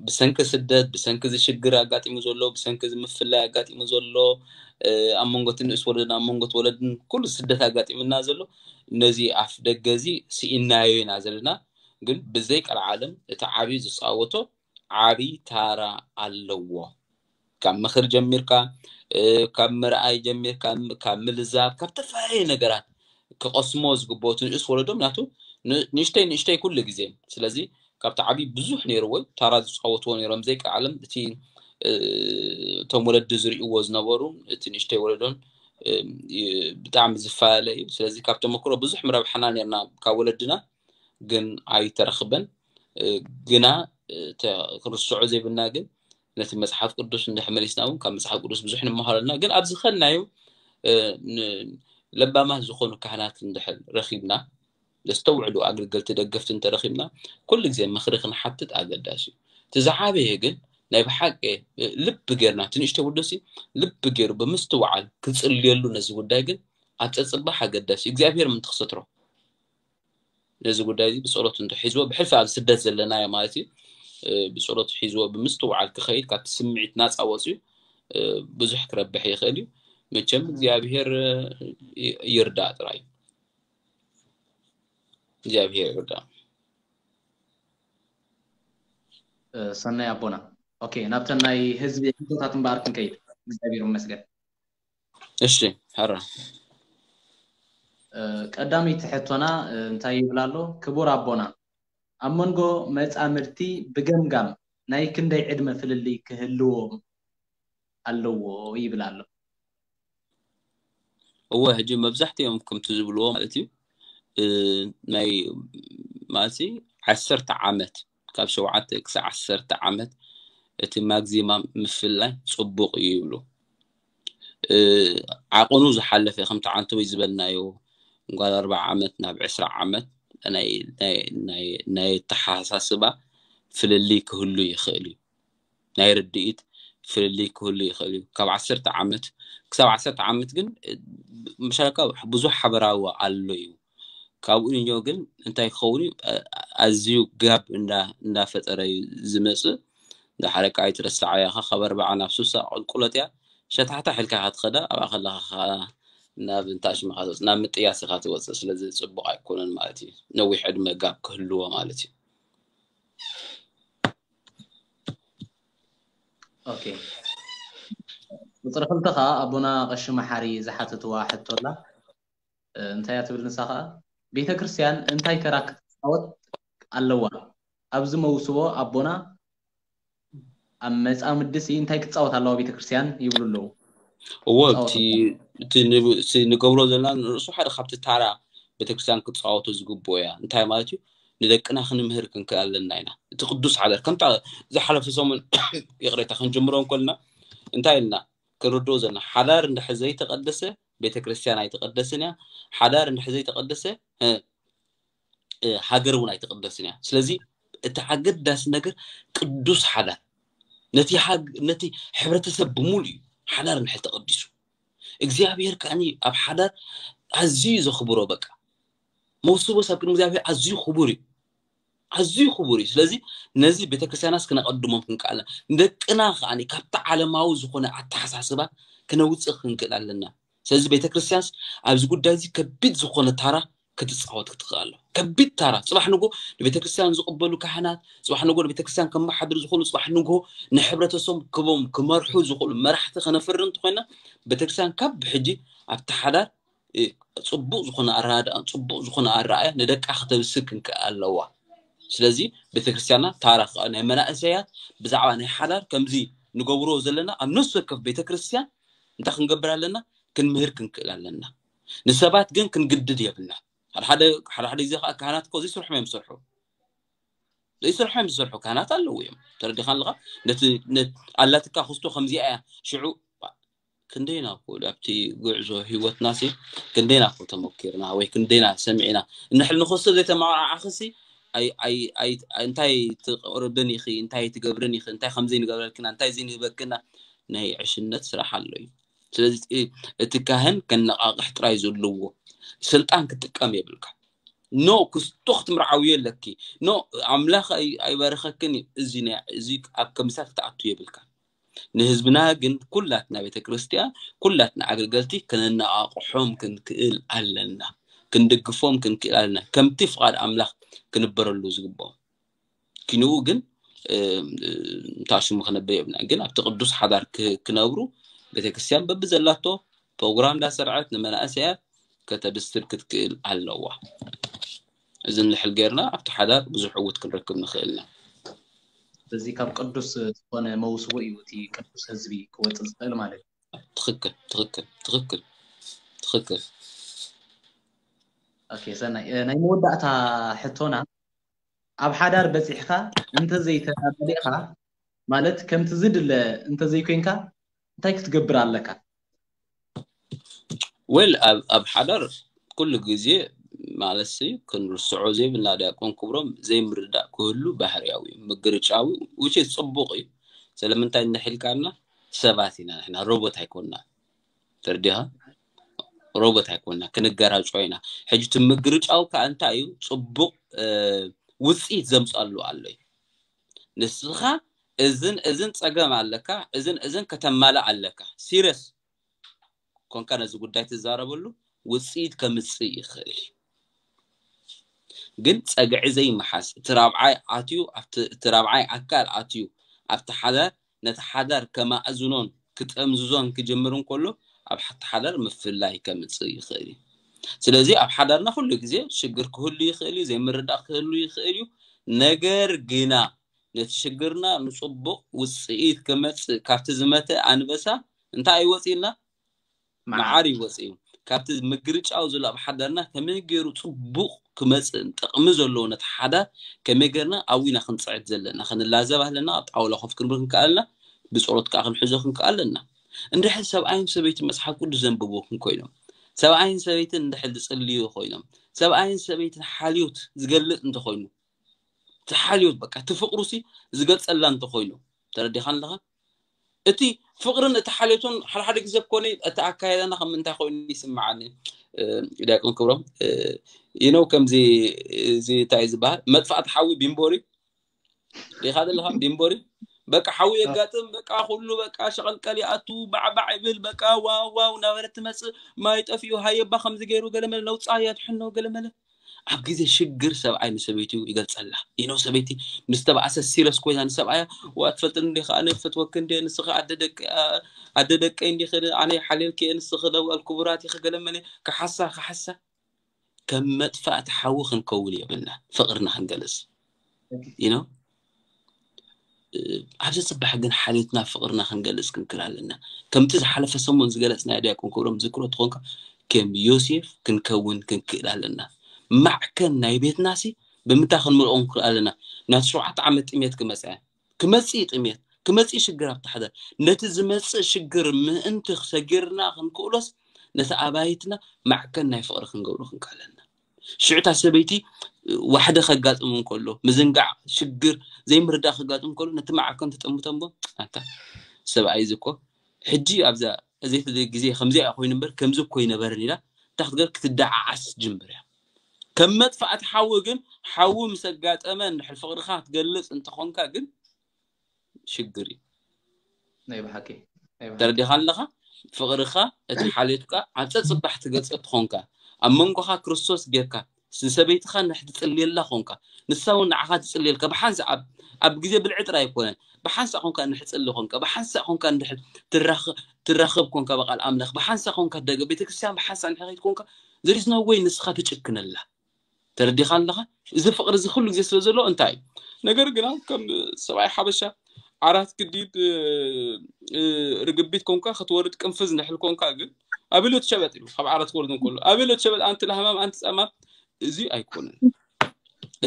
ብሰንኪ ስደት ብሰንኪ ዝሽግር ኣጋጢሙ ዘሎ ብሰንኪ ዝምፍላይ ኣጋጢሙ ዘሎ ኣብ መንጎ ንእስ ወለድን ኣብ መንጎ ወለድን ኩሉ ስደት ኣጋጢምና ዘሎ ነዚ ኣፍ ደገ እዚ ስኢናዮ ኢና ዘለና። ግን ብዘይ ቀልዓለም እቲ ዓብዪ ዝፃወቶ ዓብዪ ታራ ኣለዎ። ካብ ምኽር ጀሚርካ ካብ ምርኣይ ጀሚርካ ካብ ምልዛብ ካብ ተፈላለየ ነገራት ክቐስሞ ዝግብኦ እቲ ንእስ ወለዶ ምክንያቱ ንእሽተይ ንእሽተይ ኩሉ ግዜ ስለዚ ካብቲ ዓብዪ ብዙሕ ነይርዎ ታራ ዝፃወትዎ ነይሮም ዘይቀዓለም እቲ እቶም ወለዲ ዝርእይዎ ዝነበሩ እቲ ንእሽተይ ወለዶን ብጣዕሚ ዝፈላለ እዩ። ስለዚ ካብ ተመክሮ ብዙሕ ምረብሓና ነርና ካብ ወለድና ግን ኣይተረኽበን። ግና ክርስዖ ዘይብልና ግን ነቲ መፅሓፍ ቅዱስ እንድሕር መሊስና እውን ካብ መፅሓፍ ቅዱስ ብዙሕ ንምሃረልና ግን ኣብዚ ኸድናዮ ለባማት ዝኾኑ ካህናት እንድሕር ረኺብና ዘስተውዕሉ ኣገልገልቲ ደገፍቲ እንተረኺብና ኩሉ ግዜ ምኽሪ ክንሓትት ኣገዳሲ እዩ። እቲ ዝዓበየ ግን ናይ ብሓቂ ልቢ ጌርና እቲ ንእሽተይ ወደሲ ልቢ ገይሩ ብምስትውዓል ክፅልየሉ ነዚ ጉዳይ ግን ኣብ ፀፅባሕ ኣገዳሲ እዩ እግዚኣብሔር ምንቲ ክሰትሮ ነዚ ጉዳይ እዚ ብፀሎት እንተ ሒዝዎ ብሕልፊ ኣብ ስደት ዘለናዮ ማለት እዩ ብፀሎት ሒዝዎ ብምስትውዓል ክኸይድ ካብቲ ስምዒት ናፃ ወፅዩ ብዙሕ ክረብሕ ይኽእል እዩ። መቸም እግዚኣብሔር ይርዳእ ጥራይ እግዚኣብሔር ይርዳእ። ሰናይ ኣቦና ኦኬ ናብተን ናይ ህዝቢ ሕቶታት እምበኣር ክንከይድ እግዚኣብሔር ይመስገን። እሺ። ሐራ ቀዳመይቲ ሕቶና እንታይ ይብል ኣሎ? ክቡር ኣቦና ኣብ መንጎ መጻምድቲ ብገምጋም ናይ ክንደይ ዕድመ ፍልልይ ክህልዎም ኣለዎ ይብል ኣሎ። እወ ሕጂ መብዛሕትኦም ከምቲ ዝብልዎ ማለት እዩ ናይ ማለት ዓሰርተ ዓመት ካብ ሸውዓተ ክሳብ ዓሰርተ ዓመት እቲ ማግዚማም ምፍላይ ፅቡቕ እዩ ይብሉ። ዓቕኑ ዝሓለፈ ከምቲ ዓንተወይ ዝበልናዮ ጓል ኣርባዓ ዓመት ናብ ዕስራ ዓመት ናይ ኣተሓሳስባ ፍልልይ ክህሉ ይኽእል እዩ። ናይ ርድኢት ፍልልይ ክህሉ ይኽእል እዩ። ካብ ዓሰርተ ዓመት ክሳብ ዓሰርተ ዓመት ግን ምሻካ ብዙሕ ሓበራዊ ኣሎ እዩ። ካብኡ ንዮ ግን እንታይ ክኸውን እዩ ኣዝዩ ጋብ እንዳፈጠረ እዩ ዝመፅእ። ዳሓረካ ኣይትረስዓያ ካብ ኣርባዓ ናብ ሱሳ ቁልቁለት እያ ሸታሕታሕ ኢልካ ኢኻ ትኸዳ ኣብኣ ከለኻ ከዓ ናብ እንታይ ሽምኻ ትወፅእ ናብ ምጥያስ ኢኻ ትወፅእ ስለዚ ፅቡቕ ኣይኮነን ማለት እዩ ነዊሕ ዕድመ ጋብ ክህልዎ ማለት እዩ። ኦኬ ቁፅሪ ክልተ ከዓ ኣቦና ቀሺ መሓሪ ዝሓተትዋ ሕቶ ኣላ። እንታይ እያ ትብል ንሳ ከዓ ቤተ ክርስቲያን እንታይ ተራ ክትፃወት ኣለዋ ኣብዚ መውስቦ ኣቦና ኣብ መፃምድሲ እንታይ ክትፃወት ኣለዋ ቤተ ክርስቲያን ይብሉ ኣለዉ። እዎ እቲ ንገብሮ ዘለና ንርእሱ ሓደ ካብቲ ታራ ቤተክርስትያን ክትፃወቶ ዝግብኦ እያ እንታይ ማለት እዩ ንደቅና ክንምህር ክንክእል ኣለና ኢና። እቲ ቅዱስ ሓዳር ከምታ ዝሓለፈ ሰሙን ይቕሬታ ክንጅምሮ እንኮልና እንታይ ኢልና ክንርድኦ ዘለና ሓዳር እንድሕር ዘይተቐደሰ ቤተክርስትያን ኣይተቐደስን እያ። ሓዳር እንድሕር ዘይተቐደሰ ሃገር እውን ኣይተቐደስን እያ። ስለዚ እቲ ኣገዳሲ ነገር ቅዱስ ሓዳር ነቲ ነቲ ሕብረተሰብ ብምሉ እዩ። ሓዳር እንድሕር ተቐዲሱ እግዚኣብሔር ከዓኒ ኣብ ሓዳር ኣዝዩ ዘኽብሮ በቃ መውስቦ ሰብ ቅድሚ እግዚኣብሔር ኣዝዩ ክቡር እዩ። ኣዝዩ ክቡር እዩ። ስለዚ ነዚ ቤተክርስትያናስ ክነቐድሞም ክንክኣልና ንደቅና ከዓኒ ካብቲ ዓለማዊ ዝኾነ ኣተሓሳስባ ክነውፅእ ክንክእል ኣለና። ስለዚ ቤተክርስትያንስ ኣብዚ ጉዳይ እዚ ከቢድ ዝኾነ ታራ ክትፃወት ክትኽእል ኣሎ። ከቢድ ታራ ፅባሕ ንጎ ንቤተክርስትያን ዝቕበሉ ካህናት፣ ፅባሕ ንጎ ንቤተክርስትያን ከመሓድሩ ዝኾኑ፣ ፅባሕ ንጎ ንሕብረተሰብ ክቦም ክመርሑ ዝኽእሉ መራሕቲ ከነፍሪ እንተኮይና ቤተክርስትያን ካብ ብሕጂ ኣብቲ ሓዳር ጽቡቅ ዝኾነ ኣረዳድኣ ጽቡቅ ዝኾነ ኣረኣያ ንደቃ ከተብስር ክንክእል ኣለዋ። ስለዚ ቤተክርስትያንና ታራ ናይ መናእሰያት ብዛዕባ ናይ ሓዳር ከምዚ ንገብሮ ዘለና ኣብ ነፍሲ ወከፍ ቤተክርስትያን እንታይ ክንገብር ኣለና? ክንምህር ክንክእል ኣለና። ንሰባት ግን ክንግድድ የብልና። ሓደ ሓደ ግዜ ከዓ ካህናት እኮ ዘይስርሖም እዮም ዝሰርሑ ዘይስርሖም ዝሰርሑ ካህናት ኣለዉ እዮም። ተረዲኻ ኣለኻ? ነቲ ኣላትካ ክስቶ ከምዚኣ እያ። ሽዑ ክንደይና እኮ ኣብቲ ጉዕዞ ህይወትና ሲ ክንደይና እኮ ተመኪርና ወይ ክንደይና ሰሚዕና እንሕል ንክስቶ ዘይተመዓዓኽሲ እንታይ ትቕርብን ኢኺ እንታይ ትገብርን ኢኺ እንታይ ከምዚ ንገብረልክና እንታይ እዚ ንህበክና ናይ ዕሽነት ስራሕ ኣሎ እዩ። ስለዚ እቲ ካህን ከነቃቅሕ ጥራይ ዘለዎ ስልጣን ክጥቀም የብልካ። ኖ ክስቶ ክትምርዓዊ ኣለኪ። ኖ ኣምላኽ ኣይባርኸክን እዩ። እዚ ኣብ ከምሳት ክትኣቱ የብልካ። ንህዝብና ግን ኩላትና ቤተ ክርስቲያን ኩላትና ኣገልገልቲ ከነነቃቅሖም ክንክእል ኣለና። ክንድግፎም ክንክእል ኣለና። ከምቲ ፍቓድ ኣምላኽ ክንበረሉ ዝግብኦም ኪንኡ ግን እንታሽሙ ክነብር የብልና። ግን ኣብቲ ቅዱስ ሓዳር ክነብሩ ቤተክርስትያን በብዘላቶ ፕሮግራም እንዳሰርዐት ንመናእሰያት ከተብስር ክትክእል ኣለዋ። እዚ ንልሕል ጌርና ኣብቲ ሓዳር ብዙሕ ዕውት ክንረክብ ንኽእልና። እዚ ካብ ቅዱስ ዝኾነ መውስቦ እዩ እቲ ቅዱስ ህዝቢ ክወፅእ ዝኽእል ማለት እዩ። ትኽክል ትኽክል ትኽክል ትኽክል። ኦኬ ሰናይ፣ ናይ መወዳእታ ሕቶና ኣብ ሓዳር በፂሕካ እንተዘይተመሊእካ ማለት ከምቲ ዝድለ እንተዘይኮይንካ እንታይ ክትገብር ኣለካ? ወል ኣብ ሓዳር ኩሉ ግዜ ማለት ሲ ክንርስዖ ዘይብልና ዲያቆን ክብሮም ዘይምርዳእ ክህሉ ባህርያዊ እዩ፣ ምግርጫዊ ውጭ ፅቡቅ እዩ። ስለምንታይ እንድሕልካና ሰባት ኢና ንሕና ሮቦት ኣይኮንና። ተረዲኻ? ሮቦት ኣይኮንና፣ ክንገራጮ ኢና። ሕጂ እቲ ምግርጫው ከዓ እንታይ እዩ? ፅቡቕ ውፅኢት ዘምፀሉ ኣሎ እዩ። ንስኻ እዝን እዝን ፀገም ኣለካ፣ እዝን እዝን ከተማልእ ኣለካ። ሲሪየስ ኮንካ ነዚ ጉዳይ ትዛረበሉ ውፅኢት ከምፅእ ይኽእል እዩ። ግን ፀግዒ ዘይመሓዝ እቲ ራብዓይ ኣትዩ እቲ ራብዓይ ኣካል ኣትዩ ኣብቲ ሓደ ነቲ ሓዳር ከማእዝኖን ክጠምዝዞን ክጅምር እንከሎ ኣብ ሓቲ ሓዳር ምፍላይ ከምፅእ ይኽእል እዩ። ስለዚ ኣብ ሓዳርና ኩሉ ግዜ ሽግር ክህሉ ይኽእል እዩ፣ ዘይምርዳእ ክህሉ ይኽእል እዩ። ነገር ግና ነቲ ሽግርና ንፅቡቕ ውፅኢት ክመፅእ ካብቲ ዝመተ ኣንበሳ እንታይ ኣይወፅእና መዓር ይወፅ እዩ። ካብቲ ምግርጫው ዘሎ ኣብ ሓዳርና ከመይ ገይሩ ፅቡቕ ክመፅእ ጥቕሚ ዘለዎ ነቲ ሓዳር ከመይ ገርና ኣብኡ ኢና ክንፅዕት ዘለና፣ ክንላዘብ ኣለና፣ ኣብ ጣውላ ኮፍ ክንብል ክንከኣልና፣ ብፀሎት ከዓ ክንሕዞ ክንከኣል ኣለና። እንድሕር ሰብኣይን ሰበይትን መፅሓፍ ቅዱስ ዘንብቡ እንኮይኖም፣ ሰብኣይን ሰበይትን እንድሕር ዝፅልዩ ኮይኖም፣ ሰብኣይን ሰበይትን ሓልዮት ዝገልፅ እንተኮይኑ፣ እቲ ሓልዮት በቃ እቲ ፍቅሩ ሲ ዝገልፀላ እንተኮይኑ፣ ተረዲኻ ኣለኻ? እቲ ፍቅርን እቲ ሓልዮትን ሓደ ሓደ ግዜ ኮነ እቲ ኣካየዳና ከም እንታይ ኮይኑ ይስምዓኒ። ዲያቆን ክብሮም ይነው ከምዚ እዚ እንታይ ዝበሃል መጥፋእቲ ሓዊ ቢምቦሪ ዲኻ ዘለኻ ቢምቦሪ በቃ ሓዊ የጋጥም በቃ ኩሉ በቃ ሸቐልቀል ይኣቱ ባዕባዕ ይብል በቃ ዋው ዋው እናበለት ትመፅእ ማይ ጠፊኡ ሃየባ ከምዚ ገይሩ ገለመለ ነውፃ ያድሕኖ ገለመለ ኣብ ግዜ ሽግር ሰብኣይ ንሰበይቱ ይገልፀላ። ይነው ሰበይቲ ምስ ተባእሰ ሲረስ ኮይና ንሰብኣያ ዋ ትፈልጥኒ እንዲኻ ኣነ ፈትወኪ እንዲ ንስኺ ኣደ ደቀይ እንዲኺ ኣነ ሓልየልኪ እየ ንስኺ ለዋል ክቡራት ኢኺ ገለመለ ክሓሳ ክሓሳ ከም መጥፋእቲ ሓዊ ክንከውን የብልና ፍቕርና ክንገልፅ ይነው ኣብዚ ፅባሕ ግን ሓልዮትና ፍቕርና ክንገልፅ ክንክእል ኣለና። ከምቲ ዝሓለፈ ሰሙን ዝገለፅናዮ ዲያቆን ክብሮም ዝክሮ ትኾንካ ከም ዮሴፍ ክንከውን ክንክእል ኣለና። ማዕከን ናይ ቤትናሲ ብምንታይ ክንምልኦ ንክእል ኣለና? ናቲ ሸውዓተ ዓመት ጥሜት ክመፅእ ክመፅእ ጥሜት ክመፅእ ሽግር ኣብቲ ሓዳር ነቲ ዝመፅእ ሽግር ምእንቲ ሰጊርና ክንክእሎስ ነቲ ኣባይትና ማዕከን ናይ ፍቕሪ ክንገብሮ ክንክእለና ሽዕታ ሰበይቲ ዋሕደ ከጋጥም እንከሎ ምዝንጋዕ ሽግር ዘይምርዳእ ከጋጥም እንከሎ ነቲ ማዕከን ትጠምተንቦ ኣታ ሰብኣይ ዝኮ ሕጂ ኣብዛ እዘቲ ግዜ ከምዚኣ ኮይኑ እምበር ከምዚ እኮ ይነበርን ኢላ እንታይ ክትገር ክትደዓዓስ ጅምር እያ ከም መጥፋእቲ ሓዊ ግን ሓዊ ምስ ኣጋጠመ እንድሕር ፍቕርኻ ክትገልፅ እንተኾንካ ግን ሽግር እዩ ናይ ብሓቂ ናይ ብሓቂ ተረዲኻ ኣለኻ ፍቕርኻ እቲ ሓልዮትካ ኣብ ፀፅባሕ ትገልፀ ትኾንካ ኣብ መንጎኻ ክርስቶስ ጌርካ ንሰበይትኻ ንሕትፅልየላ ኾንካ ንሳ እውን ንዓኻ ትፅልየልካ ብሓንሳ ኣብ ኣብ ግዜ ብልዒ ጥራይ ኣይኮነን ብሓንሳ ኾንካ ንሕፅሊ ኾንካ ብሓንሳ ኾንካ ንድሕር ትራኸ- ትራኸብ ኮንካ ብቃል ኣምላኽ ብሓንሳ ኾንካ ደገ ቤተክርስትያን ብሓንሳ ንሕኸይት ኮንካ ዘሪስና ወይ ንስኻ ትጭክነላ ተረዲኻ ኣለኻ እዚ ፍቕሪ እዚ ኩሉ ግዜ ስለ ዘሎ እንታይ እዩ ነገር ግና ከም ሰብኣይ ሓበሻ ዓራት ግዲድ እ፣ እ፣ ርግቢት ኮንካ ክትወርድ ቅንፍዝ ንሕል ኮንካ ግን ኣበሎ ትሸበጥ እዩ ካብ ዓራት ክወርድ እንከሎ ኣበሎ ትሸበጥ ኣንቲ ለሃማም ኣንቲ ጸማም እዚ ኣይኮነን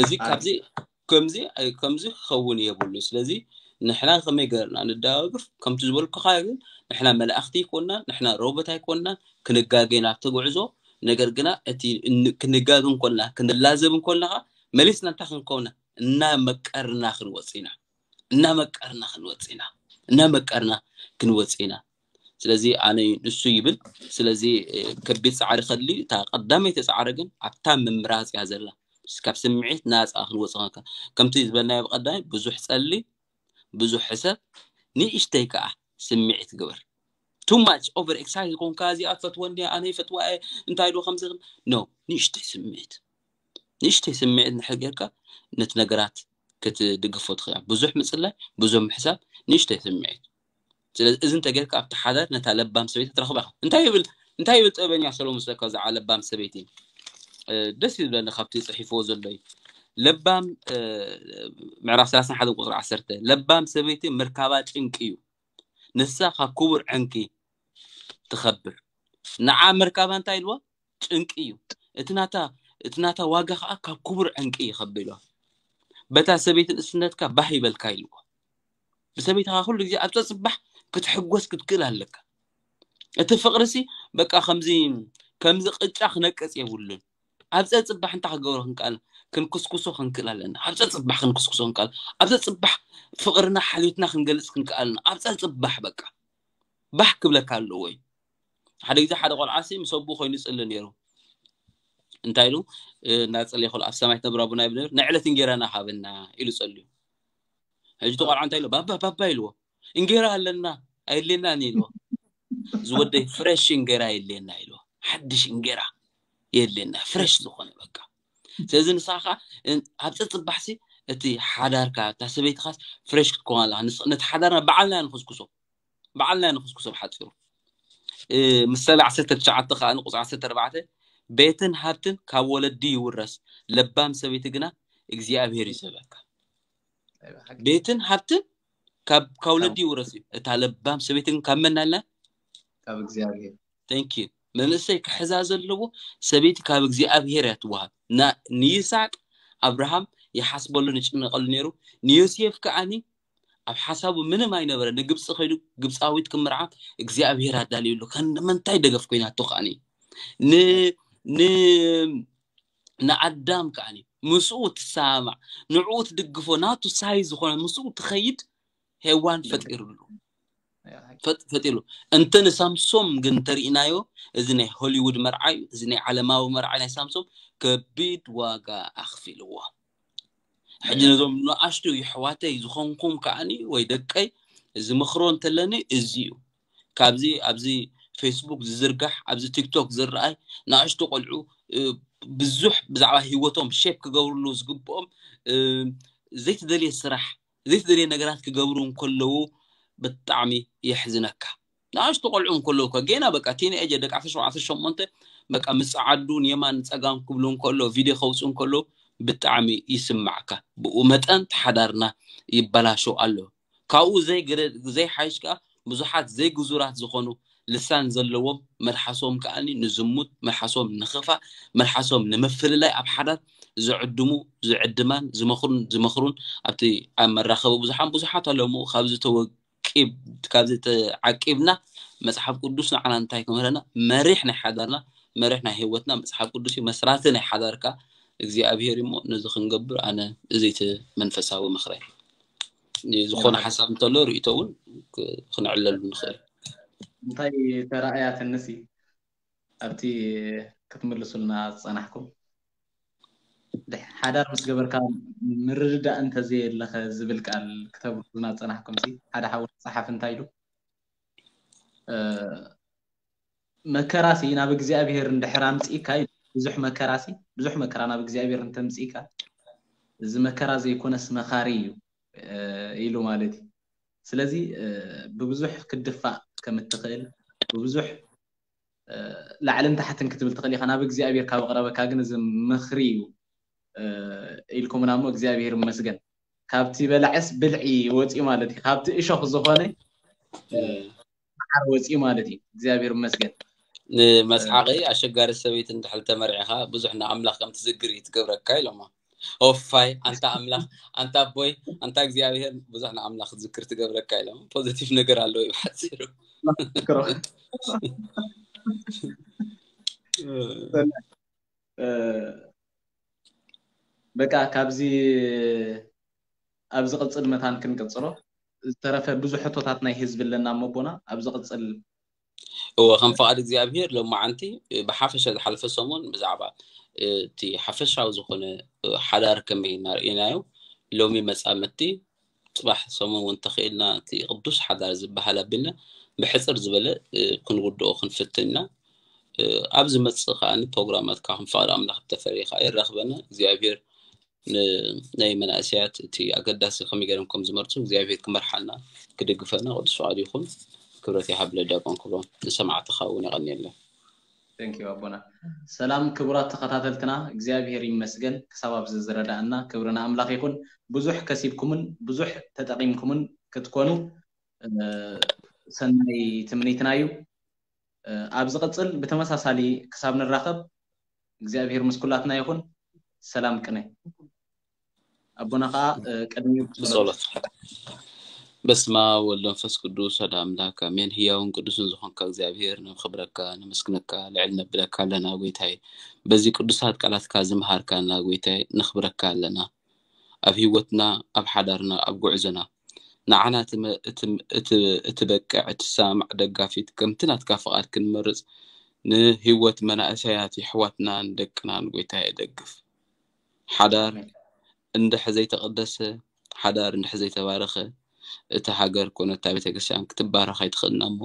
እዚ ካብዚ ከምዚ ኣይ- ከምዚ ክኸውን የብሉ ስለዚ ንሕና ከመይ ገርና ንደጋግፍ ከምቲ ዝበልኩኻ ግን ንሕና መላእኽቲ ኣይኮንና ንሕና ሮቦት ኣይኮንና ክንጋገ ናብቲ ጉዕዞ ነገር ግና እቲ ን- ክንጋገ እንኮልና ክንላዘብ እንኮልና ከዓ መሊስና እንታይ ክንከውና እናመቀርና ክንወፅ ኢና እናመቀርና ክንወፅ ኢና እናመቀርና ክንወፅ ኢና ስለዚ ኣነ ንሱ ይብል ስለዚ እ፣ ከቢድ ፃዕሪ ከድሊ እታ ቀዳመይቲ ፃዕሪ ግን ኣብታ ምምራፅ እያ ዘላ ካብ ስምዒት ናፃ ክንወፅ ከ- ከምቲ ዝበልናዮ ብቀዳሚ ብዙሕ ፀሊ ብዙሕ ሕሰብ ንእሽተይ ከዓ ስምዒት ግበር too much over excited ኮንካ እዚኣ ፈትወ እንዲያ ኣነ ይፈትዋ እየ እንታይ ዶ ከምዚ no ንእሽተይ ስምዒት ንእሽተይ ስምዒት እንድሕር ጌርካ ነቲ ነገራት ክትድግፎ ትኽእል ብዙሕ ምፅላይ ብዙሕ ምሕሳብ ንእሽተይ ስምዒት ስለዚ እዚ እንተጌርካ ኣብቲ ሓዳር ነታ ለባም ሰበይቲ ትረኽባ ኢኻ እንታይ ይብል እንታይ ይብል ጥበበኛ ሰሎሞን ስለካ ዝዓ ለባም ሰበይቲ እ፣ ደስ ይብለኒ ካብቲ ፅሒፍዎ ዘሎ እዩ ለባም እ፣ ምዕራፍ ሰላሳ ሓደ ቁፅሪ ዓሰርተ ለባም ሰበይቲ ምርካባ ጭንቂ እዩ ንሳ ካብ ክቡር ዕንቂ ትኸብር ንዓ ምርካባ እንታይ ኢልዎ ጭንቂ እዩ እቲ ናታ እቲ ናታ ዋጋ ከዓ ካብ ክቡር ዕንቂ ይኸብር ኢልዎ በታ ሰበይቲ ንእስነትካ ባህ ይበልካ ኢልዎ ብሰበይትኻ ኩሉ ግዜ ኣብ ፀፅባሕ ክትሕጎስ ክትክእል ኣለካ እቲ ፍቅርሲ በቃ ከምዚ ከምዚ ቅጫ ክነቅፅ የብሉን ኣብ ፀፅባሕ እንታይ ክገብሮ ክንክኣል ክንክስኩሶ ክንክእል ኣለና ኣብ ፀፅባሕ ክንክስኩሶ ክንክኣል ኣብ ፀፅባሕ ፍቅርና ሓልዮትና ክንገልፅ ክንክኣልና ኣብ ፀፅባሕ በቃ ባህ ክብለካ ኣለዎ እዩ ሓደ ግዜ ሓደ ቆልዓሲ ምስ ኣቦ ኮይኑ ይፅሊ ነይሩ እንታይ ኢሉ እናፀለየ ከሎ ኣብ ሰማይ ትነብር ኣቦና ይብል ነይሩ ንዕለት እንጌራና ሃበና ኢሉ ፀልዩ ሕጂ እቲ ቆልዓ እንታይ ኢሉ ባባ ባባ ኢልዎ እንጌራ ኣለና ኣየድልየናን ኢልዎ ዝወደይ ፍሬሽ እንጌራ የድልየና ኢልዎ ሓድሽ እንጌራ የድልየና ፍሬሽ ዝኾነ በቃ ስለዚ ንስኻ ከዓ ኣብ ፀፅባሕሲ እቲ ሓዳርካ እታ ሰበይትኻስ ፍሬሽ ክትከውን ኣለካ ነቲ ሓዳርና ባዕልና ንክስኩሶ ባዕልና ንክስኩሶ ብሓፂሩ ምሳሌ ዓሰርተ ትሽዓተ ከዓ ንቁፅሪ ዓሰርተ ኣርባዕተ ቤትን ሃብትን ካብ ወለዲ ይውረስ ለባም ሰበይቲ ግና እግዚኣብሔር ይስበካ ቤትን ሃብትን ካብ ካብ ወለዲ ይውረስ እዩ እታ ለባም ሰበይቲ ግን ካብ መን ኣለ ካብ እግዚኣብሔር thank you መንእሰይ ክሕዛ ዘለዎ ሰበይቲ ካብ እግዚኣብሔር እያ ትወሃብ ንይስሐቅ ኣብርሃም ይሓስበሉ ንጭነቀሉ ነይሩ ንዮሴፍ ከዓኒ ኣብ ሓሳቡ ምንም ኣይነበረ ንግብፂ ከይዱ ግብፃዊት ክምርዓ እግዚኣብሔር ኣዳልዩሉ ከንምንታይ ደገፍ ኮይናቶ ከዓኒ ንኣዳም ከዓኒ ምስኡ ትሰማማዕ ንዕኡ ትድግፎ ናቱ ሳይ ዝኾነ ምስኡ ትኸይድ ሄዋን ፈጢሩሉ ፈጢሩ እንተ ንሳምሶም ግን ተርእናዮ እዚ ናይ ሆሊውድ መርዓ እዩ እዚ ናይ ዓለማዊ መርዓ ናይ ሳምሶም ከቢድ ዋጋ ኣኽፊልዎ ሕጂ ነዞም ንኣሽቱ ይሕዋተይ ዝኾንኩም ከዓኒ ወይ ደቀይ ዝምኽሮ እንተለኒ እዚ እዩ ካብዚ ኣብዚ ፌስቡክ ዝዝርጋሕ ኣብዚ ቲክቶክ ዝረኣይ ንኣሽቱ ቆልዑ ብዙሕ ብዛዕባ ህይወቶም ሼፕ ክገብርሉ ዝግብኦም ዘይተደልየ ስራሕ ዘይተደልየ ነገራት ክገብሩ እንከለዉ ብጣዕሚ የሕዝነካ ንኣሽቱ ቆልዑ እንከለዉ እኳ ጌና በቃ ቲንኤጀር ደቂ ዓሰርተ ሸውዓተ ዓሰርተ ሸሞንተ በቃ ምፅዓዱ ንየማን ፀጋም ክብሉ እንከሎ ቪድዮ ከውፅኡ እንከሎ ብጣዕሚ ይስማዕካ ብኡ መጠን ተሓዳርና ይበላሾ ኣሎ ካብኡ ዘይሓይሽ ከዓ ብዙሓት ዘይግዙራት ዝኾኑ ልሳን ዘለዎም መልሓሶም ከዓኒ ንዝሙት መልሓሶም ንኽፋእ መልሓሶም ንምፍልላይ ኣብ ሓዳር ዝዕድሙ ዝዕድማን ዝመኽሩን ዝመኽሩን ኣብቲ ኣብ መራኸቢ ብዙሓን ብዙሓት ኣለዉ። ካብዚ ተወቂብ ካብዚ ተዓቂብና መጽሓፍ ቅዱስ ንዓና እንታይ ክምህረና? መሪሕ ናይ ሓዳርና መሪሕ ናይ ህይወትና መጽሓፍ ቅዱስ እዩ። መስራቲ ናይ ሓዳርካ እግዚኣብሔር እሞ ነዚ ክንገብር ኣነ እዚ እቲ መንፈሳዊ ምኽረይ ዝኾነ ሓሳብ እንተሎ ርእቶ እውን ክንዕለሉ ንኽእል። እንታይ ተራእያ ትንሲ ኣብቲ ክትምልሱልና ዝጸናሕኩም? ሓዳር ምስ ገበርካ ምርድዳእ እንተዘየለኸ ዝብል ቃል ክተብርዙና ዝጸናሕኩም ሲ ሓደ ሓው ጸሓፍ እንታይ ኢሉ? መከራሲ ናብ እግዚኣብሔር እንድሕር ኣምጽእካ ብዙሕ መከራሲ ብዙሕ መከራ ናብ እግዚኣብሔር እንተምጽእካ እዚ መከራ ዘይኮነስ መኻሪ እዩ ኢሉ ማለት እዩ። ስለዚ ብብዙሕ ክትድፋእ ከም እትኽእል ብብዙሕ ላዕልን ታሕትን ክትብል ትኽእል ኢኻ። ናብ እግዚኣብሔር ካብ ኣቕረበካ ግን እዚ ምኽሪ እዩ ኢልኩምና እሞ እግዚኣብሔር ይመስገን። ካብቲ በላዕስ ብልዒ ወፂኡ ማለት እዩ። ካብቲ እሾኽ ዝኾነ መዓር ወፂኡ ማለት እዩ። እግዚኣብሔር ይመስገን። ንመስሓቂ ኣሸጋሪ ሰበይቲ እንድሕር ተመርዒኻ ብዙሕ ንኣምላኽ ከም ትዝግር እዩ ትገብረካ ኢሎማ። ኦፋይ ኣንታ ኣምላኽ ኣንታ ኣቦይ ኣንታ እግዚኣብሔር ብዙሕ ንኣምላኽ ዝክር ትገብረካ ኢሎም ፖዚቲቭ ነገር ኣለዎ እዩ ብሓፂሩ። በቃ ካብዚ ኣብዚ ቅፅል መታን ክንቅፅሎ ዝተረፈ ብዙሕ ሕቶታት ናይ ህዝቢ ኣለና እሞ ኣቦና ኣብዚ ቅፅል እወ ከም ፍቓድ እግዚኣብሔር ሎማዓንቲ ብሓፈሻ ዝሓለፈ ሰሙን ብዛዕባ እቲ ሓፈሻዊ ዝኾነ ሓዳር ከመይ እናርእናዮ ሎሚ መፃምድቲ ፅባሕ ሰሙን እውን ተኽኢልና እቲ ቅዱስ ሓዳር ዝበሃል ኣቢልና ብሕፅር ዝበለ ክንውድኦ ክንፍትን ኢና። ኣብ ዝመፅእ ከዓ ፕሮግራማት ከዓ ከም ፍቓድ ኣምላኽ ተፈሪኻ ይራኽበና እግዚኣብሔር ናይ መናእሰያት እቲ ኣገዳሲ ከመይ ገይሮም ከም ዝመርፁ እግዚኣብሔር ክመርሓና ክድግፈና ቅዱስ ፍቓድ ይኹን። ክብረት ይሃብለ ዲያቆን ክብሮም ንሰማዕትኻ እውን የቐንየለን። Thank you ኣቦና። ሰላም ክቡራት ተኸታተልትና እግዚኣብሔር ይመስገን ክሳብ ኣብዚ ዝረዳእና ክብሪ ንኣምላኽ ይኹን። ብዙሕ ከሲብኩምን ብዙሕ ተጠቒምኩምን ክትኮኑ ሰናይ ትምኒትና እዩ። ኣብ ዝቕፅል ብተመሳሳሊ ክሳብ ንራኸብ እግዚኣብሔር ምስ ኩላትና ይኹን። ሰላም ቅነ ኣቦና ከዓ ቅድሚኡ ብጸሎት በስመ አብ ወወልድ ወመንፈስ ቅዱስ ሓደ አምላክ አሜን። ህያውን ቅዱስን ዝኾንካ እግዚኣብሔር ነኽብረካ፣ ነመስግነካ፣ ልዕል ነብለካ ኣለና ጎይታይ። በዚ ቅዱሳት ቃላትካ ዝምሃርካና ጎይታይ ነኽብረካ ኣለና። ኣብ ህይወትና፣ ኣብ ሓዳርና፣ ኣብ ጉዕዞና ንዓና ትበቅዕ ትሰማማዕ ደጋፊት ከምቲ ናትካ ፍቓድ ክንመርጽ ንህይወት መናእሰያት የሕዋትናን ደቅናን ጎይታይ የደግፍ። ሓዳር እንድሕ ዘይተቐደሰ ሓዳር እንድሕ ዘይተባረኸ እታ ሃገር ኮነ እታ ቤተክርስትያን ክትባረኽ ኣይትኽእልና እሞ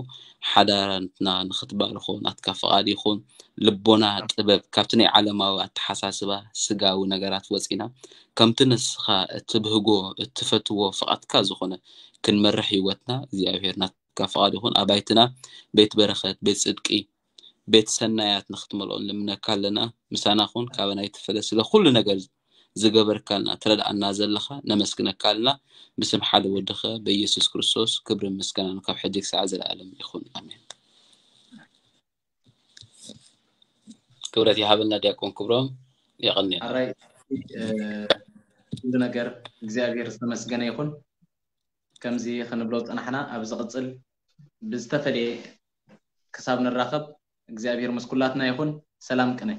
ሓዳራትና ንኽትባርኾ ናትካ ፍቓድ ይኹን። ልቦና ጥበብ ካብቲ ናይ ዓለማዊ ኣተሓሳስባ ስጋዊ ነገራት ወፂና ከምቲ ንስኻ እትብህጎ እትፈትዎ ፍቓድካ ዝኾነ ክንመርሕ ህይወትና እግዚኣብሔር ናትካ ፍቓድ ይኹን። ኣባይትና ቤት በረኸት ቤት ፅድቂ ቤት ሰናያት ንኽትመልኦ ንልምነካ ኣለና። ምሳና ኩን ካበና ይትፈለ ስለ ኩሉ ነገር ዝገበርካልና ትረድኣና ዘለኻ ነመስግነካ ኣለና። ብስም ሓደ ወድኸ በኢየሱስ ክርስቶስ ክብርን ምስጋናን ካብ ሕጂ ክሳዕ ዘለኣለም ይኹን ኣሜን። ክብረት ይሃበልና ዲያቆን ክብሮም የቐንየልና። ኣራይ ኩሉ ነገር እግዚኣብሔር ዝተመስገነ ይኹን። ከምዚ ክንብሎ ዝፀናሕና ኣብ ዝቕፅል ብዝተፈለየ ክሳብ ንራኸብ እግዚኣብሔር ምስ ኩላትና ይኹን። ሰላም ቅነ።